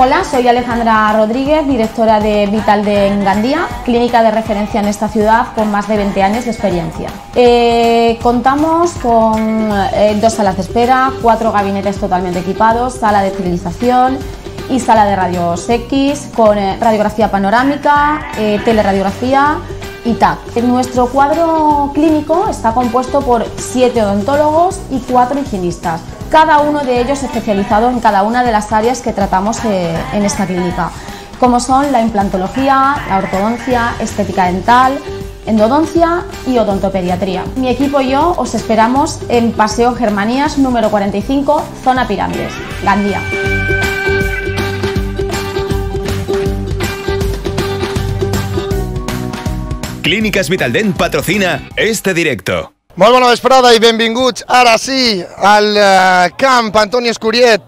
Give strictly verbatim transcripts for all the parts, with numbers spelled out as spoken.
Hola, soy Alejandra Rodríguez, directora de Vital de Gandía, clínica de referencia en esta ciudad con más de veinte años de experiencia. Eh, contamos con eh, dos salas de espera, cuatro gabinetes totalmente equipados, sala de esterilización y sala de rayos X con eh, radiografía panorámica, eh, teleradiografía y T A C. Nuestro cuadro clínico está compuesto por siete odontólogos y cuatro higienistas, cada uno de ellos especializado en cada una de las áreas que tratamos eh, en esta clínica, como son la implantología, la ortodoncia, estética dental, endodoncia y odontopediatría. Mi equipo y yo os esperamos en Paseo Germanías número cuarenta y cinco, zona Pirámides, Gandía. Clíniques Vitaldent patrocina este directo. Molt bona vesprada i benvinguts, ara sí, al uh, camp Antoni Escuriet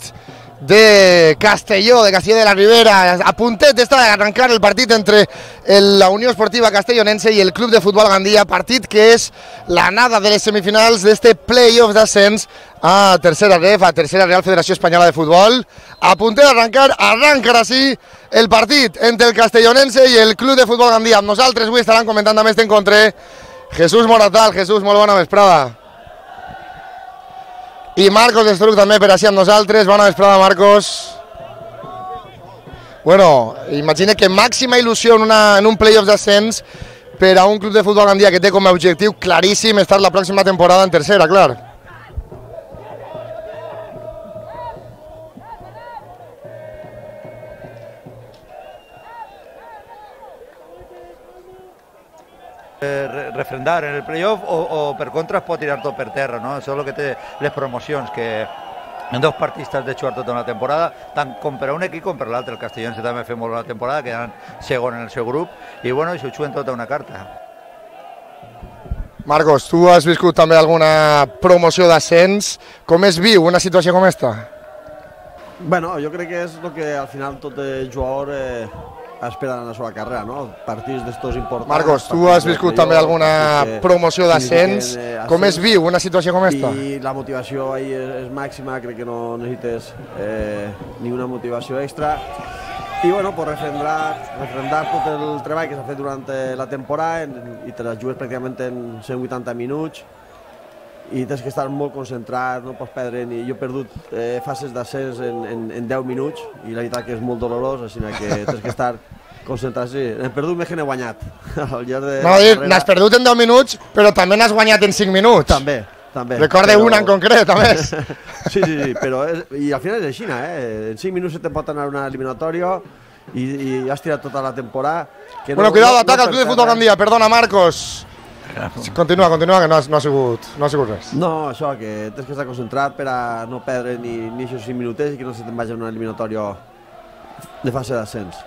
de Castelló, de Castelló de la Ribera. A puntet està d'arrencar el partit entre el, la Unió Esportiva Castellonense i el Club de Futbol Gandía, partit que és l'anada de les semifinals d'este play-off d'ascens a tercera ref, a tercera Real Federació Espanyola de Futbol. A puntet d'arrencar, arranca ara sí el partit entre el Castellonense i el Club de Futbol Gandía. Amb nosaltres avui estaran comentant també este encontre Jesús Moratal. Jesús, molt bona vesprada. I Marcos Estruc també per així amb nosaltres. Bona vesprada, Marcos. Bueno, imagina que màxima il·lusió en, una, en un play-off d'ascens per a un club de futbol Gandía que té com a objectiu claríssim estar la pròxima temporada en tercera, clar. refrendar en el playoff o, o per contra es pot tirar tot per terra, no? Això és el que té les promocions, que en dos partits has de jugar tota una temporada, tant com per a un equip com per l'altre. El Castellonense també fa molt bona temporada, quedant segon en el seu grup, i bueno, això ho juguen tota una carta. Marcos, tu has viscut també alguna promoció d'ascens. Com es viu una situació com esta? Bueno, jo crec que és el que al final tot el jugador eh, espera en la seva carrera, no? Partits d'estos importants. Marcos, tu has viscut també alguna promoció d'ascens. Com es viu una situació com esta? I la motivació ahí és, és màxima, crec que no necessites eh, ni una motivació extra. I bueno, pues refrendar, refrendar tot el treball que s'ha fet durant la temporada en, i te la jugues pràcticament en cent vuitanta minuts i tens que estar molt concentrat, no pots perdre ni... Jo he perdut eh, fases d'ascens en, en, en deu minuts i la veritat que és molt dolorós, així que tens que estar concentrat. Sí, he perdut més que n'he guanyat. Al llarg de no, dir, n'has perdut en deu minuts, però també n'has guanyat en cinc minuts. També, també. Recorda però... una en concret, a més. Sí, sí, sí, però és... i al final és així, eh? En cinc minuts te pot anar una eliminatòria i, i has tirat tota la temporada. Que bueno, no, cuidado, no, ataca no el Club de Futbol Gandía, perdona, Marcos. Continua, continua, que no ha, no ha, sigut, no ha sigut res. No, això, que tens que estar concentrat per a no perdre ni, ni aquests cinc minutets i que no se te'n vagi una eliminatòria de fase d'ascens.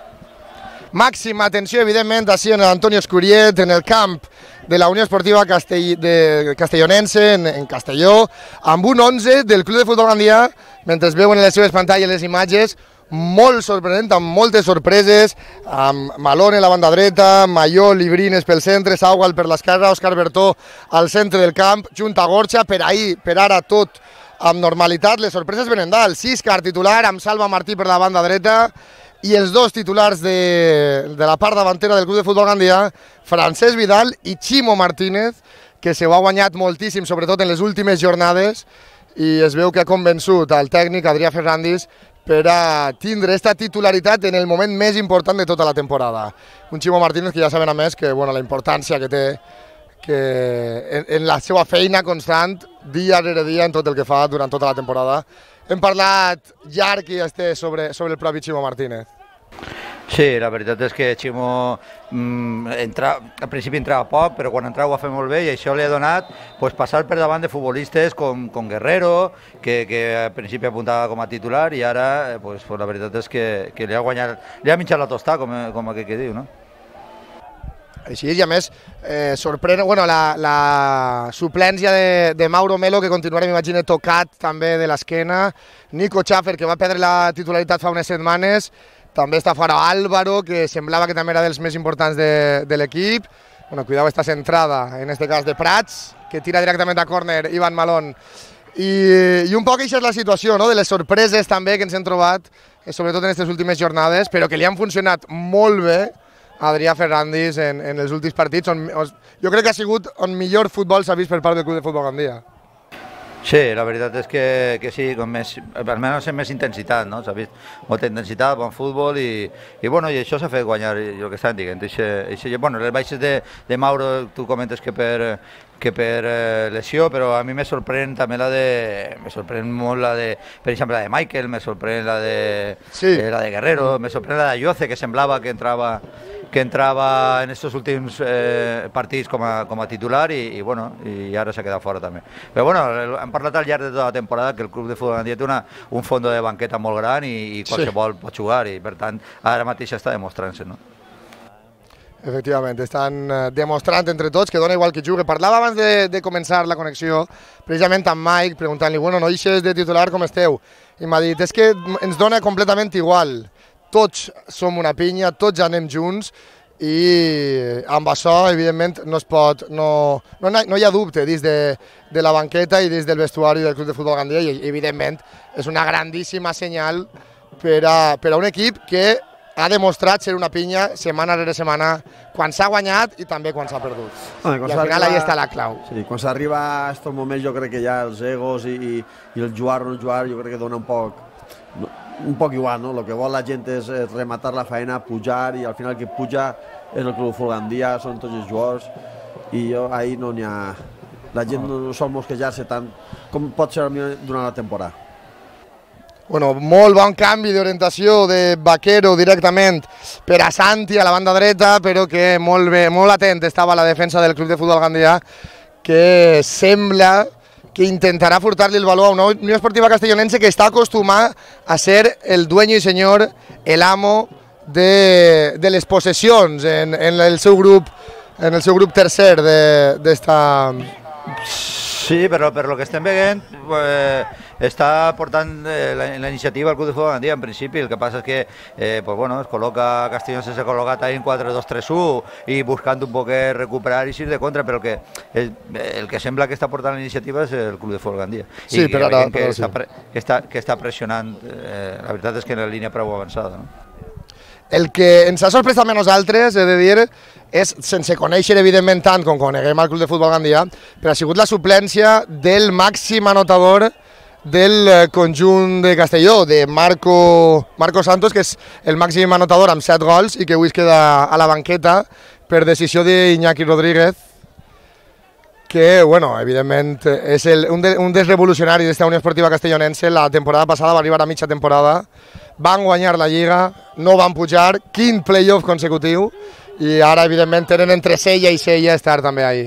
Màxima atenció, evidentment, així en l'Antoni Escuriet, en el camp de la Unió Esportiva Castell, de Castellonense, en, en Castelló, amb un onze del Club de Futbol Gandía, mentre es veuen en les seves pantalles les imatges, molt sorprenent, amb moltes sorpreses, amb Malone a la banda dreta, Mayó, Librines pel centre, Saugal per l'esquerra, Òscar Bertó al centre del camp, junt a Gorxa, per ahir, per ara tot amb normalitat. Les sorpreses venen dalt, Siscar titular, amb Salva Martí per la banda dreta, i els dos titulars de, de la part davantera del Club de Futbol Gandía, Francesc Vidal i Ximo Martínez, que se ho ha guanyat moltíssim, sobretot en les últimes jornades, i es veu que ha convençut al tècnic Adrià Ferrandis per a tindre aquesta titularitat en el moment més important de tota la temporada. Un Ximo Martínez que ja saben a més que bueno, la importància que té que en, en la seva feina constant, dia rere dia, en tot el que fa durant tota la temporada. Hem parlat llarg i este sobre, sobre el propi Ximo Martínez. Sí, la veritat és que Ximo mm, entra, al principi entrava poc, però quan entrava ho va fer molt bé i això li ha donat pues, passar per davant de futbolistes com, com Guerrero, que, que al principi apuntava com a titular i ara pues, pues, la veritat és que, que li ha guanyat, li ha mitjat la tostada, com, com aquell que diu, no? Així és, i a més, eh, sorprèn bueno, la, la suplència de, de Mauro Melo, que continuarà, m'imagino, tocat també de l'esquena, Nico Schaffer, que va perdre la titularitat fa unes setmanes, també està fora Álvaro, que semblava que també era dels més importants de, de l'equip. Bueno, cuidado esta centrada, en este cas de Prats, que tira directament a córner Ivan Malón I, i un poc això és la situació, no? De les sorpreses també que ens hem trobat, sobretot en aquestes últimes jornades, però que li han funcionat molt bé a Adrià Ferrandis en, en els últims partits, on, on, jo crec que ha sigut on millor futbol s'ha vist per part del Club de Futbol Gandia. Sí, la veritat és que, que sí, com més, almenys amb més intensitat, no? S'ha vist molta intensitat, bon futbol i, i, bueno, i això s'ha fet guanyar el que estan dient. Eixe, eixe, bueno, les baixes de, de Mauro, tu comentes que per, que per eh, lesió, però a mi me sorprèn també la de... Me sorprèn molt la de, per exemple, la de Michael, me sorprèn la de, sí. eh, la de Guerrero, me sorprèn la de Yoce, que semblava que entrava que entrava en estos últims eh, partits com a, com a titular i, i, bueno, i ara s'ha quedat fora també. Però bueno, hem parlat al llarg de tota la temporada que el Club de Futbol Gandia té una, un fons de banqueta molt gran i, i qualsevol sí. pot jugar i per tant ara mateix està demostrant-se, no? Efectivament, estan demostrant entre tots que dona igual que jugui. Parlava abans de, de començar la connexió precisament amb Mike preguntant-li, bueno, no eixes de titular, com esteu? I m'ha dit, és que ens dona completament igual. Tots som una pinya, tots anem junts i amb això, evidentment, no es pot, no, no, no hi ha dubte dins de, de la banqueta i dins del vestuari del Club de Futbol Gandia i, evidentment, és una grandíssima senyal per a, per a un equip que ha demostrat ser una pinya setmana rere setmana quan s'ha guanyat i també quan s'ha perdut. Ah, I al final arriba, ahí està la clau. Sí, quan s'arriba a aquests moments jo crec que ja els egos i, i, i el jugar o no jugar jo crec que dona un poc... No, un poc igual, no? El que vol la gent és rematar la feina, pujar, i al final que puja és el Club de Futbol Gandia, són tots els jugadors, i jo ahir no n'hi ha... La gent no sol mosquejar-se tant com pot ser durant la temporada. Bueno, molt bon canvi d'orientació de Vaquero directament per a Santi a la banda dreta, però que molt bé, molt atent estava la defensa del Club de Futbol Gandia, que sembla que intentarà furtar-li el valor a una Unió Esportiva Castellonense que està acostumat a ser el dueño y señor, el amo de, de les possessions en, en el seu grup, en el seu grup tercer d'esta... Sí, però per lo que estem veient eh, està portant eh, la, la iniciativa al Club de Futbol Gandia en principi, el que passa és que eh, pues bueno, es col·loca Castellonense s'ha col·locat ahí en quatre dos tres u i buscant un poc recuperar i ir de contra, però que el, el que sembla que està portant la iniciativa és el Club de Futbol Gandia. Sí, I però ara, que, però està, sí. que, està, que està pressionant, eh, la veritat és que en la línia prou avançada, no? El que ens ha sorprès també a nosaltres, he de dir, és, sense conèixer evidentment tant com coneguem al Club de Futbol Gandia, però ha sigut la suplència del màxim anotador del conjunt de Castelló, de Marco, Marco Santos, que és el màxim anotador amb set gols i que avui es queda a la banqueta per decisió d'Iñaki Rodríguez, que, bueno, evidentment, és el, un, de, un dels revolucionaris d'esta Unió Esportiva Castellonense. La temporada passada va arribar a mitja temporada, van guanyar la Lliga, no van pujar, quin playoff consecutiu, i ara, evidentment, tenen entre sella i sella estar també ahí.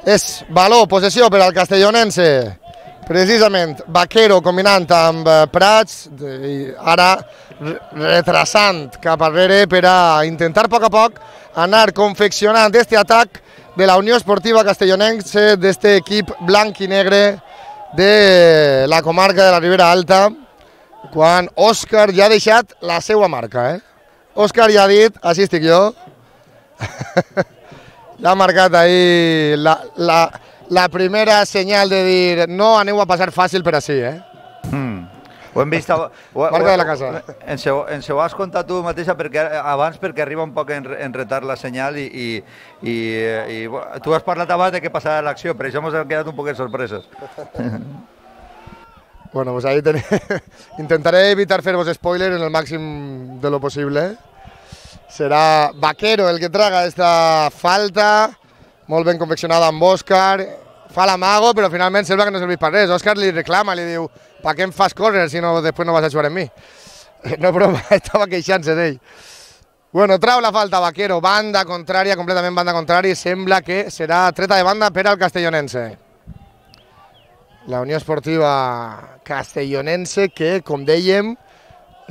És valor, possessió per al Castellonense, precisament Vaquero combinant amb Prats, i ara retrasant cap arrere per a intentar a poc a poc anar confeccionant este atac de la Unió Esportiva Castellonense, d'este equip blanc i negre de la comarca de la Ribera Alta, quan Òscar ja ha deixat la seva marca. Eh? Òscar ja ha dit, així estic jo, ja ha marcat ahí la, la, la primera senyal de dir no aneu a passar fàcil per així. Eh? Mm. Ho hem vist... Ho, ho, Marca de la casa. Ens ho, ens ho has contat tu mateixa perquè, abans perquè arriba un poc en, en retard la senyal i, i, i, i tu has parlat abans de què passarà l'acció, per això ens hem quedat un poquet sorpreses. Bueno, pues ahí ten... intentaré evitar fer-vos spoiler en el màxim de lo possible. Serà Vaquero el que traga esta falta, molt ben confeccionada amb Òscar, fa l'amago, però finalment sembla que no serveix per res. Òscar li reclama, li diu, per què em fas córrer si no, després no vas a jugar amb mi? No, però estava queixant-se d'ell. Bueno, trau la falta Vaquero, banda contrària, completament banda contrària, i sembla que serà treta de banda per al Castellonense. La Unió Esportiva Castellonense que, com dèiem,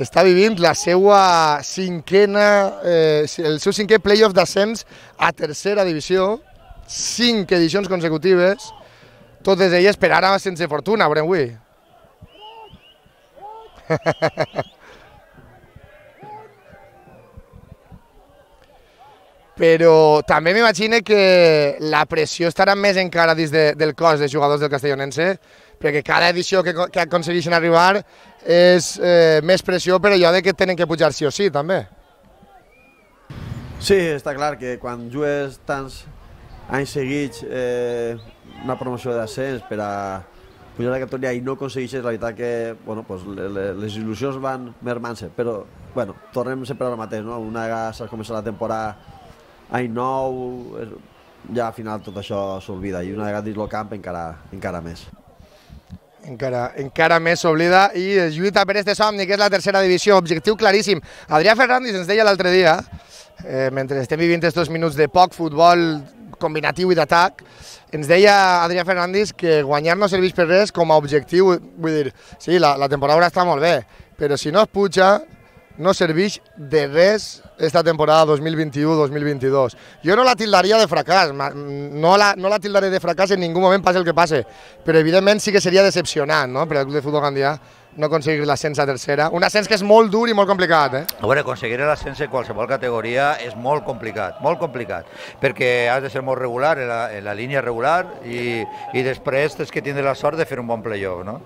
està vivint la seva cinquena, eh, el seu cinquè playoff d'ascens a tercera divisió, cinc edicions consecutives, totes elles per ara sense fortuna, veurem avui. però també m'imagino que la pressió estarà més encara dins de, del cos de jugadors del Castellonense, perquè cada edició que, que aconsegueixen arribar és eh, més pressió per allò de que tenen que pujar sí o sí, també. Sí, està clar que quan jugues tants anys seguits eh, una promoció d'ascens per a pujar a la categoria i no aconsegueixes, la veritat que bueno, pues, les il·lusions van mermant-se, però bueno, tornem sempre al mateix, no? Una vegada s'ha començat la temporada any nou, ja al final tot això s'olvida i una vegada dins el camp encara, encara més. Encara, encara més s'oblida i lluita per este somni, que és la tercera divisió, objectiu claríssim. Adrià Ferrandis ens deia l'altre dia, eh, mentre estem vivint estos minuts de poc futbol combinatiu i d'atac, ens deia Adrià Ferrandis que guanyar no serveix per res com a objectiu, vull dir, sí, la, la temporada està molt bé, però si no es puja, no serveix de res esta temporada dos mil vint-i-u dos mil vint-i-dos. Jo no la tildaria de fracàs, no la, no la tildaré de fracàs en ningú moment, passi el que passe, però evidentment sí que seria decepcionant, no?, per al Club de Futbol Gandià no aconseguir l'ascens a tercera, un ascens que és molt dur i molt complicat, eh? A veure, aconseguir l'ascens en qualsevol categoria és molt complicat, molt complicat, perquè has de ser molt regular, en la, en la línia regular, i, i després tens que tindre la sort de fer un bon playoff, no?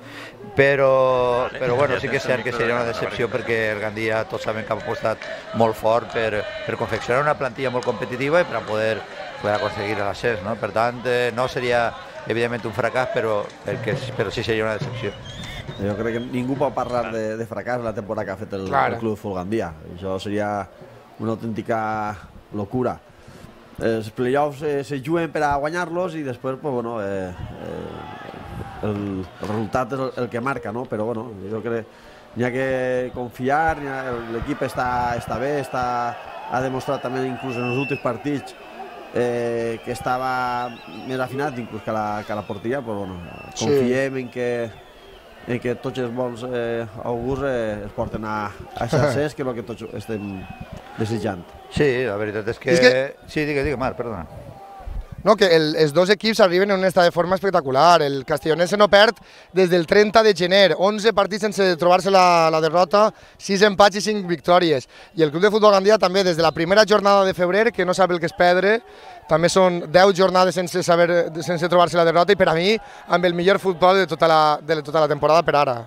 Però, però bueno, sí que és cert que seria una decepció perquè el Gandia tots saben que ha apostat molt fort per, per confeccionar una plantilla molt competitiva i per a poder, poder aconseguir l'ascens, no? Per tant, eh, no seria evidentment un fracàs, però, perquè, però sí seria una decepció. Jo crec que ningú pot parlar de, de fracàs la temporada que ha fet el, el Club de Futbol Gandia. Això seria una autèntica locura. Els playoffs eh, se juguen per a guanyar-los i després pues, bueno, eh, eh, el, el resultat és el, el que marca, no? Però bueno, jo crec que n'hi ha que confiar, l'equip està, està bé, està, ha demostrat també inclús en els últims partits eh, que estava més afinat inclús que la, que la porteria, però bueno, confiem sí. en que en què tots els bons eh, augurs eh, es porten a aquest ascens, que és el que tots estem desitjant. Sí, la veritat és que... És que... Sí, digue, digue, Marc, perdona. No, que el, els dos equips arriben en un estat de forma espectacular. El Castellonense no perd des del trenta de gener, onze partits sense trobar-se la, la derrota, sis empats i cinc victòries. I el Club de Futbol Gandia també des de la primera jornada de febrer, que no sap el que és perdre, també són deu jornades sense, saber, sense trobar-se la derrota i per a mi amb el millor futbol de tota la, de tota la temporada per ara.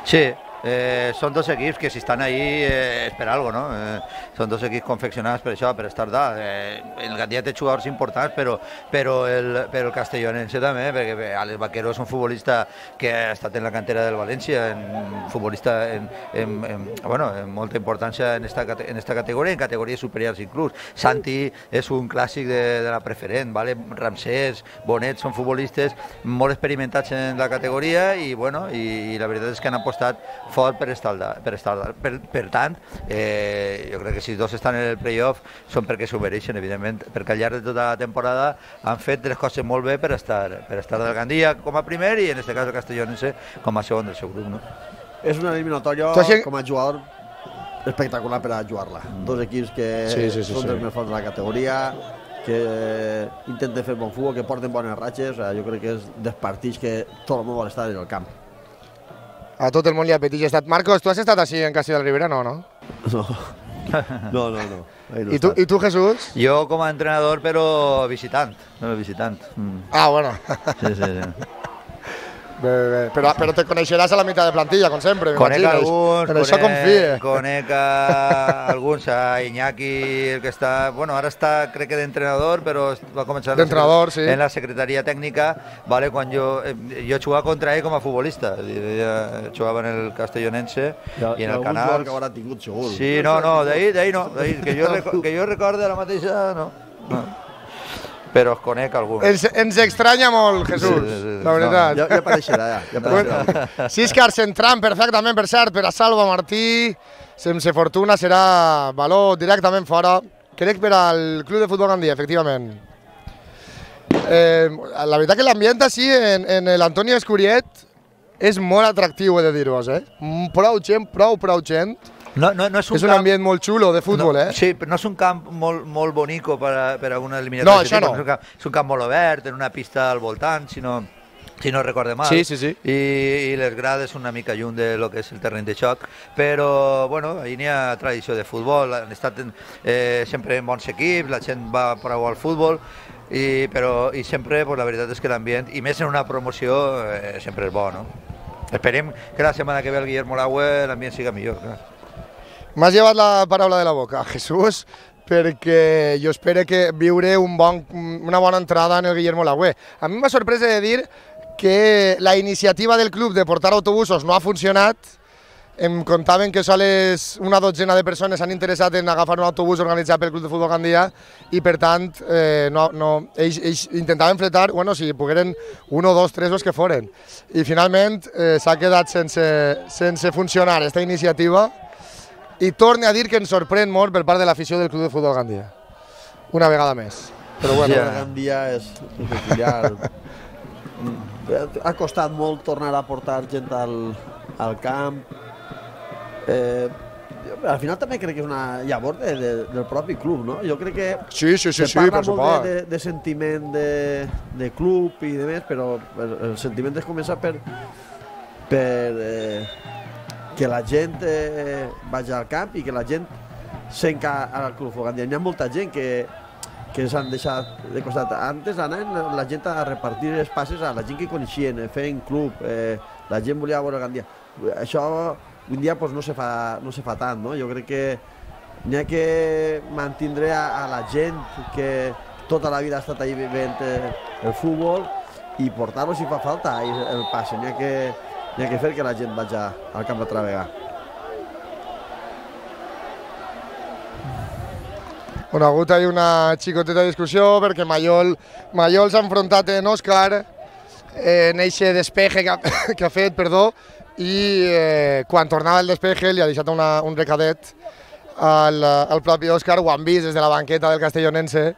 Sí, eh, són dos equips que si estan ahí eh, és per algo, no? Eh, són dos equips confeccionats per això, per estar dalt. Eh, el Gandia té jugadors importants, però, però, el, però el Castellonense també, perquè Alex Vaquero és un futbolista que ha estat en la cantera del València, un futbolista en, en, en, bueno, en molta importància en esta, en esta categoria, en categories superiors inclús. Santi és un clàssic de, de la preferent, ¿vale? Ramsès, Bonet, són futbolistes molt experimentats en la categoria i, bueno, i, i la veritat és que han apostat fort per estar dalt. Per, estar dalt. Per, per tant, eh, jo crec que si dos estan en el playoff són perquè s'ho mereixen, evidentment, perquè al llarg de tota la temporada han fet les coses molt bé per estar, per estar del Gandia com a primer i en aquest cas el Castellonense com a segon del seu grup, no? És una eliminatòria com a jugador espectacular per a jugar-la. Dos equips que sí, sí, sí, són sí. dels més forts de la categoria, que intenten fer bon futbol, que porten bones ratxes. O sea, jo crec que és dels partits que tot el món vol estar en el camp. A tot el món li apeteix estat. Marcos, tu has estat així en Castilla de Ribera? No, no? No, no, no. no. no I, tu, I tu, Jesús? Jo com a entrenador, però visitant. No, visitant. Mm. Ah, bueno. Sí, sí, sí. Bé, bé. Però, però te coneixeràs a la meitat de plantilla, com sempre. Conec alguns, en això confie. Conec a alguns, a Iñaki, el que està, bueno, ara està, crec que d'entrenador, però va començar d'entrenador, sí. en la secretaria tècnica, vale, quan jo, jo jugava contra ell com a futbolista, jo jugava en el Castellonense ja, i en el Canals. Que haurà tingut segur. Sí, no, no, d'ahir, d'ahir no, d'ahir, que jo, que jo recorde la mateixa, no. no. Però es conec algú. Ens, ens estranya molt, Jesús, sí, sí, sí. La veritat. No, ja, ja apareixerà, ja. ja apareixerà. Bueno, Siscar centrant perfectament, per cert, per a Salva Martí, sense fortuna serà valor directament fora. Crec per al Club de Futbol Gandia, efectivament. Eh, la veritat que l'ambient així en, en l'Antonio Escuriet és molt atractiu, he de dir-vos, eh? Prou gent, prou, prou gent. No, no, no és un, és un camp... ambient molt xulo de futbol, no, eh? Sí, però no és un camp molt, molt bonico per a, per a una eliminatòria. No, això no. És un, camp, és un camp molt obert, en una pista al voltant, sinó si no recorde mal, sí, sí, sí. I, i les grades una mica lluny de lo que és el terreny de xoc, però bueno, ahir n'hi ha tradició de futbol, han estat eh, sempre en bons equips, la gent va prou al futbol, i, però, i sempre pues, la veritat és que l'ambient, i més en una promoció, eh, sempre és bo, no? Esperem que la setmana que ve el Guillermo Lagüe l'ambient siga millor, clar. M'has llevat la paraula de la boca, Jesús, perquè jo espero que viure un bon, una bona entrada en el Guillermo Lagüe. A mi m'ha sorprès de dir que la iniciativa del club de portar autobusos no ha funcionat. Em contaven que sols una dotzena de persones s'han interessat en agafar un autobús organitzat pel Club de Futbol Gandia i, per tant, eh, no, no, ells, ells intentaven fletar, bueno, si pogueren un o dos, tres o els que foren. I, finalment, eh, s'ha quedat sense, sense funcionar aquesta iniciativa i torne a dir que ens sorprèn molt per part de l'afició del Club de Futbol Gandia. Una vegada més. Però bueno, ja. Gandia és, és peculiar. Ha costat molt tornar a portar gent al, al camp. Eh, al final també crec que és una llavor de, de, del propi club, no? Jo crec que sí, sí, sí, se parla sí, molt de, de, de sentiment de, de club i de més, però el sentiment es comença per, per eh, que la gent eh, vagi al camp i que la gent s'enca al Club Futbol Gandia. Hi ha molta gent que, que s'han deixat de costat. Antes anaven la gent a repartir els passes a la gent que coneixien, feien club, eh, la gent volia veure el Gandia. Això un dia pues, no, se fa, no se fa tant, no? Jo crec que n'hi ha que mantindre a, a la gent que tota la vida ha estat ahí veient el futbol i portar-lo si fa falta el, el passe. N'hi ha que N'hi ha que fer que la gent vagi al camp altra vegada. Bueno, ha hagut ahí una xicoteta discussió perquè Mayol, Mayol s'ha enfrontat en Òscar en eixe despeje que ha, que ha fet, perdó, i eh, quan tornava el despeje li ha deixat una, un recadet al, al propi Òscar, ho han vist des de la banqueta del castellonense,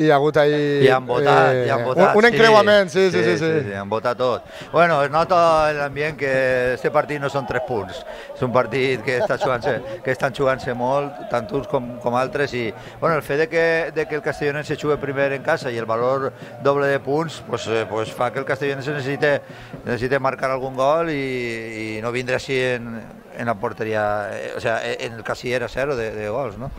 i ha hagut ahí... I han votat, eh, i han votat. Un, un encreuament, sí, sí, sí. Sí, sí, sí, han votat tot. Bueno, es nota en l'ambient que este partit no són tres punts. És un partit que, està jugant-se, que estan jugant-se molt, tant uns com, com altres, i bueno, el fet de que, de que el castellonense jugui primer en casa i el valor doble de punts, pues, eh, pues fa que el castellonense necessite, necessite marcar algun gol i, i no vindre així en, en la porteria, eh, o sea, en el casiller a zero de, de gols, no?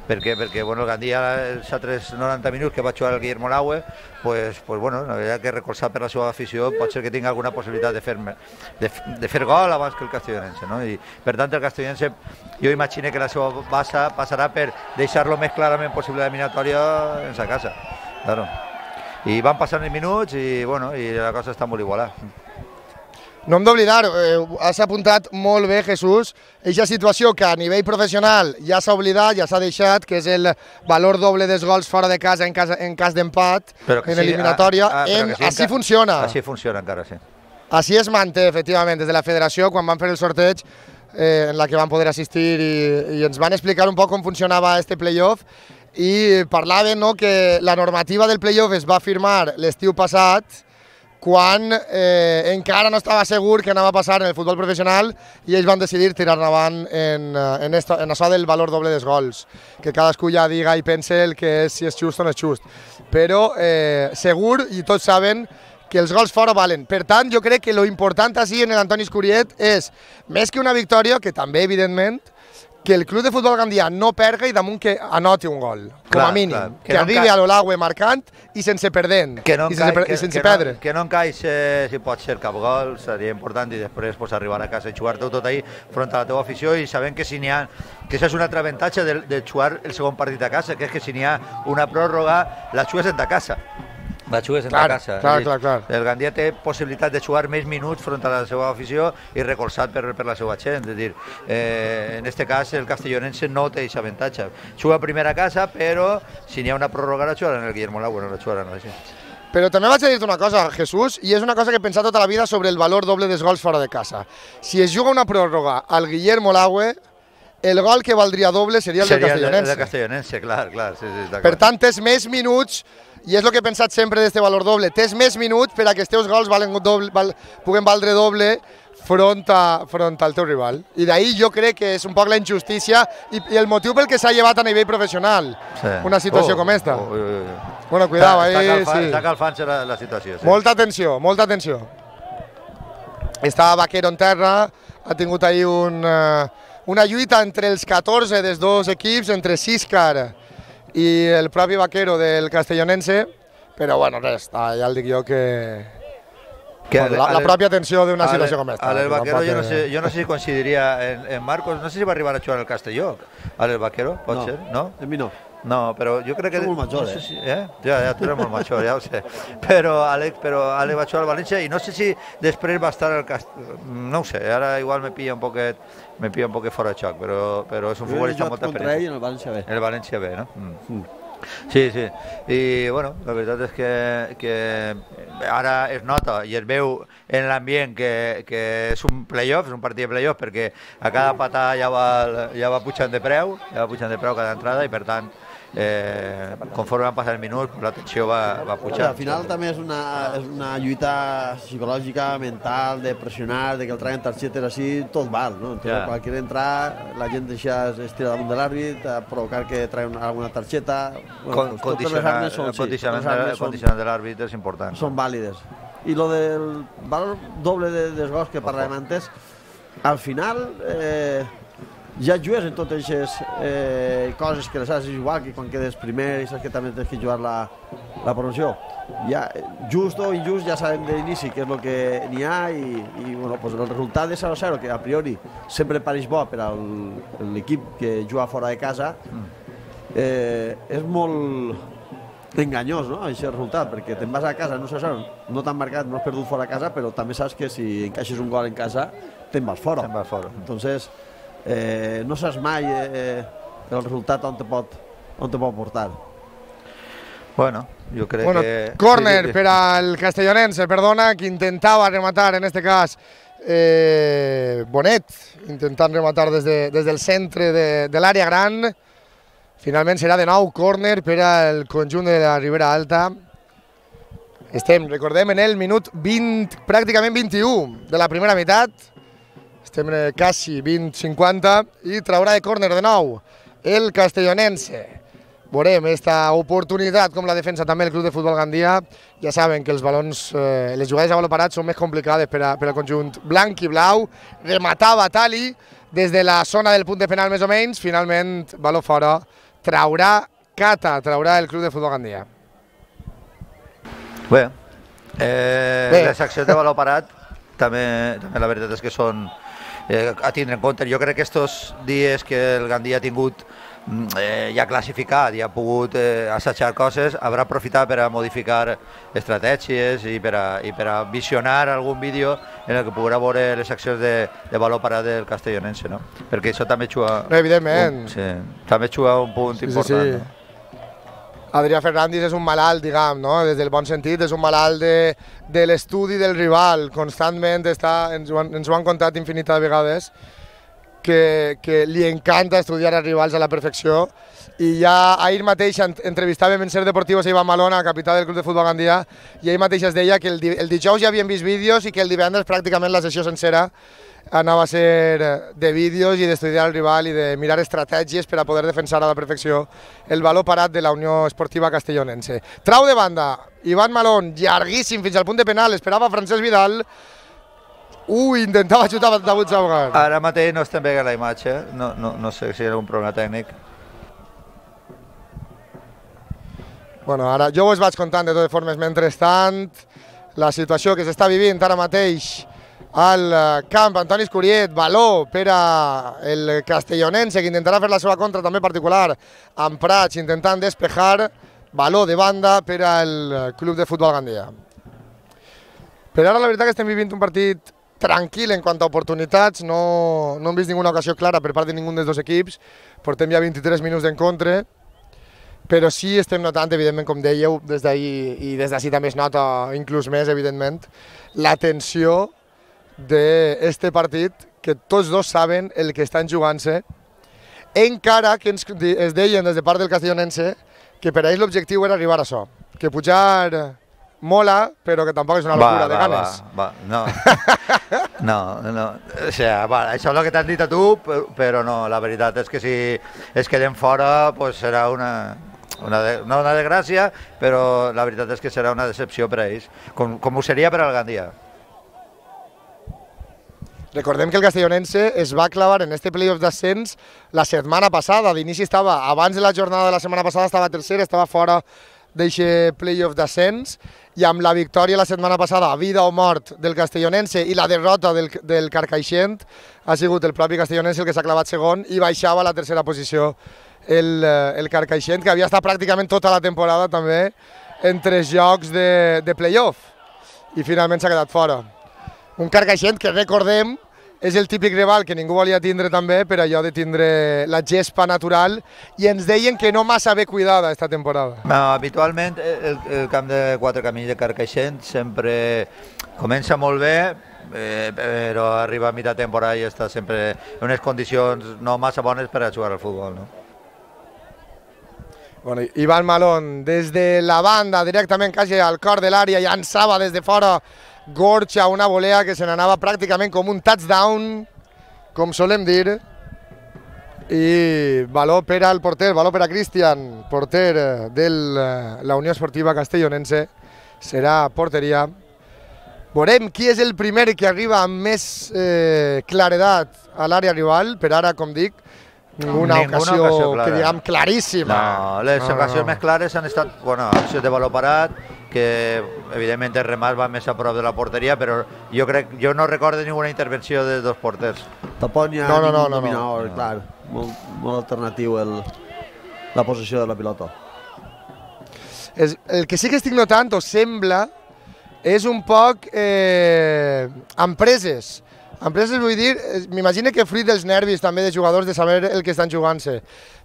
Perquè, perquè bueno, el Gandia, els altres noranta minuts que va jugar el Guillermo Lagüe, pues, pues bueno, la veritat que recolzat per la seva afició pot ser que tingui alguna possibilitat de fer, de, de fer gol abans que el castellonense, no? I per tant el castellonense jo imagino que la seva base passarà per deixar-lo més clarament possible l'eliminatòria en sa casa, claro. I van passant els minuts i bueno, i la cosa està molt igualada. No hem d'oblidar, eh, has apuntat molt bé, Jesús, aquesta situació que a nivell professional ja s'ha oblidat, ja s'ha deixat, que és el valor doble dels gols fora de casa en cas, en cas d'empat, en eliminatòria. Ah, ah, en, sí, així funciona. Així funciona encara, sí. Així es manté, efectivament, des de la federació, quan van fer el sorteig, eh, en la que van poder assistir i, i ens van explicar un poc com funcionava este playoff i parlaven, no, que la normativa del playoff es va firmar l'estiu passat, quan eh, encara no estava segur què anava a passar en el futbol professional i ells van decidir tirar endavant en, en, esto, en això del valor doble dels gols, que cadascú ja diga i pense el que és, si és just o no és just. Però eh, segur, i tots saben, que els gols fora valen. Per tant, jo crec que lo important així en l'Antoni Escuriet és, més que una victòria, que també, evidentment, que el Club de Futbol Gandia no perga i damunt que anoti un gol, com clar, a mínim. Clar. Que, que no arribi a l'Olagüe marcant i sense perdent, que no i sense, que, i sense que perdre. No, que no encaixe si pot ser cap gol, seria important, i després pues, arribar a casa i jugar-te tot ahí front a la teva afició i sabent que si n'hi ha, que això és un altre avantatge de, de jugar el segon partit a casa, que és que si n'hi ha una pròrroga, la jugues en ta casa. La jugues en clar, la casa. Clar, clar, clar. El Gandia té possibilitat de jugar més minuts front a la seva afició i recolzat per, per la seva gent. És dir, eh, en este cas el castellonense no té aquest avantatge. Juga primer a casa, però si n'hi ha una pròrroga la jugaran el Guillermo Lagüe, no la jugaran així. Però també vaig a dir-te una cosa, Jesús, i és una cosa que he pensat tota la vida sobre el valor doble dels gols fora de casa. Si es juga una pròrroga al Guillermo Lagüe, el gol que valdria doble seria el seria del castellonense. El del castellonense, clar, clar. Sí, sí, per tant, tens més minuts, i és el que he pensat sempre d'este valor doble, tens més minuts per a que els teus gols valen doble, val, puguen valdre doble front, a, front al teu rival. I d'ahir jo crec que és un poc la injustícia i, i el motiu pel que s'ha llevat a nivell professional sí. una situació oh, com esta. Oh, oh, oh. Bueno, cuidao, està, ahí, està calfant, sí. Està calfant-se la, la situació. Sí. Molta atenció, molta atenció. Està Vaquero en terra, ha tingut ahir un, uh, una lluita entre els catorze dels dos equips, entre Siscar i el propi Vaquero del Castellonense, però bueno, res, ja el dic jo que... Que bueno, la, la pròpia tensió d'una situació com aquesta. El Vaquero jo no sé, jo no sé si coincidiria en, en Marcos, no sé si va arribar a jugar al Castelló, el Vaquero, pot no, ser, no? En mi no. No, però jo crec que... Som molt major, no sé eh? Si, eh? Ja, ja, tu eres molt major, ja ho sé. Però Àlex, però Àlex va jugar al València i no sé si després va estar al Castelló, no ho sé, ara igual me pilla un poquet, me pilla un poquet fora de xoc, però, però és un futbolista amb molta experiència. Ell en el València B. En el València B, no? Mm. Mm. Sí, sí, i bueno, la veritat és que, que ara es nota i es veu en l'ambient que, que és un playoff, és un partit de playoff perquè a cada patà ja va, ja va pujant de preu, ja va pujant de preu cada entrada i per tant eh, conforme van passar els minuts la tensió va, va pujar. Al final també és una, és una lluita psicològica, mental, de pressionar, de que el traguen targetes així, tot val, no? Entonces, yeah. Qualsevol entrar, la gent deixa estira damunt de l'àrbit, a provocar que traguen alguna targeta... Bueno, pues condicionar, són, el condicionament, sí, condicionament de l'àrbit és important. Són vàlides. I lo del valor doble de desgos que parlàvem antes, al final... Eh, ja jugues en totes aquestes eh, coses que les has igual que quan quedes primer i saps que també tens que jugar la, la promoció. Ja, just o injust ja sabem d'inici què és el que n'hi ha i, i bueno, pues el resultat de zero a zero, que a priori sempre pareix bo per a l'equip que juga fora de casa, eh, és molt enganyós, no?, aquest resultat, perquè te'n vas a casa, no sé, no t'han marcat, no has perdut fora a casa, però també saps que si encaixes un gol en casa, te'n vas fora. Te'n vas fora. Entonces, Eh, no saps mai eh, el resultat on te pot, on te pot portar. Bueno, jo crec bueno, que... Córner sí, sí. Per al castellonense, perdona, que intentava rematar, en este cas, eh, Bonet, intentant rematar des, de, des del centre de, de l'àrea gran. Finalment serà de nou córner per al conjunt de la Ribera Alta. Estem, recordem, en el minut vint, pràcticament vint-i-u de la primera meitat. Estem quasi vint cinquanta i traurà de córner de nou el castellonense. Veurem aquesta oportunitat com la defensa també el Club de Futbol Gandia. Ja saben que els balons, eh, les jugades a baló parat són més complicades per, a, per al conjunt blanc i blau. Rematava Tali des de la zona del punt de penal més o menys. Finalment, baló fora, traurà Cata, traurà el Club de Futbol Gandia. Bé, eh, Bé. les accions de baló parat també, també la veritat és que són Eh, a tindre en compte. Jo crec que estos dies que el Gandia ha tingut eh, ja classificat i ha pogut eh, assajar coses, haurà aprofitat per a modificar estratègies i per a, i per a visionar algun vídeo en el que podrà veure les accions de, de valor parat del castellonense, no? Perquè això també juga... No, evidentment. Un, sí, també juga un punt sí, important. Sí, sí. No? Adrià Fernández és un malalt, diguem, no? Des del bon sentit, és un malalt de, de l'estudi del rival, constantment està, ens, ho han, ens ho han contat infinitat de vegades, que, que li encanta estudiar els rivals a la perfecció, i ja ahir mateix entrevistàvem en Ser Deportivos a Ivan Malona, capità del Club de Futbol Gandia, i ahir mateix es deia que el, el dijous ja havien vist vídeos i que el divendres pràcticament la sessió sencera anava a ser de vídeos i d'estudiar el rival i de mirar estratègies per a poder defensar a la perfecció el valor parat de la Unió Esportiva Castellonense. Trau de banda, Ivan Malón, llarguíssim fins al punt de penal, esperava Francesc Vidal. Ui, intentava xutar a David Saugar. Ara mateix no estem veient la imatge, no, no, no sé si hi ha algun problema tècnic. Bueno, ara jo us vaig contant de totes formes, mentrestant, la situació que s'està vivint ara mateix al camp Antoni Escuriet, baló per al castellonense, que intentarà fer la seva contra també particular amb Prats, intentant despejar, baló de banda per al Club de Futbol Gandia. Per ara la veritat que estem vivint un partit tranquil en quant a oportunitats, no, no hem vist ninguna ocasió clara per part de ningú dels dos equips, portem ja vint-i-tres minuts d'encontre, però sí estem notant, evidentment, com dèieu, des d'ahir i des d'ací també es nota inclús més, evidentment, la tensió d'este partit, que tots dos saben el que estan jugant-se, encara que ens, es deien des de part del castellonense que per a ells l'objectiu era arribar a això, que pujar mola, però que tampoc és una locura va, de va, ganes. Va, va, no. no, no. O sea, va, això és el que t'han dit a tu, però no, la veritat és que si es queden fora, pues serà una, una, de, no una desgràcia, però la veritat és que serà una decepció per a ells, com, com ho seria per al Gandia. Recordem que el castellonense es va clavar en este playoff d'ascens la setmana passada. D'inici estava, abans de la jornada de la setmana passada, estava tercer, estava fora d'aquest playoff d'ascens, i amb la victòria la setmana passada, vida o mort del castellonense, i la derrota del, del Carcaixent, ha sigut el propi castellonense el que s'ha clavat segon i baixava a la tercera posició el, el Carcaixent, que havia estat pràcticament tota la temporada també en tres jocs de, de playoff, i finalment s'ha quedat fora. Un Carcaixent que, recordem, és el típic rival que ningú volia tindre també per allò de tindre la gespa natural, i ens deien que no massa bé cuidada esta temporada. No, habitualment el, el camp de Quatre Camins de Carcaixent sempre comença molt bé, eh, però arriba a mitja temporada i està sempre en unes condicions no massa bones per a jugar al futbol, no? Bueno, Iván Malón, des de la banda, directament quasi al cor de l'àrea, llançava des de fora Gorcha, una volea que se n'anava pràcticament com un touchdown, com solem dir, i valor per al porter, valor per a Cristian, porter de la Unió Esportiva Castellonense, serà porteria. Veurem qui és el primer que arriba amb més eh, claredat a l'àrea rival, per ara, com dic, ninguna, ninguna ocasió, ocasió que diguem claríssima. No, les no, ocasions no. més clares han estat, bueno, accions de valor parat, que evidentment el remat va més a prop de la porteria, però jo crec, jo no recordo ninguna intervenció de dos porters. Tampoc n'hi ha no, no, no, ningú no, dominador, no. clar, molt, molt alternatiu el, la posició de la pilota. És, el que sí que estic notant, o sembla, és un poc eh, empreses. Empreses vull dir, m'imagino que fruit dels nervis també de jugadors de saber el que estan jugant-se,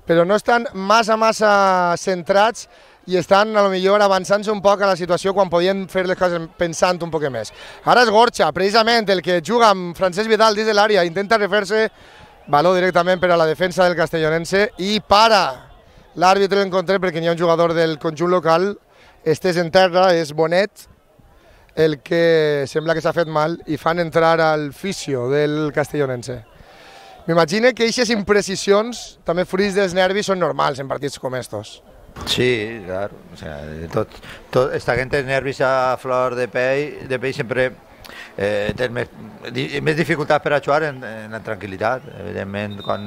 però no estan massa, massa centrats i estan a lo millor avançant-se un poc a la situació quan podien fer les coses pensant un poc més. Ara és Gorcha, precisament el que juga amb Francesc Vidal des de l'àrea, intenta refer-se, valor directament per a la defensa del castellonense i para l'àrbitre l'encontre perquè hi ha un jugador del conjunt local, estès en terra, és Bonet, el que sembla que s'ha fet mal i fan entrar al fisio del castellonense. M'imagino que aquestes imprecisions, també fruits dels nervis, són normals en partits com estos. Sí, claro, o sea, tot, tot, esta gente nervis a flor de pell, de pell sempre eh, té més, di, més dificultats per a jugar en, en la tranquil·litat. Evidentment, quan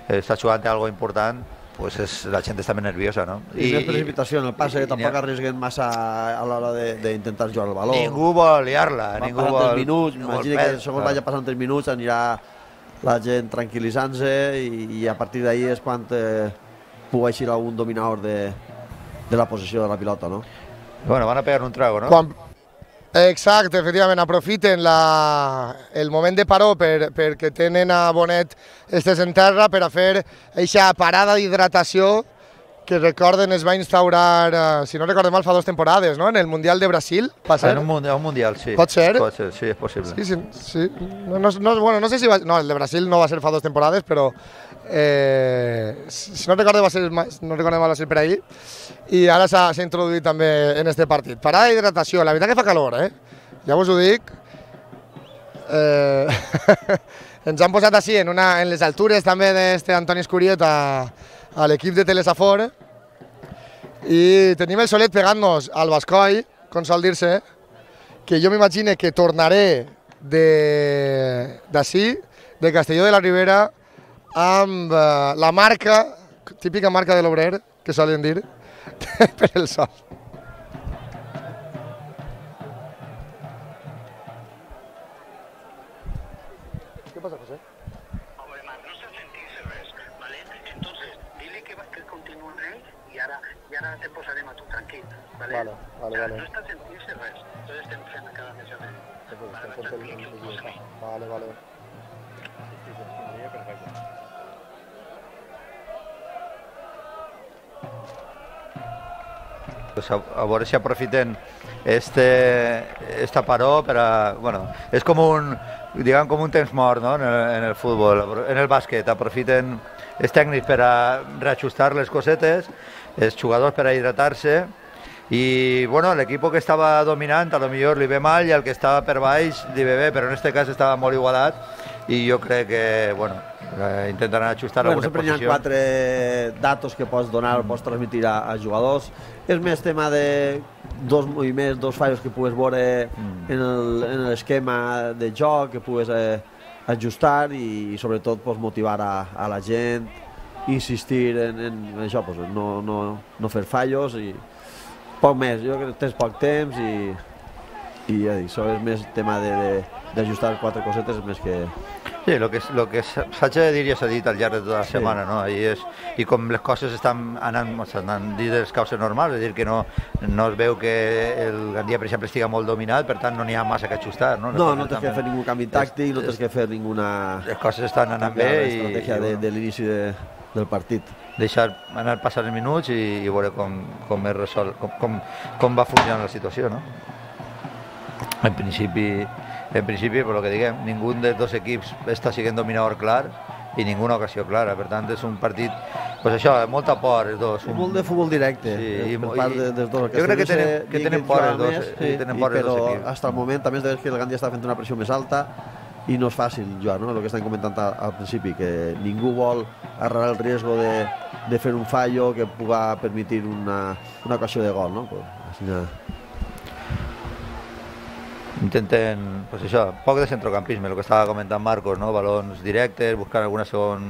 està jugant algo important, pues és, la gent està més nerviosa, no? I, I més precipitació en el passe, que tampoc arriesguen massa a l'hora d'intentar jugar el baló. Ningú vol liar-la. Van passant tres minuts, m'imagino que segons vagi passant tres minuts anirà la gent tranquil·litzant-se i, i a partir d'ahir és quan eh, pugui eixir algun dominador de, de la possessió de la pilota, no? Bueno, van a pegar un trago, no? Quan... Exacte, efectivament, aprofiten la... el moment de paró per, perquè tenen a Bonet estés en terra per a fer aquesta parada d'hidratació que recorden es va instaurar, eh, si no recordem mal, fa dues temporades, no? En el Mundial de Brasil, va ser? En un, mundial, un mundial, sí. Pot ser? Pot ser, sí, és possible. Sí, sí, sí. No, no, no, bueno, no sé si va... No, el de Brasil no va ser fa dues temporades, però eh, si no recordem va ser, no recordem mal va ser per ahir, i ara s'ha introduït també en este partit. Parada d'hidratació, la veritat que fa calor, eh? Ja us ho dic. Eh, ens han posat així en, una, en les altures també d'este Antoni Escuriet a, a l'equip de Telesafor i tenim el solet pegant-nos al Bascoi, com sol dir-se, que jo m'imagino que tornaré d'ací, de, de Castelló de la Ribera, amb uh, la marca, típica marca de l'obrer, que solen dir, per el sol. ¿Qué pasa, José? Hombre, más, no se sentirse res, ¿vale? Entonces, dile que, que continúe y ahora, y ahora te posaremos a tu tranquilo, ¿vale? Vale, vale, vale. No está sentirse res, entonces te enfrenta cada vez a ver. Vale, vale. Pues a, a veure si aprofiten este, esta paró per a... Bueno, és com un, diguem, com un temps mort, no? en, el, en el futbol, en el bàsquet. Aprofiten els tècnics per a reajustar les cosetes, els jugadors per a hidratar-se Y bueno, el equipo que estava dominant a lo millor li ve mal i el que estava per baix li ve bé, però en este cas estava molt igualat i jo crec que, bueno, eh, intentaran ajustar bueno, algunes sempre posicions. Hi ha quatre datos que pots donar, pots transmitir a, a jugadors. És més tema de dos moviments, dos fallos que pugues veure mm. en l'esquema de joc, que pugues eh, ajustar i, i sobretot pues, motivar a, a la gent, insistir en, en això, pues, no, no, no fer fallos i poc més. Jo crec que tens poc temps i, i ja dic, això és més tema d'ajustar quatre cosetes més que... Sí, el que, lo que s'ha de dir ja s'ha dit al llarg de tota la sí. setmana, no? I, és, i com les coses estan anant, estan dit les causes normals, és a dir, que no, no es veu que el Gandia, per exemple, estiga molt dominat, per tant no n'hi ha massa que ajustar, no? No, no tens que fer ningú canvi tàctic, no tens que fer ninguna... Les coses estan anant bé i... L'estratègia de, de l'inici de, del partit. Deixar anar passant els minuts i, i veure com, com, es resol, com, com, com va funcionar la situació, no? En principi... En principi, per lo que diguem, ningú dels dos equips està sent dominador clar i ninguna ocasió clara, per tant és un partit, pues això, molta por els dos. Un... Molt de futbol directe, sí, per part de, dels dos. Jo crec que tenen, que tenen por els dos, sí, tenen por els dos equips. Però fins al moment també es veu que el Gandia està fent una pressió més alta i no és fàcil jugar, no? El que estan comentant al principi, que ningú vol arreglar el riesgo de, de fer un fallo que puga permetre una, una ocasió de gol, no? Pues, així, intenten, pues això, poc de centrocampisme, el que estava comentant Marcos, no? Balons directes, buscar alguna segon,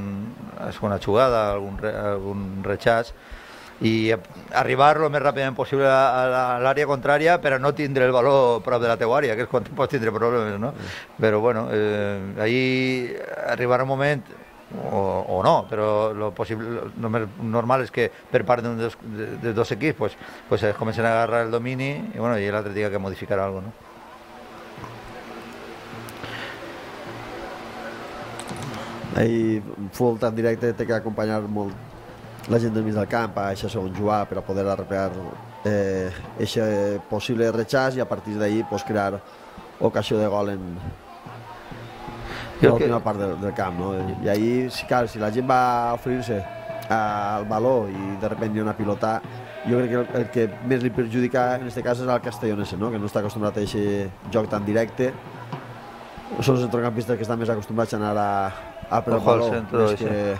segona jugada, algun, algun rechaç i arribar el més ràpidament possible a l'àrea contrària per a no tindre el baló prop de la teua àrea, que és quan pots tindre problemes, no? Però bueno, eh, ahir arribarà un moment o, o no, però lo possible, lo més normal és que per part dels dos, de dos equips pues, pues es comencen a agarrar el domini i, bueno, i l'altre diga que modificar alguna cosa, no? Ahir futbol tan directe té que acompanyar molt la gent del mig del camp a això segon jugar per a poder arreglar aquest eh, possible rechaç i a partir d'ahir pues, crear ocasió de gol en l'última part del, del camp, no? I ahir, si, clar, si la gent va oferir-se al baló i de sobte hi ha una pilota, jo crec que el, el que més li perjudica en aquest cas és el castellonense, no? Que no està acostumbrat a aquest joc tan directe. Són els centrocampistes que estan més acostumbrats a anar a a per el baló, més que,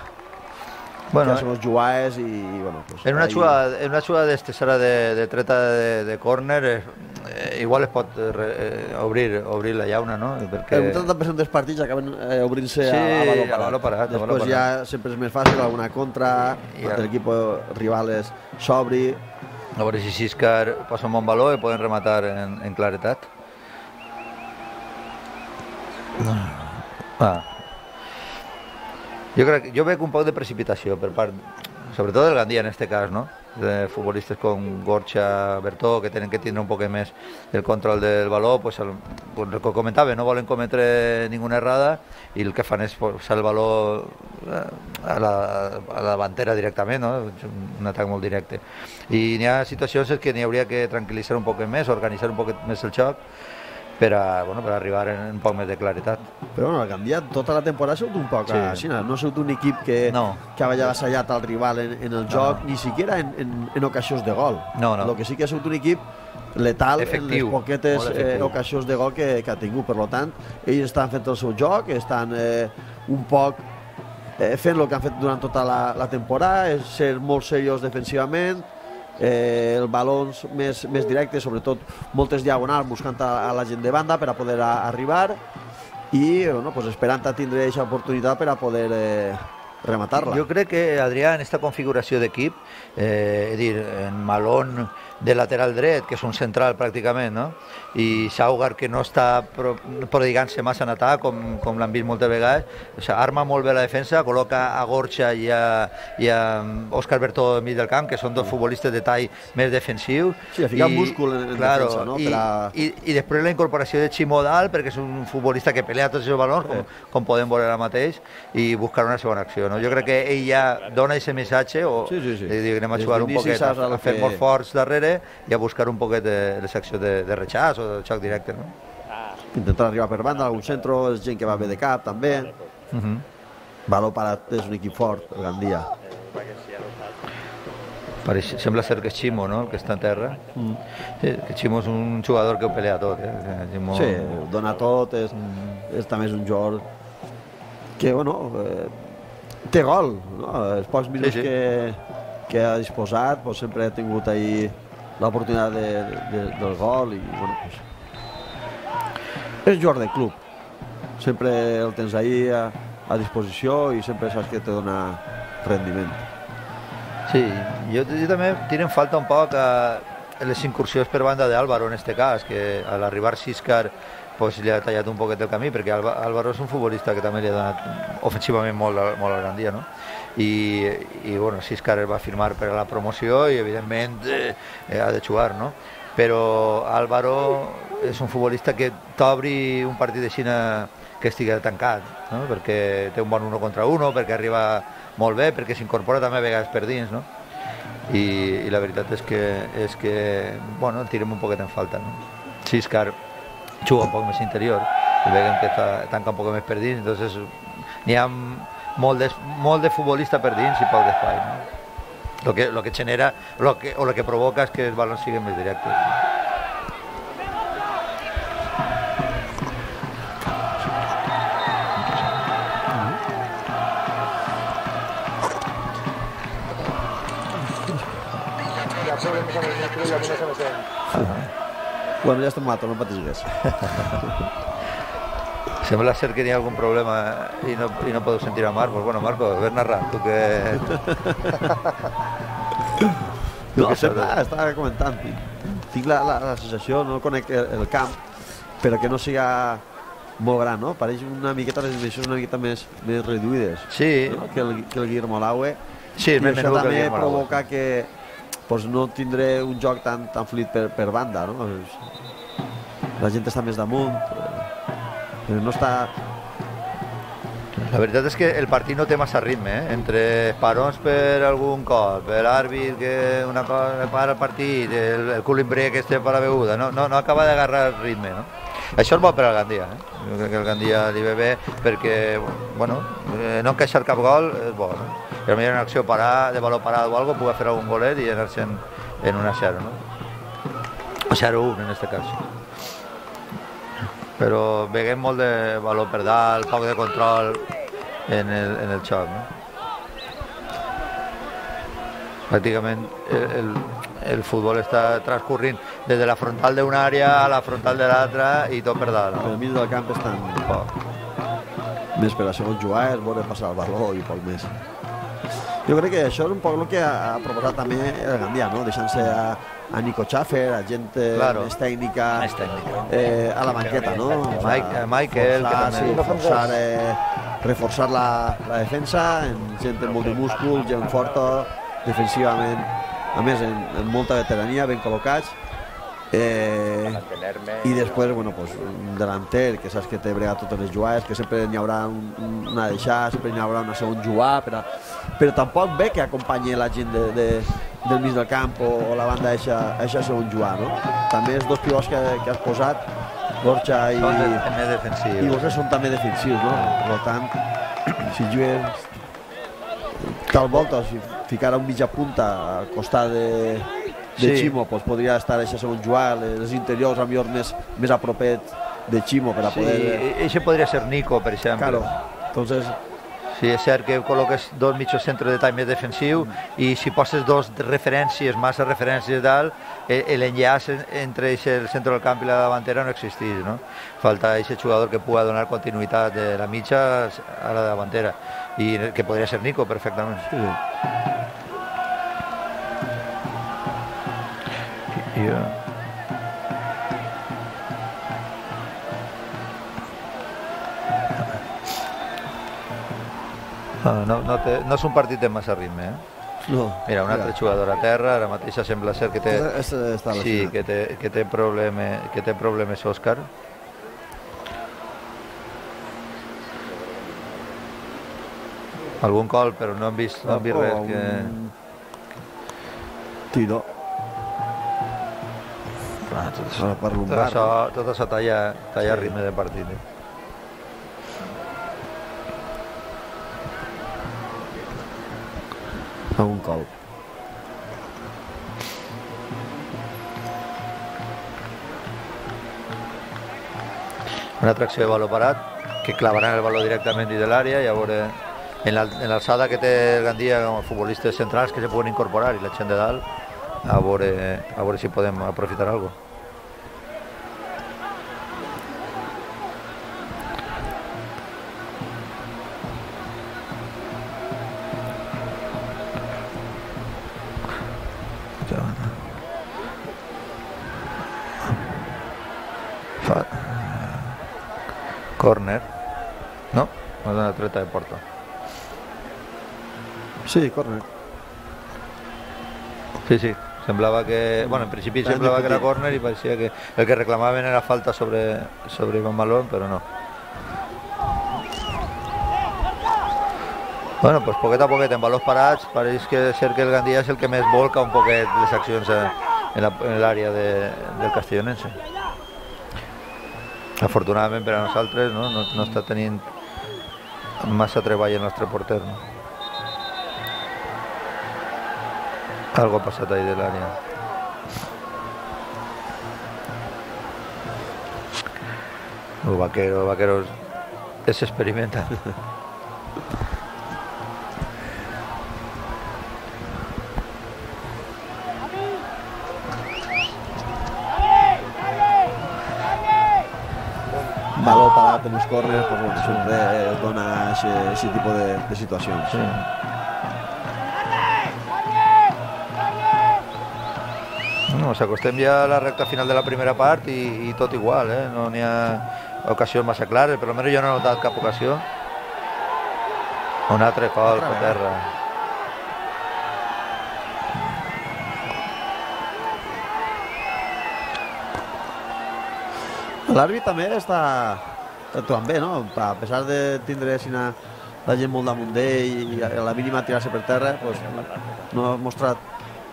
bueno, que són els jugades i, bueno, pues, en una jugada, en una jugada d'estes ara de, de treta de, de córner eh, igual es pot eh, obrir, obrir la llauna, no? Perquè... El vuitanta per cent dels partits acaben eh, obrint-se sí, a, a baló parat. A baló parat. Després baló ja parat. sempre és més fàcil, alguna contra, ja. L'equip rival s'obri. A veure si Xiscar posa un bon baló i poden rematar en, en claretat. Ah. Jo crec, jo veig un poc de precipitació per part, sobretot del Gandia en este cas, no? De futbolistes com Gorcha, Bertó, que tenen que tindre un poc més el control del baló, pues el, el que comentava, no volen cometre ninguna errada i el que fan és posar el baló a la, a la davantera directament, no? Un atac molt directe. I n'hi ha situacions en què n'hi hauria que tranquil·litzar un poc més, organitzar un poc més el xoc, per a, bueno, per arribar en un poc més de claretat. Però bueno, el Gandia tota la temporada ha sigut un poc sí. Així, no ha sigut un equip que, no. que havia avassallat al rival en, en el joc, no, no. Ni siquiera en, en, en ocasions de gol. No, no. El que sí que ha sigut un equip letal efectiu, en les poquetes eh, ocasions de gol que, que ha tingut. Per tant, ells estan fent el seu joc, estan eh, un poc eh, fent el que han fet durant tota la, la temporada, és ser molt seriós defensivament, eh, els balons més, més directes, sobretot moltes diagonals buscant a, a la gent de banda per a poder a, arribar i bueno, pues esperant a tindre aquesta oportunitat per a poder eh, rematar-la. Jo crec que, Adrià, en aquesta configuració d'equip, eh, és dir, en Malón de lateral dret, que és un central pràcticament, no? I Saugar, que no està prodigant-se massa en atac, com, com l'han vist moltes vegades, o sigui, arma molt bé la defensa, col·loca a Gorcha i a, i a Òscar Bertó al mig del camp, que són dos futbolistes de tall més defensiu. Sí, a ficar I, múscul en, en claro, defensa, no? I, a... i, i després la incorporació de Chimodal, perquè és un futbolista que pelea tots els balons, com, com podem veure ara mateix, i buscar una segona acció, no? Jo crec que ell ja dona aquest missatge, o sí, sí, sí. Diu, anem a jugar un poquet, a, a fer que... molt forts darrere, i a buscar un poquet de, de secció de, de rechaç o de xoc directe, no? Intentar arribar per banda, algun centre, és gent que va bé de cap, també. Uh -huh. Baló parat és un equip fort, el Gandia. Pareix, sembla ser que és Ximo, no?, el que està a terra. Mm. Sí, que Ximo és un jugador que ho pelea tot. Eh? Ximo... Sí, ho dona tot, és, mm. és també és un jugador que, bueno, eh, té gol, no? Els pocs minuts sí, sí. que, que ha disposat, pues, sempre ha tingut ahí l'oportunitat de, de, del gol i, bueno, pues, és jugador de club. Sempre el tens ahí a, a disposició i sempre saps que te dona rendiment. Sí, jo, jo també tiro en falta un poc a les incursions per banda d'Álvaro en este cas, que a l'arribar Xíscar pues, li ha tallat un poquet el camí, perquè Álvaro és un futbolista que també li ha donat ofensivament molt, molt a Gandia, no? I, i bueno, Xíscar va firmar per a la promoció i evidentment eh, ha de jugar, no? Però Álvaro és un futbolista que t'obri un partit de Xina que estigui tancat, no? Perquè té un bon uno contra uno, perquè arriba molt bé, perquè s'incorpora també a vegades per dins, no? I, i la veritat és que, és que bueno, el tirem un poquet en falta, no? Xíscar juga un poc més interior, i veiem que tanca un poc més per dins, entonces n'hi ha molt de, molt de futbolista per dins i poc d'espai, no? Lo que, lo que genera, lo que, o lo que provoca és que els balons siguin més directes. Bueno, ja estem matant, no patis res. Sembla ser que hi ha algun problema i no, i no podeu sentir a Marcos. Bueno, Marcos, ves narrant, tu que... No, sempre estava comentant. Tinc la, la, la sensació, no conec el, el camp, però que no siga molt gran, no? Pareix una miqueta, les dimensions una miqueta més, més reduïdes, sí, no? que, el, que el Guillermo Laue. Sí, i això també provoca que pues, no tindré un joc tan, tan fluid per, per banda, no? La gent està més damunt, però no està... La veritat és que el partit no té massa ritme, eh? Entre parons per algun cop, per l'àrbit que una cosa para el partit, el, el culimbre que té per la beguda, no, no, no acaba d'agarrar el ritme, no? Això és bo per al Gandia, eh? Jo crec que el Gandia li ve bé perquè, bueno, no encaixar cap gol és bo, no? I potser en acció parar, de valor parat o algo, pugui fer algun golet i anar-se en, en un a zero, no? O zero a un en este cas. Però veiem molt de valor per dalt, poc de control en el, en el xoc, no? Pràcticament el, el, el futbol està transcorrint des de la frontal d'una àrea a la frontal de l'altra i tot per dalt, no? Per mig del camp estan poc. Més per a segon jugar, és voler passar el valor i poc més. Jo crec que això és un poc el que ha proposat també el Gandia, no? Deixant-se a, a Nico Schaffer, a gent claro. més tècnica, més tècnica. Eh, a la banqueta, no? O sea, Mike, Michael, forçar, que també... Sí, forçar, eh, reforçar la, la defensa, en gent amb molt de múscul, gent forta, defensivament, a més, en, en molta veterania, ben col·locats. Eh, i després, bueno, pues, un delanter que saps que té bregat totes les jugades, que sempre n'hi haurà un, una deixada, sempre n'hi haurà una segon jugar, però, però tampoc ve que acompanyi la gent de, de, del mig del camp o, o la banda eixa, eixa segon jugar, no? També els dos pivots que, que has posat, Borja i, i Borja són també defensius, no? Per tant, si jugues tal volta, si ficara un mitja punta al costat de de sí. Ximo, pues podria estar això segon jugar, els interiors a millor més, més a propet de Ximo per a sí, poder... Sí, això podria ser Nico, per exemple. Claro, entonces... Sí, és cert que col·loques dos mitjos centres de tall més defensiu mm. i si poses dos referències, massa referències dalt, l'enllaç entre el centre del camp i la davantera no existeix, no? Falta aquest jugador que pugui donar continuïtat de la mitja a la davantera i que podria ser Nico perfectament. Sí, sí. Yeah. No, no, no, té, no és un partit de massa ritme, eh? No. Mira, un altre ja. jugador a terra, ara mateix sembla ser que té, sí, que té, que té, probleme, que té problemes Òscar. Algun col, però no hem vist, no hem vist res. Que... Tiro. Ah, tot, això, per tot, això, tot això talla, talla sí. ritme de partit. Eh? A un col. una tracció de valor parat, que clavaran el valor directament dins de l'àrea, i a veure, en l'alçada que té el Gandia com a futbolistes centrals que se poden incorporar i la gent de dalt, a veure, a veure si podem aprofitar alguna cosa. Corner, no? No és una treta de porta. Sí, corner. Sí, sí, semblava que... Bueno, en principi semblava que era corner i parecia que el que reclamaven era falta sobre, sobre Iván Malón, però no. Bueno, pues poquet a poquet, en valors parats, pareix que ser que el Gandia és el que més volca un poquet les accions en l'àrea de, del castellonense. Afortunadament per a nosaltres no, no, no està tenint massa treball el nostre porter. No? Algo ha passat ahí de l'àrea. El Vaquero, el Vaquero es experimenta. Valor parat en els corners, pues bueno, sempre dona aquest tipus de, de situacions. Sí. No, s'acostem ja a la recta final de la primera part i, i tot igual, eh? No n'hi ha ocasions massa clares, però almenys jo no he notat cap ocasió. Un altre col per terra. L'àrbit també està actuant bé, no? A pesar de tindre la gent molt damunt d'ell i a la mínima tirar-se per terra, pues, no ha mostrat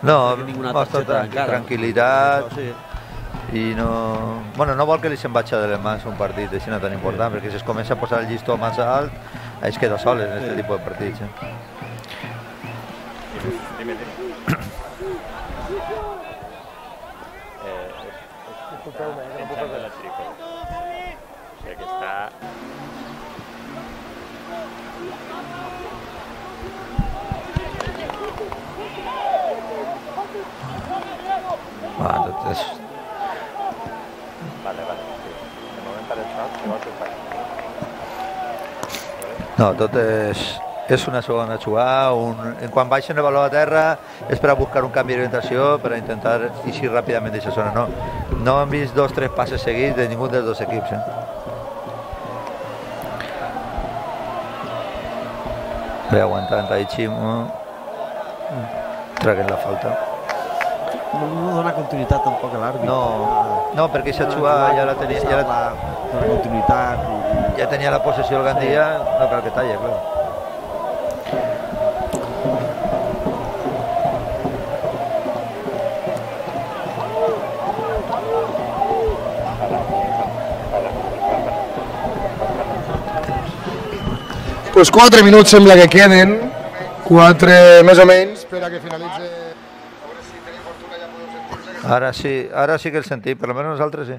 no, mostra tranquil·litat i no... Bueno, no vol que li se'n vagi de les mans un partit així no tan important, perquè si es comença a posar el llistó massa alt, es queda soles en aquest tipus de partits. Eh? Ah, tot és... Vale, vale. De moment per això... No, tot és... És una segona jugada, un... quan baixen el valor a terra és per a buscar un canvi d'orientació, per a intentar eixir ràpidament d'aquesta zona. No, no hem vist dos o tres passes seguits de ningú dels dos equips. Eh? Ve aguantant ahí Chimo, traguen la falta. No, no dona continuïtat tampoc a l'àrbit. No, no, perquè aquesta jugada ja la tenia... Ja la, dona continuïtat. I... Ja tenia la possessió el Gandia, no cal que talla, clar. Pues quatre minuts sembla que queden, quatre més o menys, per a que finalitzi. Ara sí, ara sí que el sentim, per almenys nosaltres sí.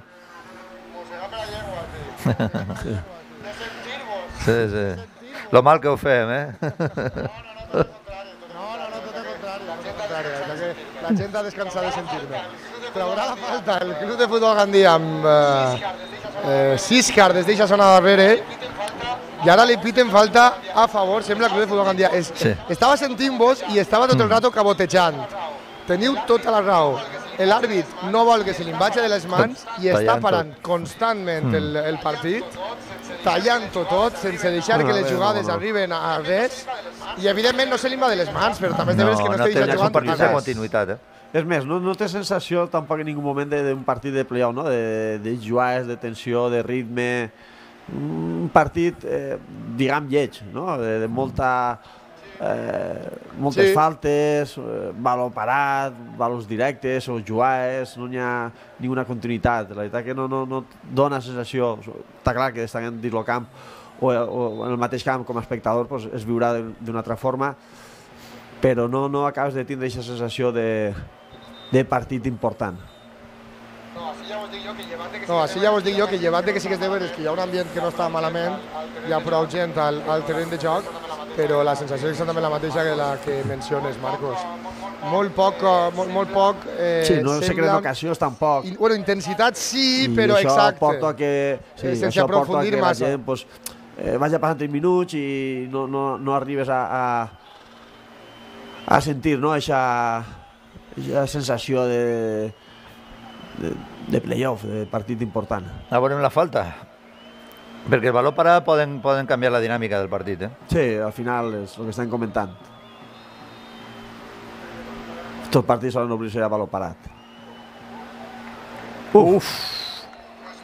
Sí, sí. Lo mal que ho fem, eh? No, no, no, tot el contrari, tot el contrari. La gent ha descansat de sentir-me. Traurà la falta el Club de Futbol Gandia amb eh, sis cartes d'eixa zona darrere. I ara li piten falta a favor, sembla, el Club de Futbol Gandia. Es, sí. Estava sentint-vos i estava tot el rato cabotejant. Teniu tota la raó. L'àrbit no vol que se li vagi de les mans i està parant constantment el, el partit, tallant-ho tot, sense deixar que les jugades arriben a res. I evidentment no se li va de les mans, però també és de veres que no està deixant jugant tot a continuïtat. És més, no, no té sensació tampoc en ningú moment d'un partit de play-off, no? de, de jugades, de tensió, de ritme... Un partit, eh, diguem, lleig, no? de, de molta, eh, moltes sí. faltes, eh, valor parat, valors directes o jugades, no hi ha ninguna continuïtat. La veritat que no, no, no dona sensació, està clar que estan dins el camp o, o en el mateix camp com a espectador pues, es viurà d'una altra forma, però no, no acabes de tindre aquesta sensació de, de partit important. No, així ja ho No, així ja vos dic jo que llevat de que sí que és de veres que hi ha un ambient que no està malament, hi ha prou gent al, al terreny de joc, però la sensació és exactament la mateixa que la que menciones, Marcos. Molt poc, molt, molt poc... Eh, sí, no se sembla... creen ocasions tampoc. I, bueno, intensitat sí, I però això exacte. Porta a que, sí, sense això porta a aprofundir que la massa. gent pues, eh, vagi passant tres minuts i no, no, no arribes a, a, a sentir no, aquesta sensació de, de, de playoff, de partit important. A veure la falta. Perquè el valor parat poden, poden canviar la dinàmica del partit, eh? Sí, al final és el que estem comentant. Tots partits solen obrir-se a valor parat. Uf!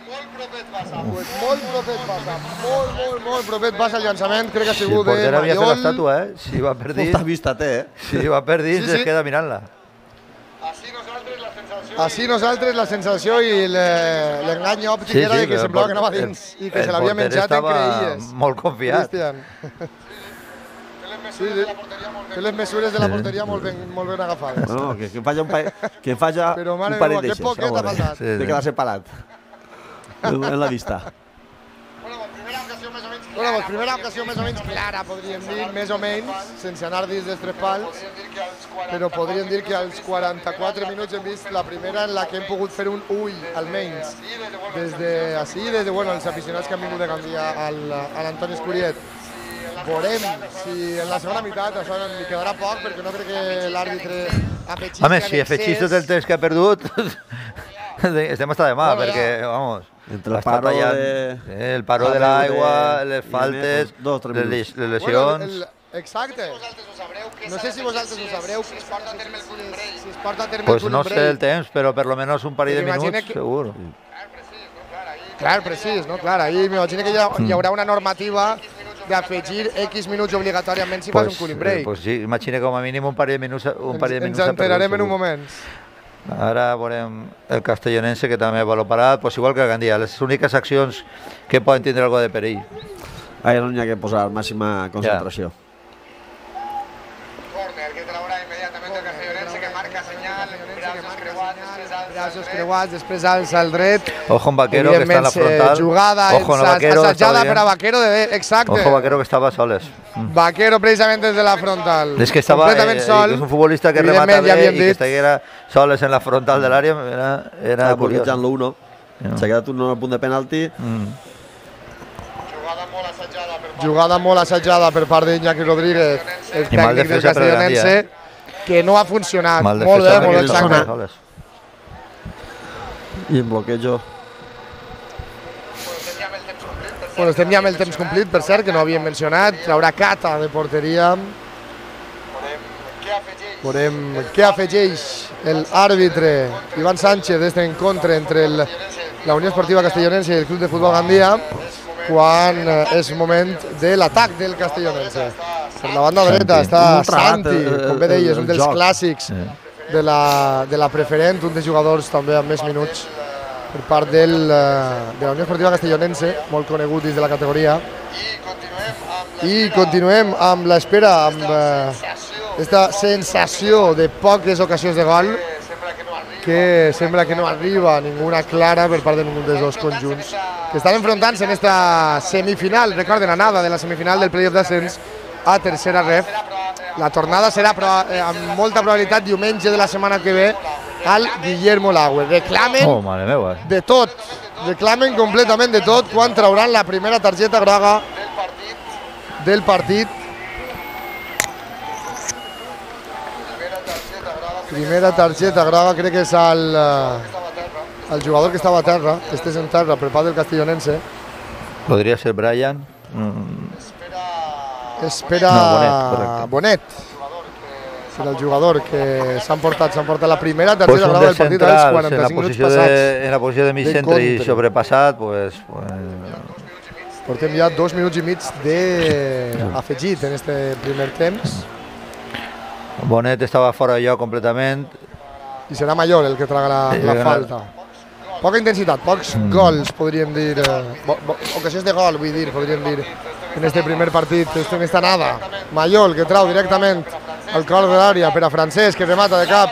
Molt propet Bassa, molt propet Bassa, molt, molt, molt propet Bassa el llançament, crec que ha sigut de Maiol. Si el porter havia fet l'estàtua, eh? Si va per dins... Molta vista té, eh? Si va per dins, Sí, sí. es queda mirant-la. Així nosaltres la sensació... Així nosaltres la sensació i le- l'engany òptic Sí, era sí, de que el semblava que por- anava dins el- i que se el l'havia porter menjat en estava creïlles. molt confiat. Cristian. Sí, sí. Té les mesures de la porteria molt ben, molt ben agafades. Bueno, que, que falla un, pa que falla Però, mare un parell meva, que d'eixes. poquet ha faltat. Sí, De sí. quedar separat. En, en la vista. Bueno, doncs primera ocasió més o menys clara, podríem dir, més o menys, sense anar dins dels tres pals, però podríem dir que als quaranta-quatre minuts hem vist la primera en la que hem pogut fer un ull, almenys, des de així, des de bueno, els aficionats que han vingut de Gandia al, a l'Antoni Escuriet. Veurem si en la segona meitat això li quedarà poc, perquè no crec que l'àrbitre afegís Home, si afegís tot el temps que ha perdut, estem hasta de mà, Bueno, perquè, ja. vamos, Entre el està paro tallant, de- eh, el paro de de- l'aigua, de- les i faltes, més, dos, tres les, minuts. les lesions... Bueno, el, exacte. No sé si vosaltres ho sabreu, si es porta a terme el Culimbrell. Si es porta a terme Pues el no sé el temps, però per lo menos un parell de Però imagina minuts, que- segur. Clar, precís, no? Clar, ahir m'imagino que hi, ha, hi haurà una normativa d'afegir X minuts obligatòriament si fas un cooling break. eh, pues sí, imagina com a mínim un parell de minuts, un parell de ens minuts ens enterarem en un segur. moment. Ara veurem el castellonense, que també va parat, pues igual que el Gandia, les úniques accions que poden tindre algo de perill. Ahí és on hi ha que posar màxima concentració. Corner que traurà immediatament el castellonense que marca senyal, braços creuats, Braços creuats, després alça el dret. Ojo en Vaquero, que està en la Evidentment, frontal. eh, Jugada Ojo en la Vaquero, assajada estava per a bien. Vaquero, de, exacte. Ojo Vaquero, que estava soles. Vaquero precisament des de la frontal. És que estava, completament eh, sol. és un futbolista que Evidentment, remata ja bé havíem i que dit. estiguera soles en la frontal de l'àrea, era, era Estava curiós. bloquejant l'u uno. S'ha quedat un al punt de penalti. Mm. jugada molt assajada per part Jugada molt assajada per part d'Iñaki Rodríguez, el I mal tècnic del defensa per castellonense, Gandia, que no ha funcionat. Mal Molt bé, defensa molt perquè ells exacte. estaven soles. I en bloquejo. Bueno, estem ja amb el temps complit, per cert, que no havíem mencionat. Traurà Cata de porteria. Veurem què afegeix l'àrbitre Ivan Sánchez d'este encontre entre el, la Unió Esportiva Castellonense i el Club de Futbol Gandia, quan eh, és moment de l'atac del Castellonense. Per la banda dreta està Un tragat, Santi, eh, com bé deies, el un dels joc. clàssics de la, de la preferent, un dels jugadors també amb més minuts per part del, eh, de la Unió Esportiva Castellonense, molt conegut dins de la categoria. I continuem amb l'espera, amb aquesta sensació de poques ocasions de gol, que sembla que no arriba ninguna clara per part de ningú dels dos conjunts que estan enfrontant-se en esta semifinal, recorden, anada de la semifinal del playoff d'ascens a tercera ref. La tornada serà eh, amb molta probabilitat diumenge de la setmana que ve al Guillermo Laue. Reclamen Oh, mare meva. de tot, reclamen completament de tot quan trauran la primera targeta groga del partit. Primera targeta groga, crec que és el, eh, el jugador que estava a terra, que estés en terra per part del castellonense. Podria ser Brian. Mm. Espera No, Bonet, correcte. Bonet. Serà el jugador que s'han portat, s'han portat la primera Pues targeta un groga dels del partit als centrals en la quaranta-cinc minuts posició de, passats. en la posició de mig de centre i contra. sobrepassat, pues, pues Portem ja dos minuts i mig d'afegit en este primer temps. Bonet estava fora de lloc completament. I serà Maiol el que traga la, Sí, la no. falta. Poca intensitat, pocs Mm. gols, podríem dir, eh, bo, bo, ocasions de gol, vull dir, podríem dir, en este primer partit, en esta nada. Maiol, que trau directament al cor de l'àrea per a Francesc, que remata de cap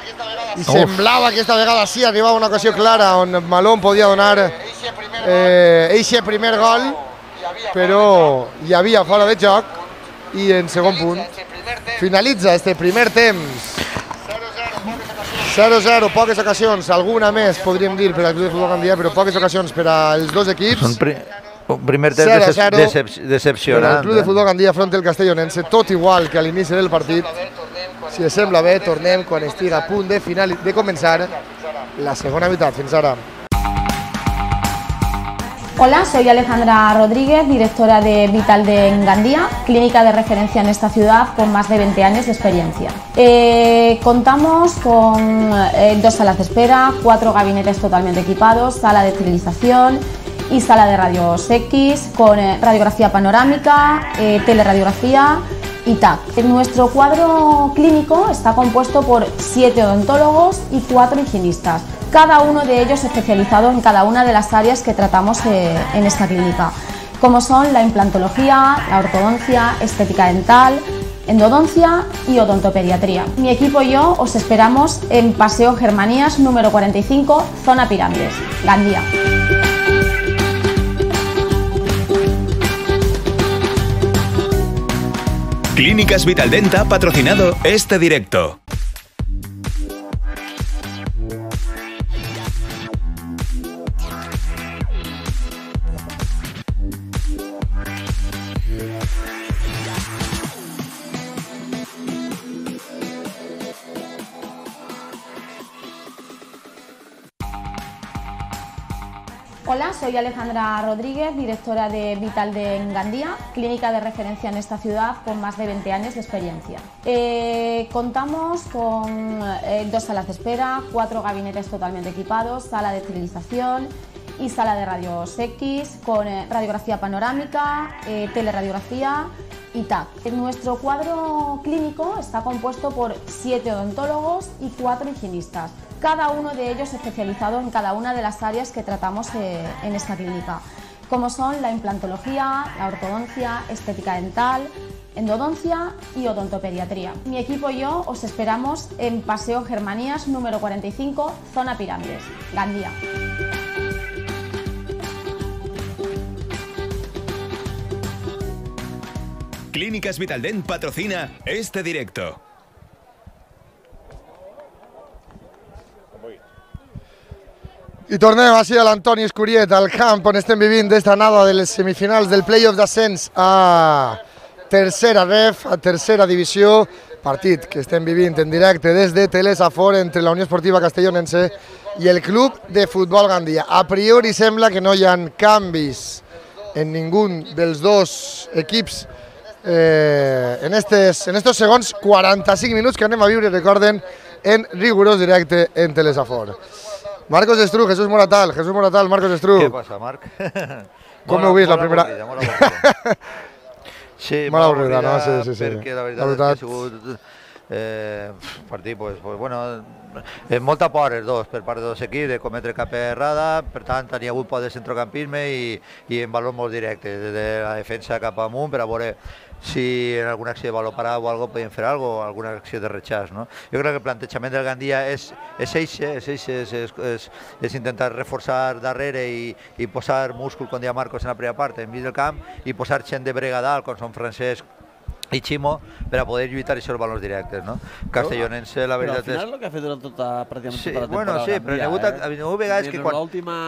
i semblava que aquesta vegada sí arribava una ocasió clara on Malón podia donar eixe primer gol, però hi havia fora de joc i en segon punt finalitza este primer temps zero zero, poques ocasions, alguna més podríem dir per al Club de Futbol Gandia, però poques ocasions per als dos equips. Un primer temps decepcionant. El Club de Futbol Gandia front al Castellonense, tot igual que a l'inici del partit. Si us sembla bé, tornem quan estigui a punt de, final, de començar la segona meitat. Fins ara. Hola, soy Alejandra Rodríguez, directora de Vital de Engandía, clínica de referencia en esta ciudad con más de veinte años de experiencia. Eh, contamos con eh, dos salas de espera, cuatro gabinetes totalmente equipados, sala de esterilización y sala de rayos X con eh, radiografía panorámica, eh, teleradiografía y T A C. Nuestro cuadro clínico está compuesto por siete odontólogos y cuatro higienistas, cada uno de ellos especializado en cada una de las áreas que tratamos eh, en esta clínica, como son la implantología, la ortodoncia, estética dental, endodoncia y odontopediatría. Mi equipo y yo os esperamos en Paseo Germanías número cuarenta y cinco, zona Pirámides, Gandía. Clínicas Vitaldent ha patrocinado este directo. Hola, soy Alejandra Rodríguez, directora de Vital de Engandía, clínica de referencia en esta ciudad con más de veinte años de experiencia. Eh, contamos con eh, dos salas de espera, cuatro gabinetes totalmente equipados, sala de esterilización y sala de rayos X con eh, radiografía panorámica, eh, teleradiografía y T A C. Nuestro cuadro clínico está compuesto por siete odontólogos y cuatro higienistas, cada uno de ellos especializado en cada una de las áreas que tratamos eh, en esta clínica, como son la implantología, la ortodoncia, estética dental, endodoncia y odontopediatría. Mi equipo y yo os esperamos en Paseo Germanías número cuarenta y cinco, zona Pirámides, Gandía. Clínicas Vitaldent patrocina este directo. I tornem així a l'Antoni Escuriet, al camp on estem vivint d'esta anada de les semifinals del play-off d'ascens a tercera ref, a tercera divisió, partit que estem vivint en directe des de Telesafor entre la Unió Esportiva Castellonense i el Club de Futbol Gandia. A priori sembla que no hi ha canvis en ningú dels dos equips eh, en estos en estos segons quaranta-cinc minuts que anem a viure, recorden, en rigorós directe en Telesafor. Marcos Estru, Jesús Moratal, Jesús Moratal, Marcos Estru. Què passa, Marc? Com heu vist la primera? Molt avorrida. Sí, molt avorrida, no? Sí, sí, sí. Perquè la veritat és que ha sigut eh, partit, pues, pues, bueno, eh, molta por els dos per part dels dos equips de cometre cap errada, per tant, hi ha hagut por de centrocampisme i, i en valor molt directe, des de la defensa cap amunt per a veure si en alguna acció de valor parat o algo podien fer algo, alguna acció de rechaç, no? Jo crec que el plantejament del Gandia és és eixe, és, eixe, és, és, és, és intentar reforçar darrere i, i posar múscul, com deia Marcos en la primera part, enmig del camp, i posar gent de brega dalt, com són Francesc i Ximo, per a poder lluitar aquests valors directes, no? Castellonense, la veritat és... Però al final és el que ha fet durant tota, pràcticament sí, tota la temporada. Bueno, sí, però n'hi ha hagut vegades que quan... L'última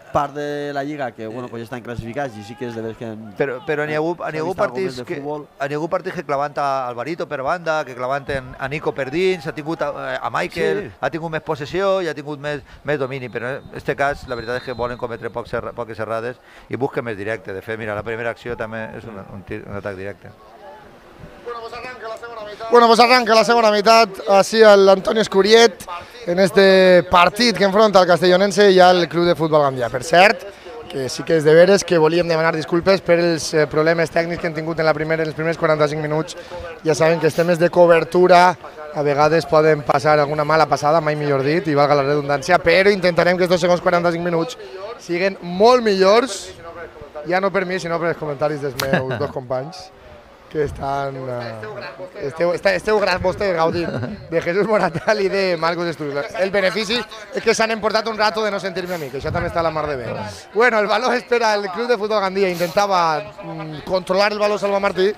part de la Lliga, que bueno, pues ja estan classificats i sí que és de veres que... Però, però n'hi ha hagut, ha hagut partits que, ha hagut partits que clavant a Alvarito per banda, que clavant a Nico per dins, ha tingut a, a Michael, sí. Ha tingut més possessió i ha tingut més, més domini, però en aquest cas la veritat és que volen cometre pocs erra, poques errades i busquen més directe. De fet, mira, la primera acció també és un, un, tir, un atac directe. Bueno, pues arranca la segona meitat, així l'Antoni Escuriet, en este partit que enfronta el Castellonense i el Club de Futbol Gandia. Per cert, que sí que és de veres que volíem demanar disculpes per els problemes tècnics que hem tingut en, la primera, en els primers quaranta-cinc minuts. Ja saben que els temes de cobertura a vegades poden passar alguna mala passada, mai millor dit, i valga la redundància, però intentarem que aquests segons quaranta-cinc minuts siguin molt millors, ja no per mi, sinó per els comentaris dels meus dos companys. que estan... Uh, esteu, esteu vostès gaudint de Jesús Moratal i de Marcos Estudios. El benefici és que s'han emportat un rato de no sentir-me a mi, que això també està a la mar de bé. Bueno, el baló espera el Club de Futbol Gandia, intentava mm, controlar el baló Salva Martí,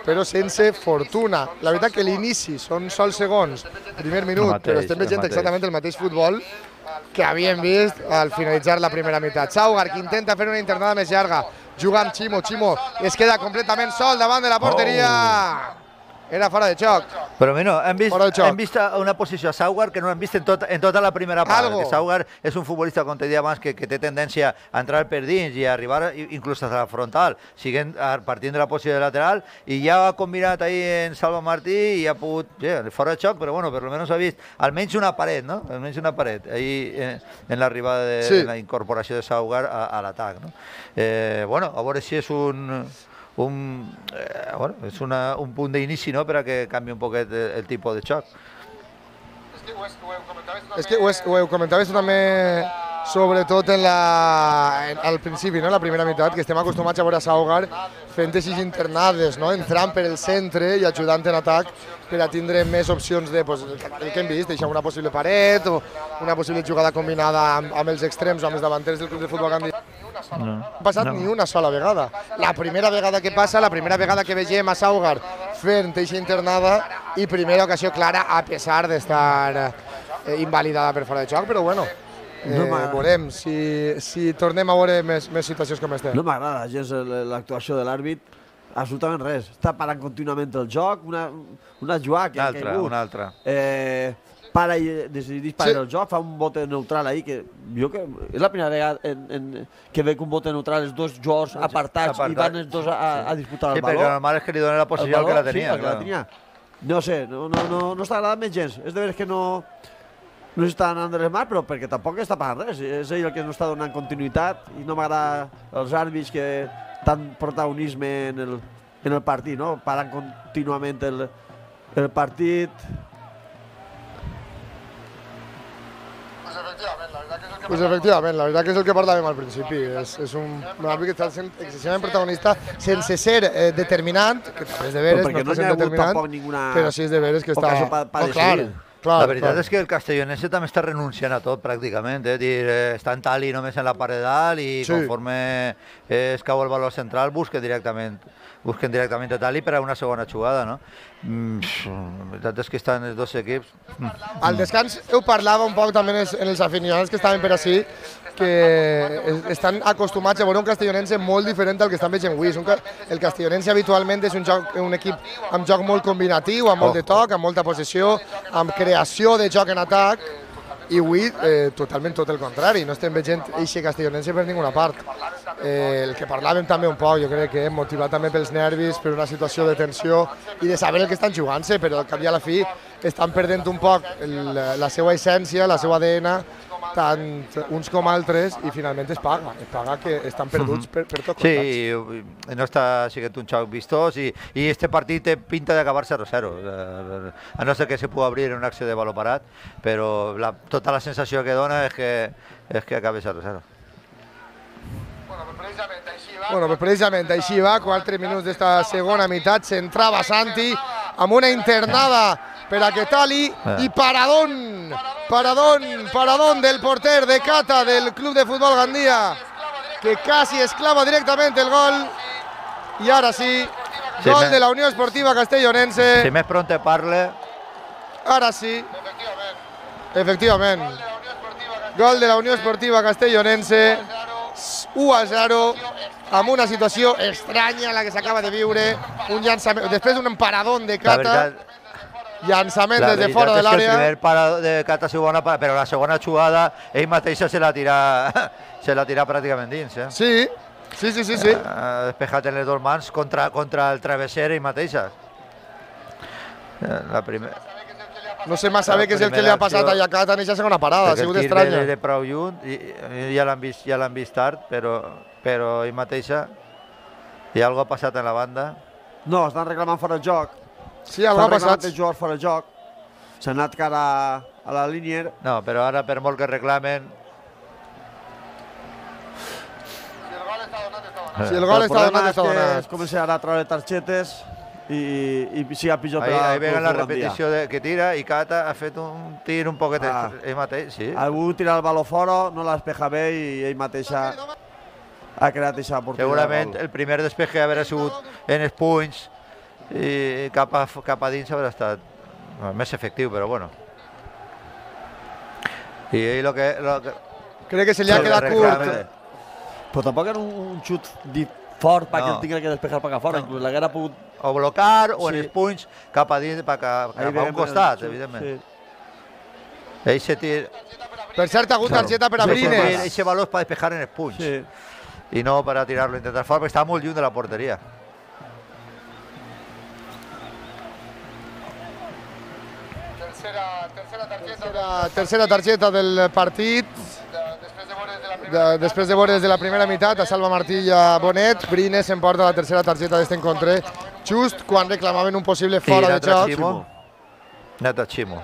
però sense fortuna. La veritat que l'inici són sols segons, primer minut, mateix, però estem veient exactament el mateix futbol que havíem vist al finalitzar la primera meitat. Saugar, que intenta fer una internada més llarga, juga amb Ximo, Ximo es queda completament sol davant de la porteria. Oh. Era fora de xoc. Però bueno, hem vist, hem vist una posició a Saugar que no hem vist en, tot, en tota la primera part. Que Saugar és un futbolista, com te deia abans, que, que té tendència a entrar per dins i a arribar inclús a la frontal, siguent, partint de la posició de lateral, i ja ha combinat ahí en Salva Martí i ha pogut, sí, fora de xoc, però bueno, per almenys ha vist almenys una paret, no? Almenys una paret, ahí en, en l'arribada de sí. la incorporació de Saugar a, a l'atac, no? Eh, bueno, a veure si és un... Un, eh, bueno, és una, un punt d'inici, no?, per a que canvi un poquet el, el tipus de xoc. És que ho, és, ho comentaves també, sobretot en la, en, al principi, no?, la primera meitat, que estem acostumats a veure a Saugar fent així internades, no?, entrant per el centre i ajudant en atac per a tindre més opcions de, pues, el que hem vist, deixar una possible paret o una possible jugada combinada amb, amb els extrems o amb els davanters del Club de Futbol Gandia. No ha passat no. ni una sola vegada. La primera vegada que passa, la primera vegada que vegem a Saugar fent eixa internada i primera ocasió clara a pesar d'estar eh, invalidada per fora de xoc, però bueno, eh, no veurem si, si tornem a veure més, més situacions com estem. No m'agrada gens l'actuació de l'àrbit, absolutament res. Està parant contínuament el joc, una, una jugada que ha caigut. Una altra, una altra. Eh, para i decidís parar sí. el joc, fa un bote neutral ahí, que jo que és la primera vegada en, en, que veig un bote neutral, els dos jugadors apartats Apartat. i van els dos a, a disputar el sí, baló. Sí, perquè normal és que li donen la posició al que la tenia. Sí, que la tenia. No sé, no, no, no, no està agradant més gens. És de veres que no, no està anant de les mans, però perquè tampoc està pagant res. És ell el que no està donant continuïtat i no m'agrada els àrbits que tant protagonisme en el, en el partit, no? Parant contínuament el, el partit. Pues efectivament, la veritat que és el que parlàvem al principi. És, és un, un àrbit que està sent excessivament protagonista sense ser eh, determinant, que també és de veres, no, no està sent determinant, ninguna... però sí és de veres que està... Pa, pa no, clar, clar, la veritat clar. és que el castellonense també està renunciant a tot, pràcticament. Eh? Dir, eh, està en tali només en la part de dalt i sí. conforme es cau el valor central busquen directament, busquen directament a tali per a una segona jugada, no? Mm, la veritat és que estan els dos equips... Mm. Al descans ho parlava un poc també en els, en els aficionats que estaven per ací, que estan acostumats a veure un castellonense molt diferent al que estan veient avui. El castellonense habitualment és un, joc, un equip amb joc molt combinatiu, amb molt de toc, amb molta possessió, amb creació de joc en atac, i avui eh, totalment tot el contrari, no estem veient eixe castellonense per ninguna part. Eh, el que parlàvem també un poc, jo crec que motivat també pels nervis, per una situació de tensió i de saber el que estan jugant-se, però al cap i a la fi estan perdent un poc el, la seva essència, la seva A D N, tant uns com altres, i finalment es paga, es paga que estan perduts per, per tot costats. Sí, no està sent un xoc vistós i, i este partit té pinta d'acabar zero zero, a no ser que se pugui obrir en una acció de baló parat, però la, tota la sensació que dona és que, és que acabi zero zero. Bueno, pues precisament així va, quatre minuts d'esta segona meitat, s'entrava Santi amb una internada per a Quetali i paradón, paradón, paradón del porter de Cata del Club de Futbol Gandia, que quasi esclava directament el gol, i ara sí, gol de la Unió Esportiva Castellonense. Si més pronte parle. Ara sí, efectivament, gol de la Unió Esportiva Castellonense, u a zero, amb una situació estranya la que s'acaba de viure, un llançament, després d'un paradón de Cata, llançament des de fora de l'àrea. El primer paradón de Cata ha sigut bona, però la segona jugada ell mateixa se la tira, se la tira pràcticament dins. Eh? Sí, sí, sí, sí. sí. Ha despejat en les dues mans contra, contra el travesser ell mateixa. La primera... No sé massa bé què és el que li ha passat a Cata en aquesta segona parada, ha sigut estranya. El tir de prou lluny, ja l'han vist, ja l'han vist tard, però, però ell mateixa, hi ha alguna ha passat en la banda. No, estan reclamant fora el joc. Sí, alguna ha passat. Estan reclamant fora el joc. S'ha anat cara a la línia. No, però ara per molt que reclamen... Si el gol està donat, està donat. Es comença ara a treure targetes. i, i siga pitjor per Ahí, al ahí Club veuen la Futbol Gandia. repetició de, que tira i Cata ha fet un tir un poquet Ah. ell mateix, sí. Ha volgut tirar el baló fora, no l'ha despejat bé i ell mateix ha, ha creat aquesta oportunitat. Segurament de gol. el primer despeje haver sigut en els punys i cap a, cap a dins haver estat no, més efectiu, però bueno. I ell lo que... Lo que Crec que se li ha Se li quedat reclama. curt. Però tampoc era un, un xut dit fort perquè No. el tinguin que despejar per fora, No. inclús l'haguera pogut... o blocar o en Sí. els punys cap a dins, cap a, cap a un veiem costat, el- evidentment. sí. Ell se tira... Per cert, ha hagut targeta per a Sí, Brines. Ese baló és per despejar en els punys Sí. i no per a tirar-lo, intentar fora, perquè està molt lluny de la porteria. Tercera, tercera, targeta, tercera targeta del partit. De, després de veure des de la primera meitat a Salva Martí i a Bonet, Brines s'emporta la tercera targeta d'este encontre, just quan reclamaven un possible fora de joc. Ximo. Nata Ximo.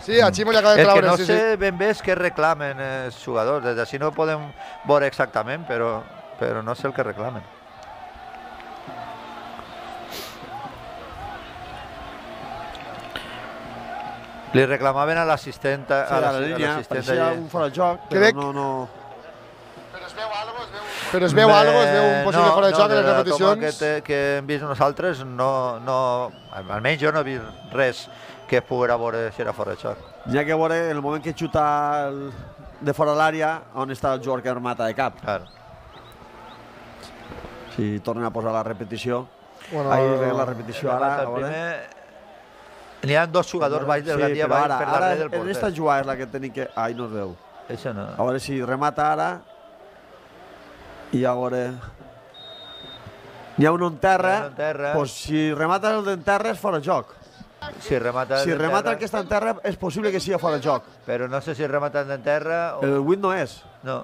Sí, a Ximo li acaba de El que traure. no sí, sé sí. ben bé és què reclamen els jugadors, des d'ací no ho podem veure exactament, però, però no sé el que reclamen. Li reclamaven a l'assistent Sí, a la a línia, l'assistent pareixia allí. un fora de joc, però Crec- no... no... Però es veu algo, es veu un possible no, fora de no, joc en les la toma repeticions. Que, te, que hem vist nosaltres, no, no, almenys jo no he vist res que es poguera veure si era fora de joc. N'hi ha que veure en el moment que xuta el, de fora l'àrea on està el jugador que remata de cap. Claro. Si tornen a posar la repetició. Bueno, Ahí veiem la repetició ara. El a veure. primer... N'hi ha dos jugadors baix del Gandia però baix ara, per ara darrere del en porter. esta jugada és la que tenim que... Ai, no es veu. Això no. A veure si remata ara. I a veure... N'hi ha un en terra. N'hi ha un en terra. Pues si remata el d'en terra és fora de joc. Si remata Si de remata terra, el que està en terra és possible que sigui fora de joc. però no sé si remata en terra o... El vuit no és. No.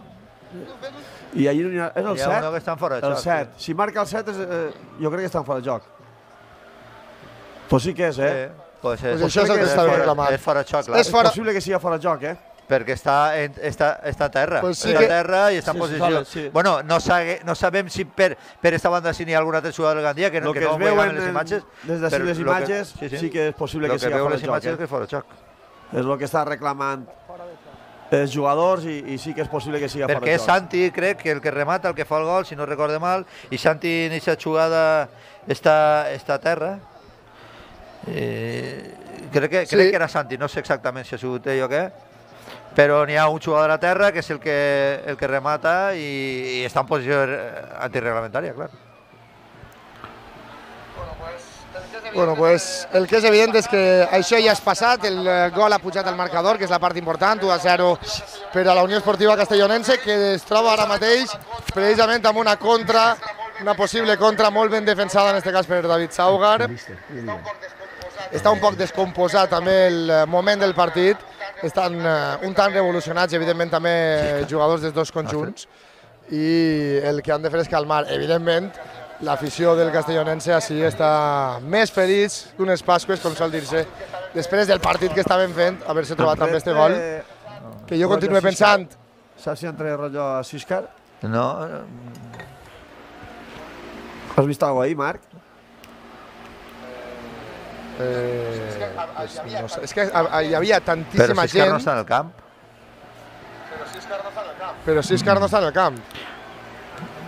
I allí no hi ha... És el Hi ha set. uno que està en fora de El joc. set. Si marca el set, és, eh, jo crec que està en fora de joc. Pues sí que és, eh? Sí. Pues és, Pues això és el que és estava fora- reclamant. És fora de joc, clar. És És fora- possible que sigui fora de joc, eh? Perquè està, en, està, està a terra. Pues sí està que- a terra i està en Sí, sí, posició. vale, sí. Bueno, no, sabe, no sabem si per, per esta banda si n'hi ha algun altre jugador del Gandia que, no- Lo que que no es veu veiem en, les imatges. des d'ací però les lo imatges, sí, que és possible lo que sigui veu fora les de joc. imatges és Eh? que és fora de joc. És el que està reclamant els jugadors i, i sí que és possible que sigui fora Perquè de és joc. Santi, crec, que el que remata, el que fa el gol, si no recorde mal, i Santi en aquesta jugada està, està a terra. Eh, crec, que, Sí. crec que era Santi, no sé exactament si ha sigut ell o què, però n'hi ha un jugador a terra que és el que, el que remata i, i està en posició antirreglamentària, clar. Bueno, pues el que és evident és que això ja és passat, el eh, gol ha pujat al marcador, que és la part important, u a zero per a la Unió Esportiva Castellonense, que es troba ara mateix precisament amb una contra, una possible contra molt ben defensada, en aquest cas per David Saugar. Està un poc descomposat també el eh, moment del partit, estan eh, un tant revolucionats, evidentment també jugadors dels dos conjunts, i el que han de fer és calmar, evidentment, l'afició del castellonense així està més feliç que unes Pasques, com sol dir-se, després del partit que estaven fent, haver-se trobat amb este gol, que jo continuo pensant... Saps si entra rotllo a Siscar? No, Has vist alguna ahí, Marc? Eh, pues no sé, és que hi havia però tantíssima si és que no gent, està en el camp. però Siscar no està en el camp.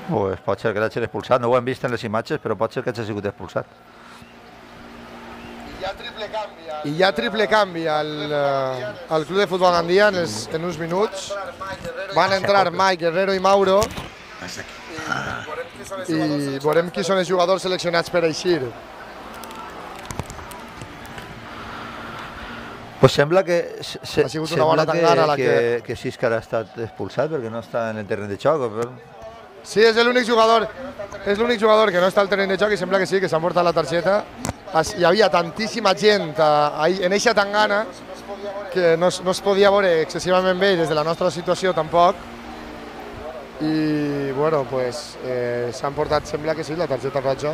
Pues pot ser que l'hagi expulsat, no ho hem vist en les imatges, però pot ser que hagi sigut expulsat. I hi ha triple canvi al, eh, al Club de Futbol Gandia en, els, en uns minuts. Van entrar Mike, Guerrero i Mauro. I veurem qui són els jugadors seleccionats per eixir. Pues sembla que se, se, Ha sigut una bona sembla que, tangana la que, que- que Siscar ha estat expulsat perquè no està en el terreny de xoc. Però... Sí, és l'únic jugador, és l'únic jugador que no està al terreny de joc i sembla que sí, que s'ha portat la targeta. Es- Hi havia tantíssima gent a, a, en eixa tangana que no, es- no es podia veure excessivament bé des de la nostra situació tampoc. I, bueno, pues, eh, s'han portat, sembla que sí, la targeta roja.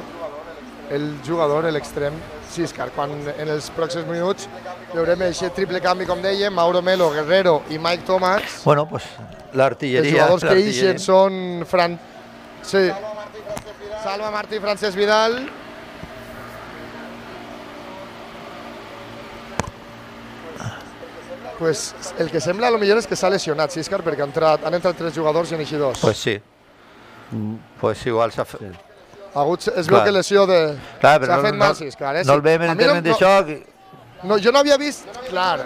El jugador, l'extrem, Siscar, quan en els pròxims minuts veurem aquest triple canvi, com dèiem, Mauro Melo, Guerrero i Mike Thomas. Bueno, pues l'artilleria... Els jugadors que l'artilleria. ixen són Fran... Sí. Salva Martí i Francesc Vidal. pues, el que sembla a lo millor és que s'ha lesionat Siscar, perquè han entrat, han entrat tres jugadors i han eixit dos. Pues sí. Mm. Pues igual s'ha fet... Sí. Hagut, es veu que lesió de... Clar, s'ha no, fet mal Siscar. Eh? No el veiem en el terreny de xoc... No, jo no havia vist, clar,